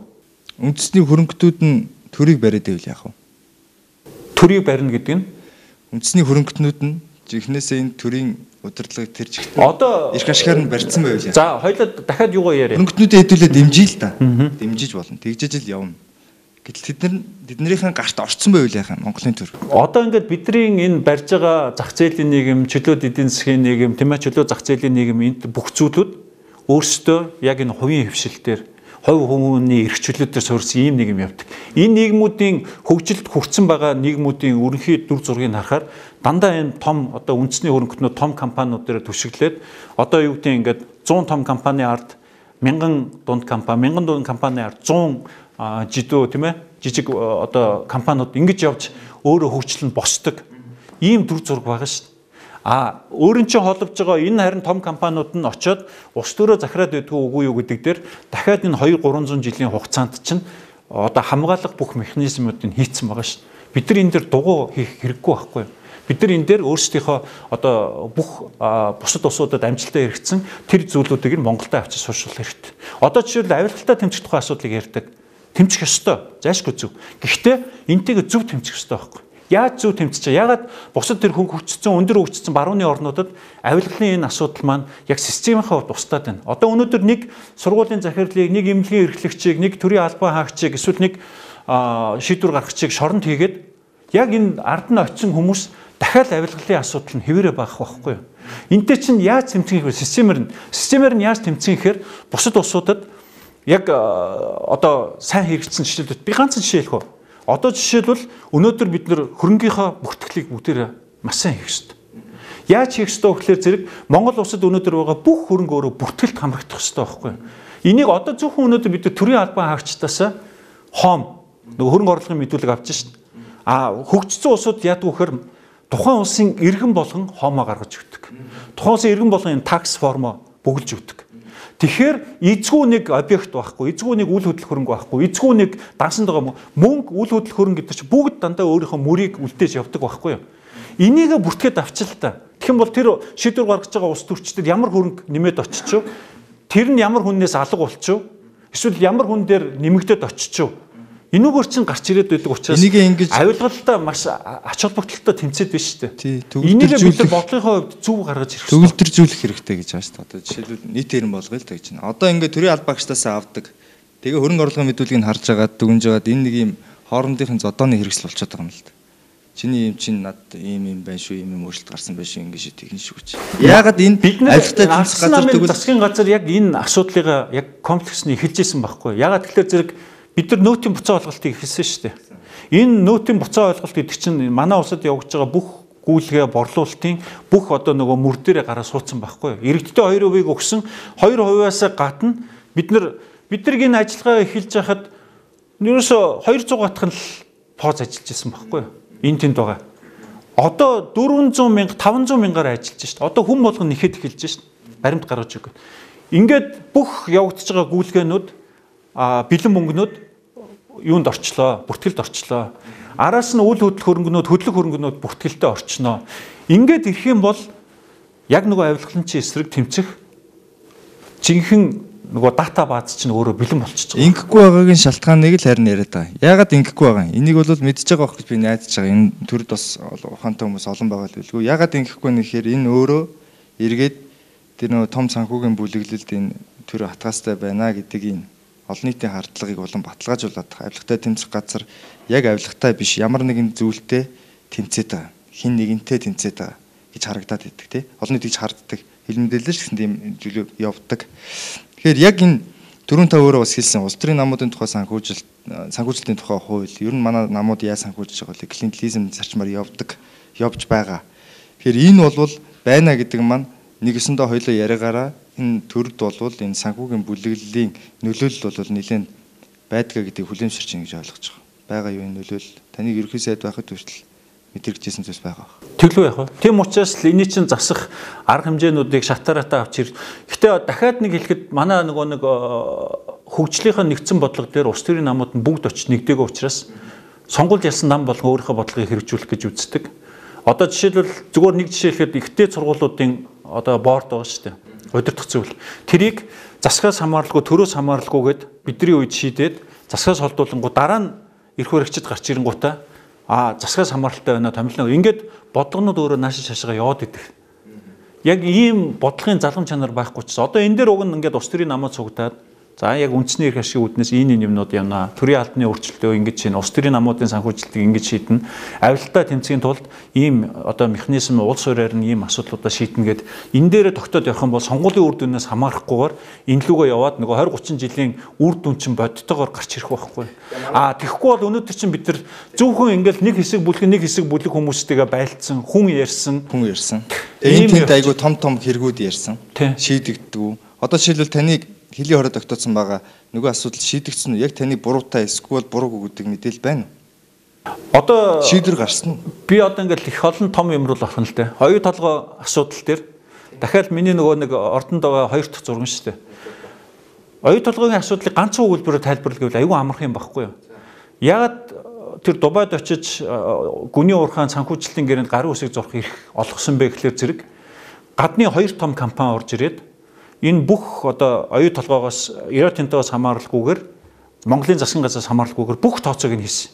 Үндэсний хөрөнгөтнүүд нь төрийг бариад байвал яах вэ? Төрийг барина гэдэг нь үндэсний хөрөнгөтнүүд нь жихнээсээ энэ төрийн удирдлагыг тэр чигтээ одоо их ашгаар нь барьсан байвал. За хоёлаа дахиад юугаа яриа. Хөрөнгөтнүүдэд хэдүүлээ дэмжиж л та. Дэмжиж болно. Тэгжиж л явна. Гэтэл тэднэрийн гарт орцсон байвал яах юм Монголын төр. Одоо ингээд бидний энэ барьж байгаа зах зээлийн нийгэм, чөлөө эдийн засгийн нийгэм, тийм ээ чөлөө зах зээлийн нийгэм энд бүх зүйлүүд өөрсдөө яг энэ хувийн хөвшилтээр хувь хүмүүний эрх чөлөөтөөр суурьсан ийм нийгэм явдаг. Энэ нийгмүүдийн хөгжилд хүрсэн байгаа нийгмүүдийн өрнөхий дүр зургийг харахаар дандаа энэ том одоо үндэсний хөрөнгөтнүүд том компаниуд дээр түшиглээд одоо юу гэдэг ингээд 100 том компани ард 1000 дунд компани ард 100 жидөө тийм ээ жижиг одоо компаниуд ингэж явж өөрөө хөгжлөн босдог ийм дүр зураг байгаа шүү дээ. Өөрийн чинь холбож байгаа энэ харин том компаниуд нь очиод ус төрөө захираад байдгүй үгүй юу гэдэг дээр дахиад энэ 200-300 жилийн хугацаанд чинь одоо хамгаалах бүх механизмуудыг хийцэн байгаа шүү дээ. Бид нар энэ дээр дугуй хийх хэрэггүй байхгүй юу? Бид нар энэ дээр өөрсдийнхөө одоо бүх бусад улсуудад амжилтаа хэрэгцсэн тэр зүйлүүдийг нь Монголд авчиж сууршуулах хэрэгтэй. Одоо жишээлбэл авилгалтай тэмцэх тухай асуудлыг ярьдаг. Тэмцэх ёстой. Зайлшгүй зөв. Гэхдээ энтэйгээ зөв тэмцэх ёстой байхгүй юу? Яаж зөв тэмцэж байгаа? Ягаад бусад тэр хөгжсөн өндөр хөгжсөн барууны орнуудад авилгалын энэ асуудал маань яг системийн хувьд устдаад байна. Одоо өнөөдөр нэг сургуулийн захирлыг, нэг эмнэлгийн эрхлэгчийг, нэг төрийн албан хаагчийг, эсвэл нэг шийдвэр гаргагчийг шоронд хийгээд яг энэ ард нь очисон хүмүүс дахиад авилгалын асуудал нь хэвээрээ багах байхгүй юу? Энтэй чинь яаж тэмцэх вэ? Системээр нь яаж тэмцэх гэхээр бусад улсуудад яг одоо сайн хэрэгжсэн жишээлүүд би ганц жишээ хэлэх үү? Одоо жишээлбэл өнөөдөр бид нэр хөрөнгийнхөө бүртгэлийг бүгдээрээ маш сайн хийх ёстой. Яаж хийх ёстой вэ гэхээр зэрэг Монгол улсад өнөөдөр байгаа бүх хөрөнгө өөрөө бүртгэлд хамрагдах ёстой байхгүй юу? Энийг одоо зөвхөн өнөөдөр бид төрийн албан хаагчдаас хоом нөгөө хөрөнгө оруулалтын мэдүүлэг авч шин. Хөгжсөн улсууд яадаг вэ гэхээр тухайн улсын иргэн болгон хоомоо гаргаж өгдөг. Тухайн улсын иргэн болгон энэ такс формоо бүгэлж өгдөг. Тэгэхээр эзгүй нэг объект байхгүй, эзгүй нэг үл хөдлөх хөрөнгө байхгүй, эзгүй нэг дансанд байгаа мөнгө, үл хөдлөх хөрөнгө гэдэг чинь бүгд дандаа өөрийнхөө мөрийг үлдээж явдаг байхгүй юу? Энийг бүртгээд авчил та. Тэгэх юм бол тэр шийдвэр гаргаж байгаа улс төрчдөд ямар хөрөнгө нэмээд очиж, тэр нь ямар хүннээс алга болчих, эсвэл ямар хүн дээр нэмэгдээд очиж. Энүүгээр чинь гарч ирээд байдаг учраас авилгалдаа маш ач холбогдолтой тэмцээд биш шүү дээ. Энийг бид бодлогын хувьд зөв гаргаж ирэх хэрэгтэй. Төгөлдржүүлэх хэрэгтэй гэж байна шүү дээ. Одоо жишээлбэл нийт хэрэм болгоё л гэж байна. Одоо ингээд төрийн аль багштаас авдаг. Тэгээ хөрөнгө оруулалтын мэдүүлгийг харж агаад дүгнж агаад энэ нэг юм хоорондын зодооны хэрэгсэл болчиход байгаа юм л да. Чиний юм чинь над ийм байна шүү, ийм өөрчлөлт гарсан байна шүү, ингэж тэгнэ шүү гэж. Яагаад энэ авилгатай тэмцэх газар тэгвэл засгийн газар яг энэ асуудлыг яг комплексны эхэлжсэн байхгүй. Яагаад тэгэхээр зэрэг бид нар нөөтийн буцаа ойлголтыг эхэлсэн шүү дээ. Энэ нөөтийн буцаа ойлголт гэдэг чинь манай улсад явагдаж байгаа бүх гүйлгээ борлуулалтын бүх одоо нөгөө мөр дээрээ гараа суудсан байхгүй. Иргэдтэй 2% өгсөн 2%-аас гадна бид нар энэ ажиллагаа эхэлж байхад ерөөсө 200 гатхан л поз ажиллаж исэн байхгүй. Энэ тэнд байгаа. Одоо 400 мянга 500 мянгаар ажиллаж шүү дээ. Одоо хүн болгон нэхэд эхэлж шүү дээ. Баримт гаргаж өгөх. Ингээд бүх явагдаж байгаа гүйлгээнүүд бэлэн мөнгнүүд юунд орчлоо, бүртгэлд орчлоо. Араас нь үл хөдлөх хөрөнгөнүүд, хөдлөх хөрөнгөнүүд бүртгэлдээ орчноо. Ингээд ирэх юм бол яг нөгөө авилгалын эсрэг тэмцэх жинхэнэ нөгөө дата бааз чинь өөрөө бэлэн болчихж байгаа. Ингэхгүй байгаагийн шалтгааныг л харин яриад байгаа. Яагаад ингэхгүй байгаа юм? Энийг бол мэдж байгаа байх гэж би найдаж байгаа. Энэ төрд бас ухаантай хүмүүс олон байгаа л билгүй. Яагаад ингэхгүй нэхээр энэ өөрөө эргээд тэр нөгөө том санхүүгийн бүлэглэлд энэ төр хатгаастай байна гэдэг энэ олон нийтийн хардлагыг улам баталгаажуулаад авилгатай тэмцэх газар яг авилгатай биш ямар нэгэн зүйлтэй тэмцээд байгаа. Хин нэгэнтэй тэмцээд байгаа гэж харагдаад байдаг тий. Олон нийт гэж харддаг. Хэлмэдэлж гэсэн тийм зүйлүүд явдаг. Тэгэхээр яг энэ түрүүн та өөрөө бас хэлсэн улс төрийн намуудын тухай санхүүжилтийн тухай хууль ер нь манай намууд яаж санхүүжиж байгаа вэ? Клиентелизм зарчмаар явж байгаа. Тэгэхээр энэ бол байна гэдэг маань нэг өсөндөө хоёлоо яриагаараа энэ төрд болвол энэ санхүүгийн бүлэглэлийн нөлөөлөл бол нэлээд байдгаа гэдгийг хүлээмжширч ин гэж ойлгож байгаа. Бага юу энэ нөлөөлөл таныг ерөнхий сайд байхад хүртэл мэдэрчсэн зүйлс байгаа. Тэглүү яах вэ? Тийм учраас л эний чинь засах арга хэмжээнүүдийг шатаратаа авч ир. Гэтэ дахиад нэг хэлэхэд манай нэг хөгжлийнхаа нэгдсэн бодлого дээр улс төрийн намууд нь бүгд очиж нэгдээгөө учраас сонгуульд ялсан нам болго өөрийнхөө бодлогыг хэрэгжүүлэх гэж үздэг. Одоо жишээлбэл зүгээр нэг жишээ хэлэхэд ихтэй сургуулиудын одоо борд байгаа шүү дээ. Удирдах зүйл. Тэрийг засгаас хамааралгүй, төрөөс хамааралгүйгээд бидний үед шийдээд засгаас холдуулангууд дараа нь эрх баригчид гарч ирэнгуудаа засгаас хамааралтай байна томилно. Ингээд бодлогонууд өөрөө наашаа шашгаа яваад идэг. Яг ийм бодлогын залгам чанар байхгүй ч одоо энэ дээр уг нь ингээд улс төрийн намууд цугтаад за яг үндэсний эрх ашиг үүднээс энэ юмнууд явна. Төрийн албаны өөрчлөлтөө ингэж шин улс төрийн намуудын санхүүжилтийг ингэж шийднэ. Авилтаа тэмцэхийн тулд ийм одоо механизм улс хуриар нь ийм асуудлуудаа шийднэ гэд энэ дээрээ тогтоод явах юм бол сонгуулийн үр дүнээс хамаарахгүйгээр энэ лүгөө яваад нөгөө 20 30 жилийн үр дүн чинь бодтойгоор гарч ирэх байхгүй. Тэгэхгүй бол өнөөдөр чинь бид нар зөвхөн ингээл нэг хэсэг бүлэг хүмүүстэйгээ байлцсан, хүн ярьсан. Энэ тэнд айгу том хэрэгүүд ярьсан. Шийдэгддэг. Одоо жишээлбэл таныг хэлийн хороо тогтоосон байгаа нөгөө асуудал шийдэгдсэн үү? Яг таны буруутай эсвэл буруугүй гэдэг мэдээлэл байна уу? Одоо шийдвэр гарсан уу? Би одоо ингээл их олон том юмруу болох нь л дээ. Оюу толгой асуудал дээр дахиад миний нөгөө нэг ордонд байгаа 2 дахь зураг шүү дээ. Оюу толгойн асуудлыг ганцхан өгүүлбэрээр тайлбарлах гэвэл аюу амарх юм багхгүй юу? Ягаад тэр Дубайд очиж гүний уурхаан санхүүжилтийн гэрээнд гарын үсэг зурх эрх олгосон бэ гэхлээр зэрэг гадны 2 том компани орж ирээд энэ бүх одоо оюу толгоогоос Иротинтоос хамааралгүйгээр Монголын засгийн газраас хамааралгүйгээр бүх тооцоог нь хийсэн.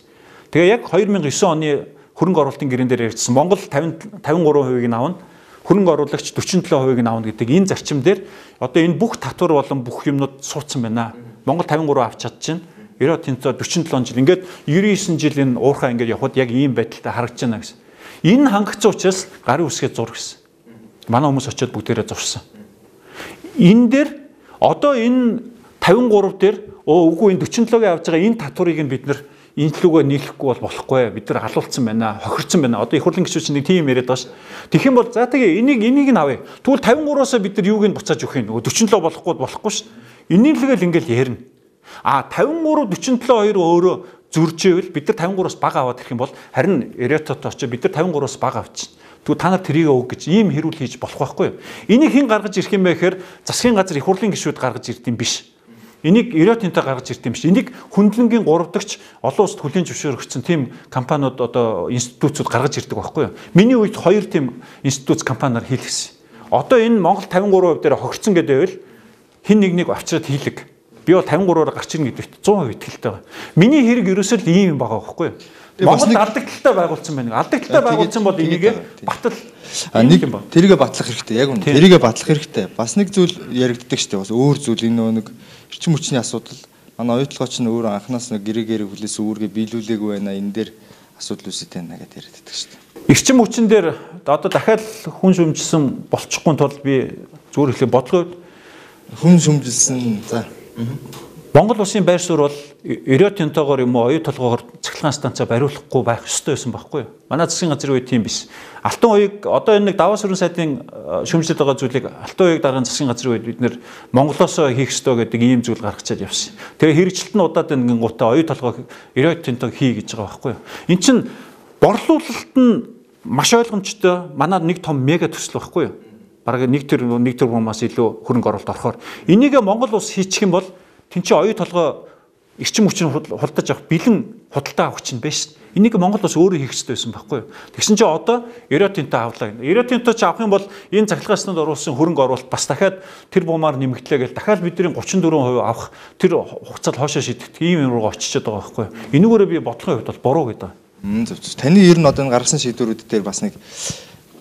Тэгээ яг 2009 оны хөрөнгө оруулалтын гэрэн дээр ярьжсэн Монгол 53%-ийг нь авна, хөрөнгө оруулагч 47%-ийг нь авна гэдэг энэ зарчим дээр одоо энэ бүх татвар болон бүх юмнууд суудсан байна. Монгол 53 авч чадчихна. Иротинто 47 жил. Ингээд 99 жил энэ уурхаа ингээд явхад яг ийм байдалтай харагдаж байна гэсэн. Энэ хангацсан учраас гарын үсгээ зур гэсэн. Манай хүмүүс очиод бүгдээрээ зурсан. Энэ дээр одоо энэ 53 дээр үгүй энэ 47-гийн авж байгаа энэ татварыг нь бид нар энэ лүгөө нийлэхгүй бол болохгүй. Бид нар халуулсан байна, хохирцсан байна. Одоо их хурлын гишүүч нэг тийм яриад байгаа ш. Тэгэх юм бол за тэгээ энийг нь авъя. Тэгвэл 53-аас бид нар юуг нь буцааж өгөх юм. Нөгөө 47 болохгүй ш. Энийг л ингээл ярина. 53 47 хоёр өөрөө зөржээвэл бид нар 53-аас бага аваад ирэх юм бол харин Эретот очиж бид нар 53-аас бага авчихна. Тэгвэл та нар тэрийг өг гэж ийм хэрүүл хийж болох байхгүй юу? Энийг хэн гаргаж ирэх юм бэ гэхээр засгийн газар их хурлын гишүүд гаргаж ирд юм биш. Энийг Ерөөтинтэй гаргаж ирд юм биш. Энийг хөндлөнгийн 3 дахьч олон улсад хүлээн зөвшөөрөгдсөн тийм компаниуд одоо институтууд гаргаж ирдэг байхгүй юу? Миний үед 2 тийм институт компаниар хийлгэсэн. Одоо энэ Монгол 53% дээр хогцсон гэдээвэл хин нэг авчираад хийлэг. Би бол 53-аар гарч ирнэ гэдэгт 100% итгэлтэй байгаа. Миний хэрэг ерөөсөө л ийм байгаа байхгүй юу? Монгол алдагдaltaй байгуулсан байна. Алдагдaltaй байгуулсан бол энийг батал нэг тэрийгэ батлах хэрэгтэй. Яг үнэ. Тэрийгэ батлах хэрэгтэй. Бас нэг зүйл яригддаг шүү дээ. Бас өөр зүйл энэ нэг эрчим хүчний асуудал. Манай оюутлогч нь өөр анханаас нэг гэрээ хүлээс үүргээ биелүүлээгүй байна. Энэ дээр асуудал үүсэж байна гэдээ яригддаг шүү дээ. Эрчим хүчин дээр одоо дахиад хүн шүмжилсэн болчихгүй тул би зүгээр хэлээ бодлоо хүн шүмжилсэн за Монгол улсын байр суурь бол Ерөөтинтойгоор юм уу оюу толгоогоор цахилгаан станцаа бариулахгүй байх ёстой байсан байхгүй юу? Манай засгийн газрын үед тийм биш. Алтан уяг одоо энэ нэг даваа сүрэн сайдын шүмжилж байгаа зүйлийг алтан уяг дараагийн засгийн газрын үед бид нэр Монголоосоо хийх ёстой гэдэг ийм зүйл гаргачаад явсан. Тэгээ хэрэгжилт нь удаад ингэн гутаа оюу толгоо Ерөөтинтой хий гэж байгаа байхгүй юу? Эн чинь борлуулалт нь маш ойлгомжтой. Манай нэг том мега төсөл байхгүй юу? Бараг нэг тэрбумаас илүү хөрөнгө оруулалт орохоор энийг Монгол улс хийчих юм бол тэн чи оюу толгой эрчим хүчийг худалдаж авах бэлэн худалдаа авах чинь биш. Энийг Монгол улс өөрөө хийх хэрэгтэй байсан байхгүй юу? Тэгсэн чинь одоо Ерөөтинтэй авлаа. Ерөөтинтэй ч авах юм бол энэ цахилгаан оруулсан хөрөнгө оруулалт бас дахиад тэр бумаар нэмэгдлээ гэж дахиад бидний 34% авах тэр хугацаанд хоошоо шийдэх ийм юм руу очичод байгаа байхгүй юу? Энүүгээрээ би бодлогын хувьд бол буруу гэдэг. Таны ер нь одоо гаргасан шийдвэрүүд дээр бас нэг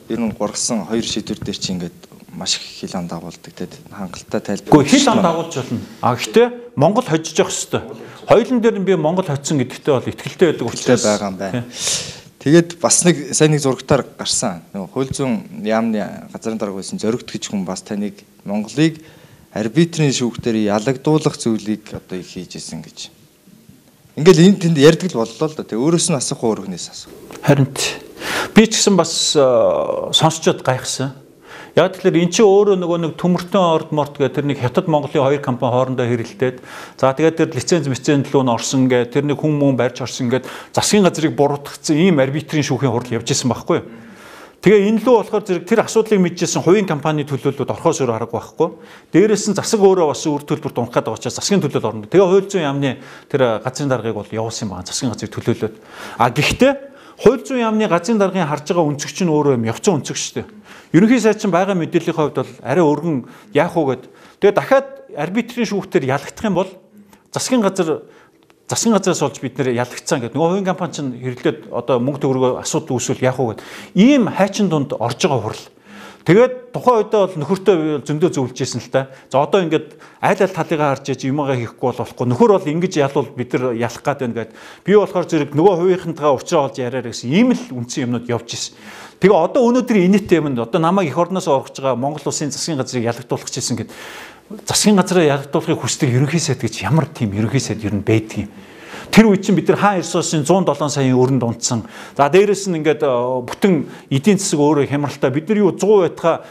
ер нь гургасан 2 шийдвэр дээр чи ингээд маш их хил ам дагуулдаг тэгээд хангалттай тайлбар. Гэхдээ хил ам дагуулж болно. Гэхдээ Монгол хожиж явах хэрэгтэй. Хоёулын дээр нь би Монгол хоцсон гэдэгтээ бол итгэлтэй байдаг учраас байгаа юм байна. Тэгээд бас нэг сайн нэг зурагтаар гарсан. Нөгөө хууль зүйн яамны газрын дарга байсан зоригт гэж хүн бас таныг Монголыг арбитрийн шүүхтэр ялагдуулах зүйлийг одоо их хийж исэн гэж. Ингээл энэ тэнд ярьдаг л боллоо л да. Тэг өөрөөс нь асуух өөрхнээс асуух. Харин би ч гэсэн бас сонсчод гайхсан. Яг тэгэхээр эн чинь өөрөө нөгөө нэг төмөртөн орд морд гэх тэр нэг Хятад Монголын 2 компани хоорондоо хэрэлдээд за тэгээд тэр лиценз рүү орсон гэ тэр нэг хүн мөн барьж орсон гэд засгийн газрыг буруутгацсан ийм арбитрийн шүүхийн хурал явж исэн байхгүй юу. Тэгээ энэ лөө болохоор зэрэг тэр асуудлыг мэдчихсэн хувийн компани төлөөлөлд орхоос өөр арга байхгүй. Дээрээс нь засаг өөрөө бас үр төлбөрт унах гэдэг учраас засгийн төлөөлөл орно. Тэгээ хууль зүйн яамны тэр газрын даргыг бол явуулсан юм байна. Засгийн газрыг төлөөлөөд. Гэхдээ хууль зүйн яамны газрын даргын харж байгаа өнцөгч нь өөрөө юм явцсан өнцөг шүү дээ. Ерөнхий сайд чинь байгаа мэдээллийн хувьд бол арай өргөн яах уу гэд. Тэгээ дахиад арбитрийн шүүхтэр ялагдах юм бол засгийн газраас олж бид нэр ялагдсан гэдэг. Нөгөө хувийн компани чинь хэрлээд одоо мөнгө төгрөгөө асуудал үүсвэл яах уу гэд. Ийм хайчин дунд орж байгаа хурал. Тэгээд тухайн үедээ бол нөхөртөө зөндөө зөвлөж ийсэн л та. За одоо ингээд айл талыгаа харж иж юмгаа хийхгүй болохгүй. Нөхөр бол ингэж ялвал бид нар ялах гээд байна гэд. Би болохоор зэрэг нөгөө хувийнхантайгаа уулзраа олж яриараа гэсэн ийм л үндсэн юмнууд явж ийсэн. Тэгээ одоо өнөөдрийн инээтэй юмд одоо намайг эх орноос оргож байгаа Монгол улсын засгийн газрыг ялагдуулах гэсэн гэд. Засгийн газраа ялагдуулахыг хүсдэг ерөнхий сайд гэж ямар тийм ерөнхий сайд ер нь байдгийг. Тэр үед чинь бид нар хаан Эрсуусын 107 саяын өрөнд унтсан. За дээрэс нь ингээд бүтэн эдийн засаг өөрөө хямралтай. Бид нар юу 100 байтгаа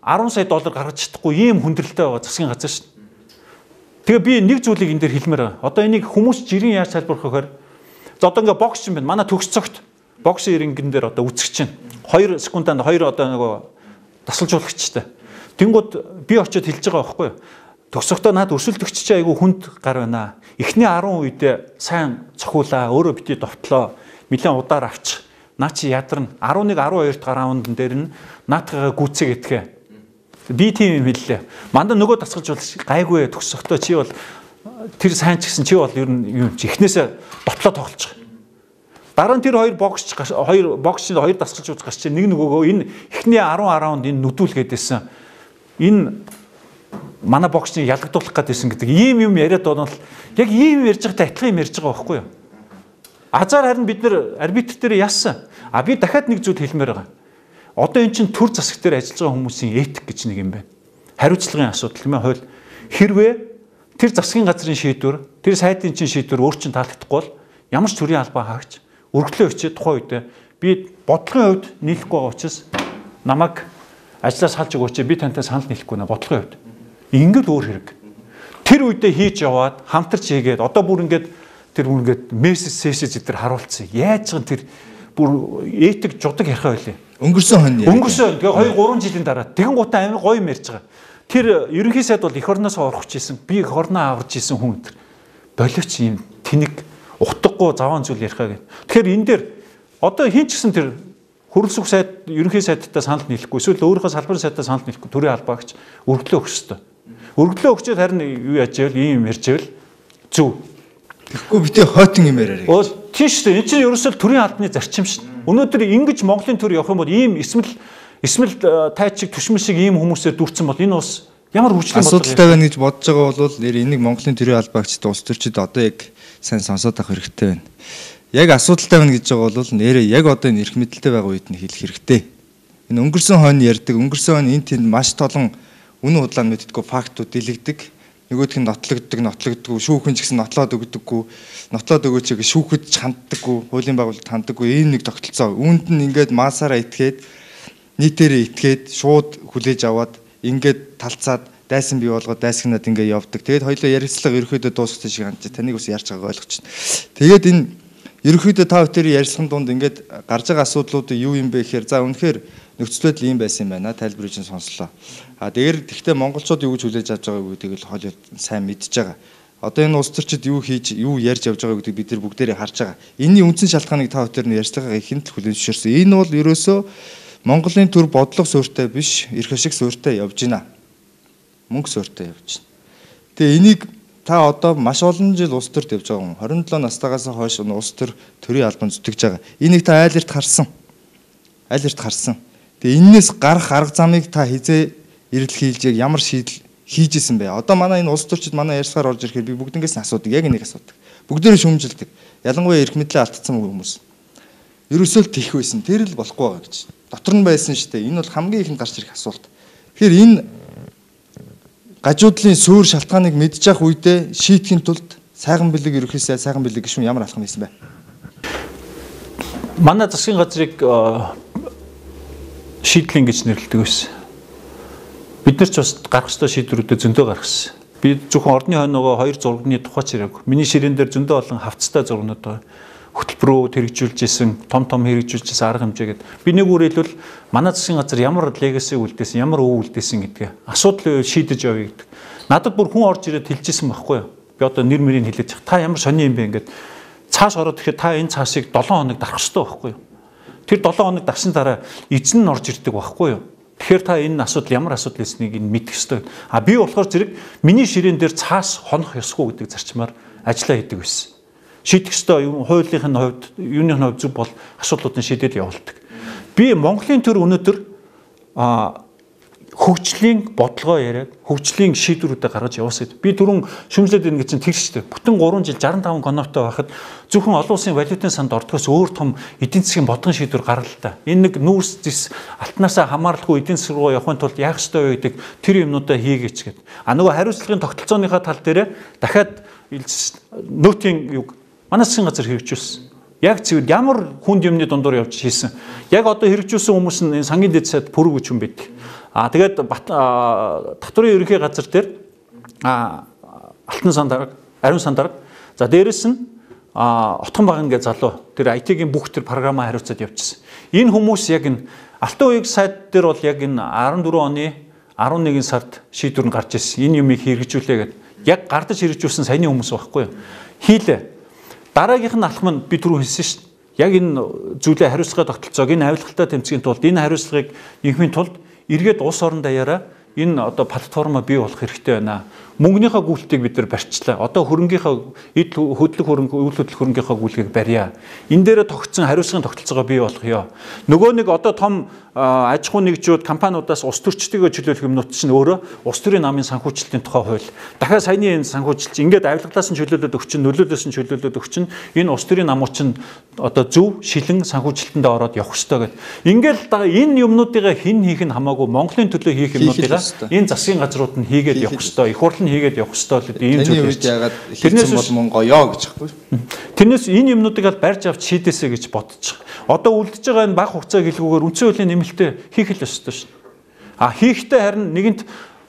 10 сая доллар гаргаж чадахгүй ийм хүндрэлтэй байгаа засгийн газар шүү дээ. Тэгээ би нэг зүйлийг энэ дээр хэлмээр байгаа. Одоо энийг хүмүүс жирийн яаж тайлбарлах вэ гэхээр за одоо ингээд бокс юм байна. Манай төгс цогт боксын рингэн дээр одоо үзэгч чинь 2 секунданд 2 одоо нөгөө тасалжуулагчтай. Тэнгууд би очиод хэлж байгаа байхгүй юу? Төгсөхдөө над өрсөлдөгч чи айгүй хүнд гар байна. Эхний 10 үедээ сайн цохиулаа, өөрөө бити довтлоо. Нилээн удаар авч. Наа чи ядарна. 11 12 дахь раунд дээр нь наатагаа гүцээ гэтгэ. Би тийм юм хэллээ. Мандаа нөгөө тасгалжуулагч гайгүй төгсөхдөө чи бол тэр сайн ч гэсэн чи бол ер нь юм чи эхнээсээ довтлоо тоглож байгаа. Дараа нь тэр хоёр боксч хоёр дасгалжуулагч гарч чи нэг нөгөөгөө энэ эхний 10 раунд энэ нүдүүлгээдсэн. Энэ манай боксыг ялгадуулах гэдээсэн гэдэг ийм юм яриад байгаа нь яг ийм ярьж байгаатай адилхан юм ярьж байгаа байхгүй юу? Азар харин бид нар арбитр дээр яасан. Би дахиад нэг зүйл хэлмээр байгаа. Одоо эн чинь төр засаг дээр ажиллаж байгаа хүмүүсийн этик гэж нэг юм байна. Хариуцлагын асуудал юм аа хууль. Хэрвээ тэр засгийн газрын шийдвэр, тэр сайдын чинь шийдвэр өөр чинь таалагдахгүй бол ямар ч төрлийн албаа хаагч өргөдлөө өчөө тухайн үедээ би бодлогын хувьд нийлэхгүй байгаа учраас намайг ажлаас салж өгөөч би тантай санал нийлэхгүй нэ бодлогын хувьд. Ингээд өөр хэрэг. Тэр үедээ хийж яваад хамтарч хийгээд одоо бүр ингээд тэр мессеж эдгээр харуулсан. Яаж ч тэр бүр этик жудаг ярих байлээ. Өнгөрсөн хон яриа. Өнгөрсөн. Тэгээ 2 3 жилийн дараа тэгэн гутаа амир гоё юм ярьж байгаа. Тэр ерөнхий сайд бол эх орноос орох гэсэн, би эх орноо аварч исэн хүн тэр. Боловч юм тэнэг утгагүй заваан зүйл ярихаа гэх. Тэгэхээр энэ дээр одоо хин ч гэсэн тэр хөрөлсөх сайд ерөнхий сайдтай санал нийлэхгүй эсвэл өөрийнхөө салбарын сайдтай санал нийлэхгүй төрийн албаагч өргөлөө өгөх ёстой. Өргөлөө өгчөөд харин юу яаж ивэл ийм юм ярьж ивэл зөв. Тэгэхгүй битээ хойтон юм яриараа. Тийм шүү дээ. Энэ чинь ерөөсөө төрийн албаны зарчим шүү дээ. Өнөөдөр ингэж Монголын төр явах юм бол ийм эсмэл тайч шиг түшмэл шиг ийм хүмүүсээр дүүрсэн бол энэ ус ямар хүчлэн асуудалтай байна гэж бодож байгаа бол энийг Монголын төрийн албаагчид улс төрчид одоо яг сайн сонсоод авах хэрэгтэй байна. Яг асуудалтай байна гэж байгаа бол нэрээ яг одоо энэ эрх мэдэлтэй байгаа үед нь хэлэх хэрэгтэй. Энэ өнгөрсөн хойно ярьдаг, өнгөрсөн хойно энэ тэнд маш толон үнэн худлаа мэддэггүй фактууд дэлгдэг. Нөгөөх нь нотлогддоггүй, шүүхэн ч гэсэн нотлоод өгдөггүй, нотлоод өгөөч гэж шүүхэд ч ханддаггүй, хуулийн байгууллагад ханддаггүй ийм нэг тогтолцоо. Үүнд нь ингээд маасаараа итгээд, нийтээрээ итгээд, шууд хүлээж аваад, ингээд талцаад, дайсан бий болгоод дайсагнаад ингээд явдаг. Тэгээд хоёулаа ярилцлага ерөөхдөө дуусгасан шиг хандж, таныг бас ярьж байгааг ойлгож байна. Тэгээд энэ ерөөхдөө та бүхэн ярьсан дунд ингээд гарч байгаа асуудлууд юу юм бэ гэхээр за үнэхээр нөхцөл байдал ийм байсан юм байна. Тайлбарыг нь сонслоо. Тэгвэл монголчууд юу гэж хүлээж авч байгаа гэдгийг л хоол сайн мэдж байгаа. Одоо энэ улс төрчид юу хийж, юу ярьж явж байгаа гэдгийг бид нар бүгдээрээ харж байгаа. Энэний үндсэн шалтгааныг та бүхэн ярьцлагаа ихэнд л хүлээж зөвшөөрсөн. Энэ бол ерөөсөө Монголын төр бодлого суурьтай биш, эрх ашиг суурьтай явж байна. Мөнгө суурьтай явж байна. Тэгээ энийг та одоо маш олон жил улс төрт явж байгаа юм. 27 настайгаас хойш улс төр төрийн албан зүтгэж байгаа. Энийг та айл эрт харсан. Айл эрт харсан. Тэгээ энээс гарах арга замыг та хизээ ирэл хийлж ямар шийдэл хийж исэн бэ? Одоо манай энэ улс төрчид манай ярьсгаар орж ирэхээр би бүгднгээс нь асуудаг. Яг энийг асуудаг. Бүгдээрээ шүмжилдэг. Ялангуяа эрх мэдлээ алдсан хүмүүс. Ерөөсөө л тийх байсан. Тэр л болохгүй байгаа гэж. Дотор нь байсан шүү дээ. Энэ бол хамгийн ихэнд гарч ирэх асуулт. Тэгэхээр энэ гажуудлын суур шалтгааныг мэдж явах үедээ шийдэхин тулд сайхан бэлэг ерөөхдөө сайхан бэлэг гişүн ямар алхам хийсэн бэ? Манай засгийн газрыг шийдлэн гэж нэрлэдэг байсан. Бид нар ч бас гарах ёстой шийдвэрүүдэд зөндөө гаргасан. Би зөвхөн орны хойноогоо 2 зурганы тухай чирээгүй. Миний ширээн дээр зөндөө олон хавцтай зургнууд байгаа. Хөтөлбөрөөр хэрэгжүүлжсэн, том хэрэгжүүлжсэн арга хэмжээгээд би нэг үгээр хэлбэл манай засгийн газар ямар легаси үлдээсэн, ямар өв үлдээсэн гэдгээ асуудал шийдэж явъя гэдэг. Надад бүр хүн орж ирээд хэлжсэн байхгүй юу? Би одоо нэр мөрийг хэлээд чах. Та ямар сони юм бэ ингээд цааш ороод ирэхэд та энэ цаашийг 7 хоног дарах хэрэгтэй байхгүй юу? Тэр 7 хоног дарсан дараа эзэн нь орж ирдэг байхгүй юу? Тэгэхээр та энэ асуудал ямар асуудал эснийг нь мэдэх ёстой. Би болохоор зэрэг миний ширээн дээр цаас хонох ёсгүй гэдэг зарчмаар ажиллаа хийдэг байсан. Шийдэх ёстой юм хуулийнхын хувьд, юуны хувьд зөв бол асуудлуудын шийдэл явуулдаг. Би Монголын төр өнөөдөр хөгжлийн бодлогоо яриад, хөгжлийн шийдвэрүүдээ гаргаж явуулсан. Би түрүүн шүмжлээд ирнэ гэж чинь тэр шүү дээ. Бүтэн 3 жил 65 коноптой байхад зөвхөн олон улсын валютын санд ордохоос өөр том эдийн засгийн бодлогын шийдвэр гаргал та. Энэ нэг нүүрс зис алтнаасаа хамааралгүй эдийн засаг руу явахын тулд яах ёстой вэ гэдэг тэр юмнуудаа хийгээч гээд. Нөгөө хариуцлагын тогтолцооныхаа тал дээр дахиад нөтийн юг манай засгийн газар хэрэгжүүлсэн. Яг цэвэр ямар хүнд юмны дундуур явж хийсэн. Яг одоо хэрэгжүүлсэн хүмүүс нь сангийн дэд сайд пүрэг хүч юм байдаг. Тэгээд татврын ерөнхий газар дээр алтан сан дарга, ариун сан дарга. За дээрэс нь отхон баган гэж залуу тэр IT-ийн бүх тэр програмаа хариуцаад явчихсан. Энэ хүмүүс яг энэ алтан уяг сайд дээр бол яг энэ 14 оны 11 сард шийдвэр нь гарч ирсэн. Энэ юмыг хэрэгжүүлээ гэдэг. Яг гардаж хэрэгжүүлсэн саяны хүмүүс байхгүй юу? Хийлээ. Дараагийнх нь алхам нь би түрүү хэлсэн шүү дээ. Яг энэ зүйлээ хариуцлагын тогтолцоог энэ авилгалтай тэмцэхийн тулд энэ хариуцлагыг инхмийн тулд эргээд улс орон даяараа энэ одоо платформа бий болох хэрэгтэй байна. Мөнгөнийхөө гүйлтийг бид нар барьчлаа. Одоо хөрөнгийнхөө эд хөдлөх хөрөнгө, үйл хөдлөх хөрөнгийнхөө гүйлгийг барья. Энэ дээр тогтсон хариуцлагын тогтолцоогоо бий болгоё. Нөгөө нэг одоо том аж ахуй нэгжүүд компаниудаас ус төрчдөгөө чөлөөлөх юмнууд чинь өөрөө ус төрийн намын санхүүжилтийн тухай хууль. Дахиад саяны энэ санхүүжилт ингээд авилгалаас нь чөлөөлөд өгчин, нөлөөлөөс нь чөлөөлөд өгчин энэ ус төрийн намууд чинь одоо зөв шилэн санхүүжилтэндээ ороод явах ёстой гэдэг. Ингээд энэ юмнуудыг хэн хийх нь хамаагүй Монголын төлөө хийх юмнуудыг энэ засгийн газрууд нь хийгээд явах ёстой. Их хурл хийгээд явах ёстой л ийм зүйл ярьж яагаад хийсэн бол мөн гоёо гэж байхгүй. Тэрнээс энэ юмнуудыг аль барьж авч шийдээсэй гэж бодчих. Одоо үлдэж байгаа энэ баг хугацаа гэлгүүгээр үндсэн хуулийн нэмэлтээ хийх л ёстой шүү. Хийхдээ харин нэгэнт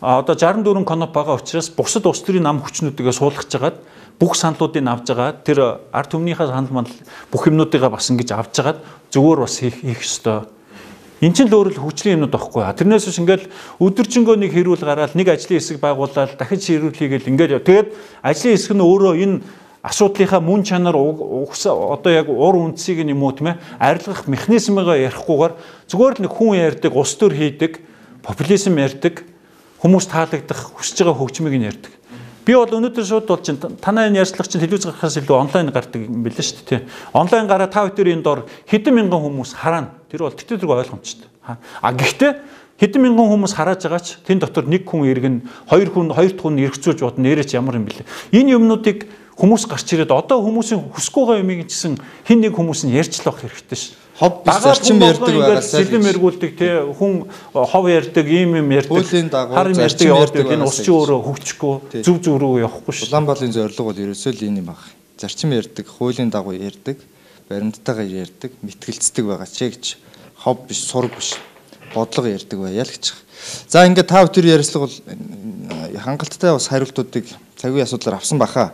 одоо 64 коноп байгаа учраас бусад улс төрийн нам хүчнүүдгээ суулгаж жагаад бүх саналуудыг авж байгаа тэр ард түмнийхээ санал мандал бүх юмнуудыг бас ингэж авж жагаад зүгээр бас хийх ёстой. Энд чинь л өөрөө хүчлийн юмнууд байхгүй. Тэрнээс биш ингээл өдөржингөө нэг хэрүүл гараад нэг ажлын хэсэг байгуулаад дахиж хэрүүл хийгээл ингээл тэгээд ажлын хэсэг нь өөрөө энэ асуудлынхаа мөн чанар одоо яг ур үндсийг юм уу тийм ээ арилгах механизмыгаа ярихгүйгээр зүгээр л нэг хүн ярьдаг, ус төр хийдэг, популизм ярьдаг, хүмүүс таалагдах, хүсэж байгаа хөгжмийг нь ярьдаг. Би бол өнөөдөр шууд бол чинь танай энэ ярьцлага чинь телевиз гарахаас илүү онлайн гардаг юм билээ шүү дээ. Онлайн гараа та бүхэн энэ дор хэдэн мянган хүмүүс харна. Тэр бол тэгтээ ойлгомжтой. Гэхдээ хэдэн мянган хүмүүс хараад байгаач тэн дотор нэг хүн иргэн, хоёр дахь хүн эргцүүлж бодно нэрэж ямар юм бэлээ. Энэ юмнуудыг хүмүүс гарч ирээд одоо хүмүүсийн хүсэхгүй байгаа юмыг чинь хин нэг хүмүүс нь ярьж л авах хэрэгтэй шүү. Хов зарчим ярьдаг байгаасаа сэлэм эргүүлдэг тий хүн хов ярьдаг ийм юм ярьдаг харин ярьдаг явдаг энэ ус чи өөрөө хөгжихгүй зүв рүү явахгүй шүү. Улаанбаалын зорилго бол ерөөсөө л энэ юм баг. Зарчим ярьдаг, хуулийн дагуу ярьдаг, баримттайгаар ярьдаг, мэтгэлцдэг байгаа ч гэж хов биш, сураг биш. Бодлого ярьдаг байя л гэж. За ингээд та бүхэн ярьцлага бол хангалттай бас хариултуудыг цагийн асуудлаар авсан баха.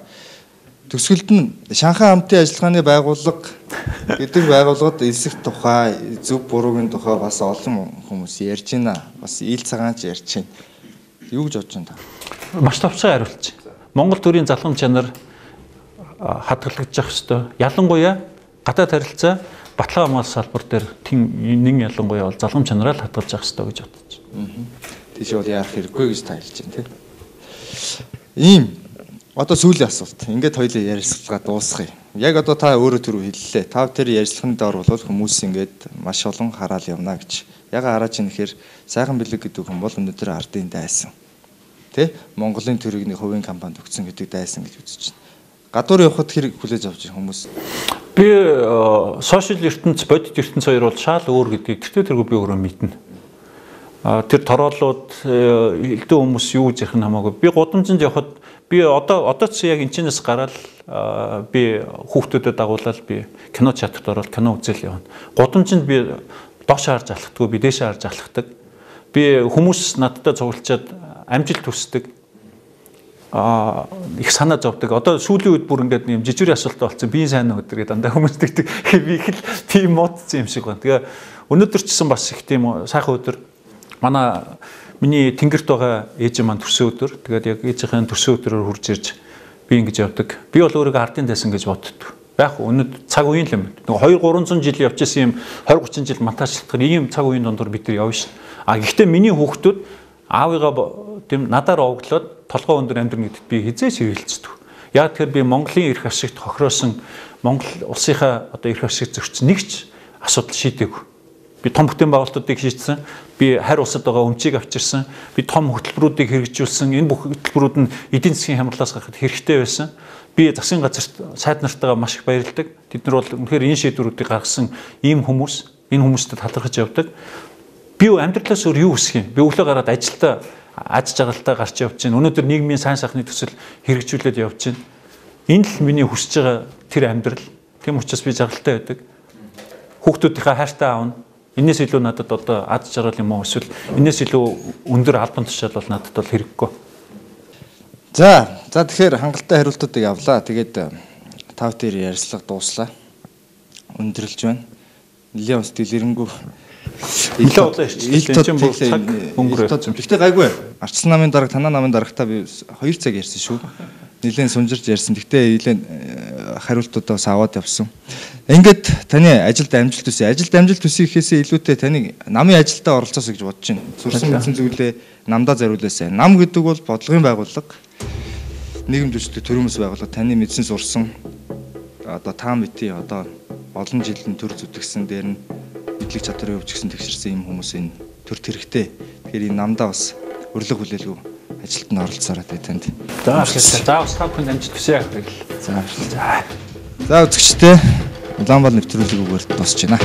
Төсгөлд нь Шанхай хамтын ажиллагааны байгууллага гэдэг байгууллагад элсэх тухай, зөв буруугийн тухай бас олон хүмүүс ярьж байна. Бас ил цагаанч ярьж байна. Юу гэж бодож байна та? Маш товчхон хариулж байна. Монгол төрийн залхам чанар хадгалагдаж явах ёстой. Ялангуяа гадаад харилцаа баталгаа хамгаалах салбар дээр нэг ялангуяа бол залхам чанараа л хадгалж явах ёстой гэж бодож байна. Тийш бол яарах хэрэггүй гэж та хэлж байна, тийм. Ийм одоо сүүлийн асуулт. Ингээд хоёулаа ярилцлага дуусгая. Яг одоо та өөрөө түрүү хэллээ. Та тэр ярилцлагын доор бол хүмүүс ингээд маш олон хараал явна гэж. Яга хараад чинь ихээр сайхан бэлэг гэдэг хүн бол өнөөдөр ардын дайсан. Тэ? Монголын төрийн хувийн компанид өгсөн гэдэг дайсан гэж үзэж байна. Гадуур явхад хэрэг хүлээж авч байгаа хүмүүс. Би сошиал ертөнц, бодит ертөнц хоёр бол шал өөр гэдгийг тэртээ тэргүй би өөрөө мэднэ. Тэр тороолууд элдэн хүмүүс юу гэж ярих нь хамаагүй. Би гудамжинд явхад би одоо ч яг энэчнээс гараад би хүүхдүүдэд дагуулаад би кино театрт ороод кино үзэл явна. Гудамжинд би доош харж алхдаггүй, би дээш харж алхдаг. Би хүмүүс надтай цуглуулчаад амжилт хүсдэг. Их санаа зовдөг. Одоо сүүлийн үед бүр ингээд юм жижигэр асуултаа болсон. Би сайн өдөр гэдэг дандаа хүмүүс тэгдэг. Би их л тийм модсон юм шиг байна. Тэгээ өнөөдөр ч гэсэн бас их тийм сайхан өдөр. Миний тэнгэрт байгаа ээж маань төрсөн өдөр. Тэгээд яг ээжийн төрсөн өдрөөр хурж ирж би ингэж явдаг. Би бол өөрийгөө ардын дайсан гэж боддог. Яг өнөөдөр цаг үеийн л юм. Нэг 200-300 жил явж исэн юм 20-30 жил монтажлах ийм цаг үеийн дондор бид нар явна шүү. Гэхдээ миний хүүхдүүд аавыгаа тийм надаар овоглоод толгой өндөр амьдрын гэдэгт би хизээч хэрэлцдэг. Яг тэгэхээр би Монголын эрх ашигт хохироосон Монгол улсынхаа одоо эрх ашиг зөрчсөн нэг ч асуудал шийдээгүй. Би том бүтээн байгуулалтуудыг шийдсэн. Би харь улсад байгаа өмчийг авчирсан. Би том хөтөлбөрүүдийг хэрэгжүүлсэн. Энэ бүх хөтөлбөрүүд нь эдийн засгийн хямралаас гарахад хэрэгтэй байсан. Би засгийн газарт сайд нартайгаа маш их баярлдаг. Тэд нар бол үнэхээр энэ шийдвэрүүдийг гаргасан ийм хүмүүс, энэ хүмүүстэй талархаж явдаг. Би амьдралаас өөр юу хүсэх юм? Би өглөө гараад ажилдаа аж жаргалтай гарч явж байна. Өнөөдөр нийгмийн сайн сайхны төсөл хэрэгжүүлээд явж байна. Энэ л миний хүсэж байгаа тэр амьдрал. Тийм учраас би жаргалтай байдаг. Хүүхдүүдийнхээ хайртай аавна. Энээс илүү надад одоо ад жаргал юм уу эсвэл энээс илүү өндөр албан тушаал бол надад бол хэрэггүй. За тэгэхээр хангалттай хариултуудыг авлаа. Тэгээд тав дээр ярилцлага дууслаа. Өндөрлж байна. Нилийн ус дэлгэрэнгүй. Илүү удаа ирчихсэн. Энэ чинь бүр цаг өнгөрөөсөн. Гэхдээ гайгүй. Арчсан намын дарга, танаа намын дарагтаа би 2 цаг ярьсан шүү. Нилийн сунжирж ярьсан. Гэхдээ нилийн хариултуудаа бас аваад явсан. Ингээд таны ажилд амжилт төсөө. Ажилд амжилт төсөө гэхээсээ илүүтэй таны намын ажилдаа оролцоосоо гэж бодож байна. Сурсан мэдсэн зүйлээ намдаа зориулаасаа. Нам гэдэг бол бодлогын байгууллага. Нийгэм дэвшилтийн төрөөмс байгууллага. Таны мэдсэн сурсан одоо та мэдээ одоо олон жилийн төр зүтгэсэн дээр нь мэдлэг чадварыг өвчгсөн тэгшэрсэн юм хүмүүсийн төр тэрэгтэй. Тэгэхээр энэ намдаа бас өрлөг хүлээлгүй ажилд нь оролцоорой танд. За бас та бүхэнд амжилт хүсье. За үзэгчдээ Улаанбаал нэвтрүүлгийг өгөөрт дуусч байна.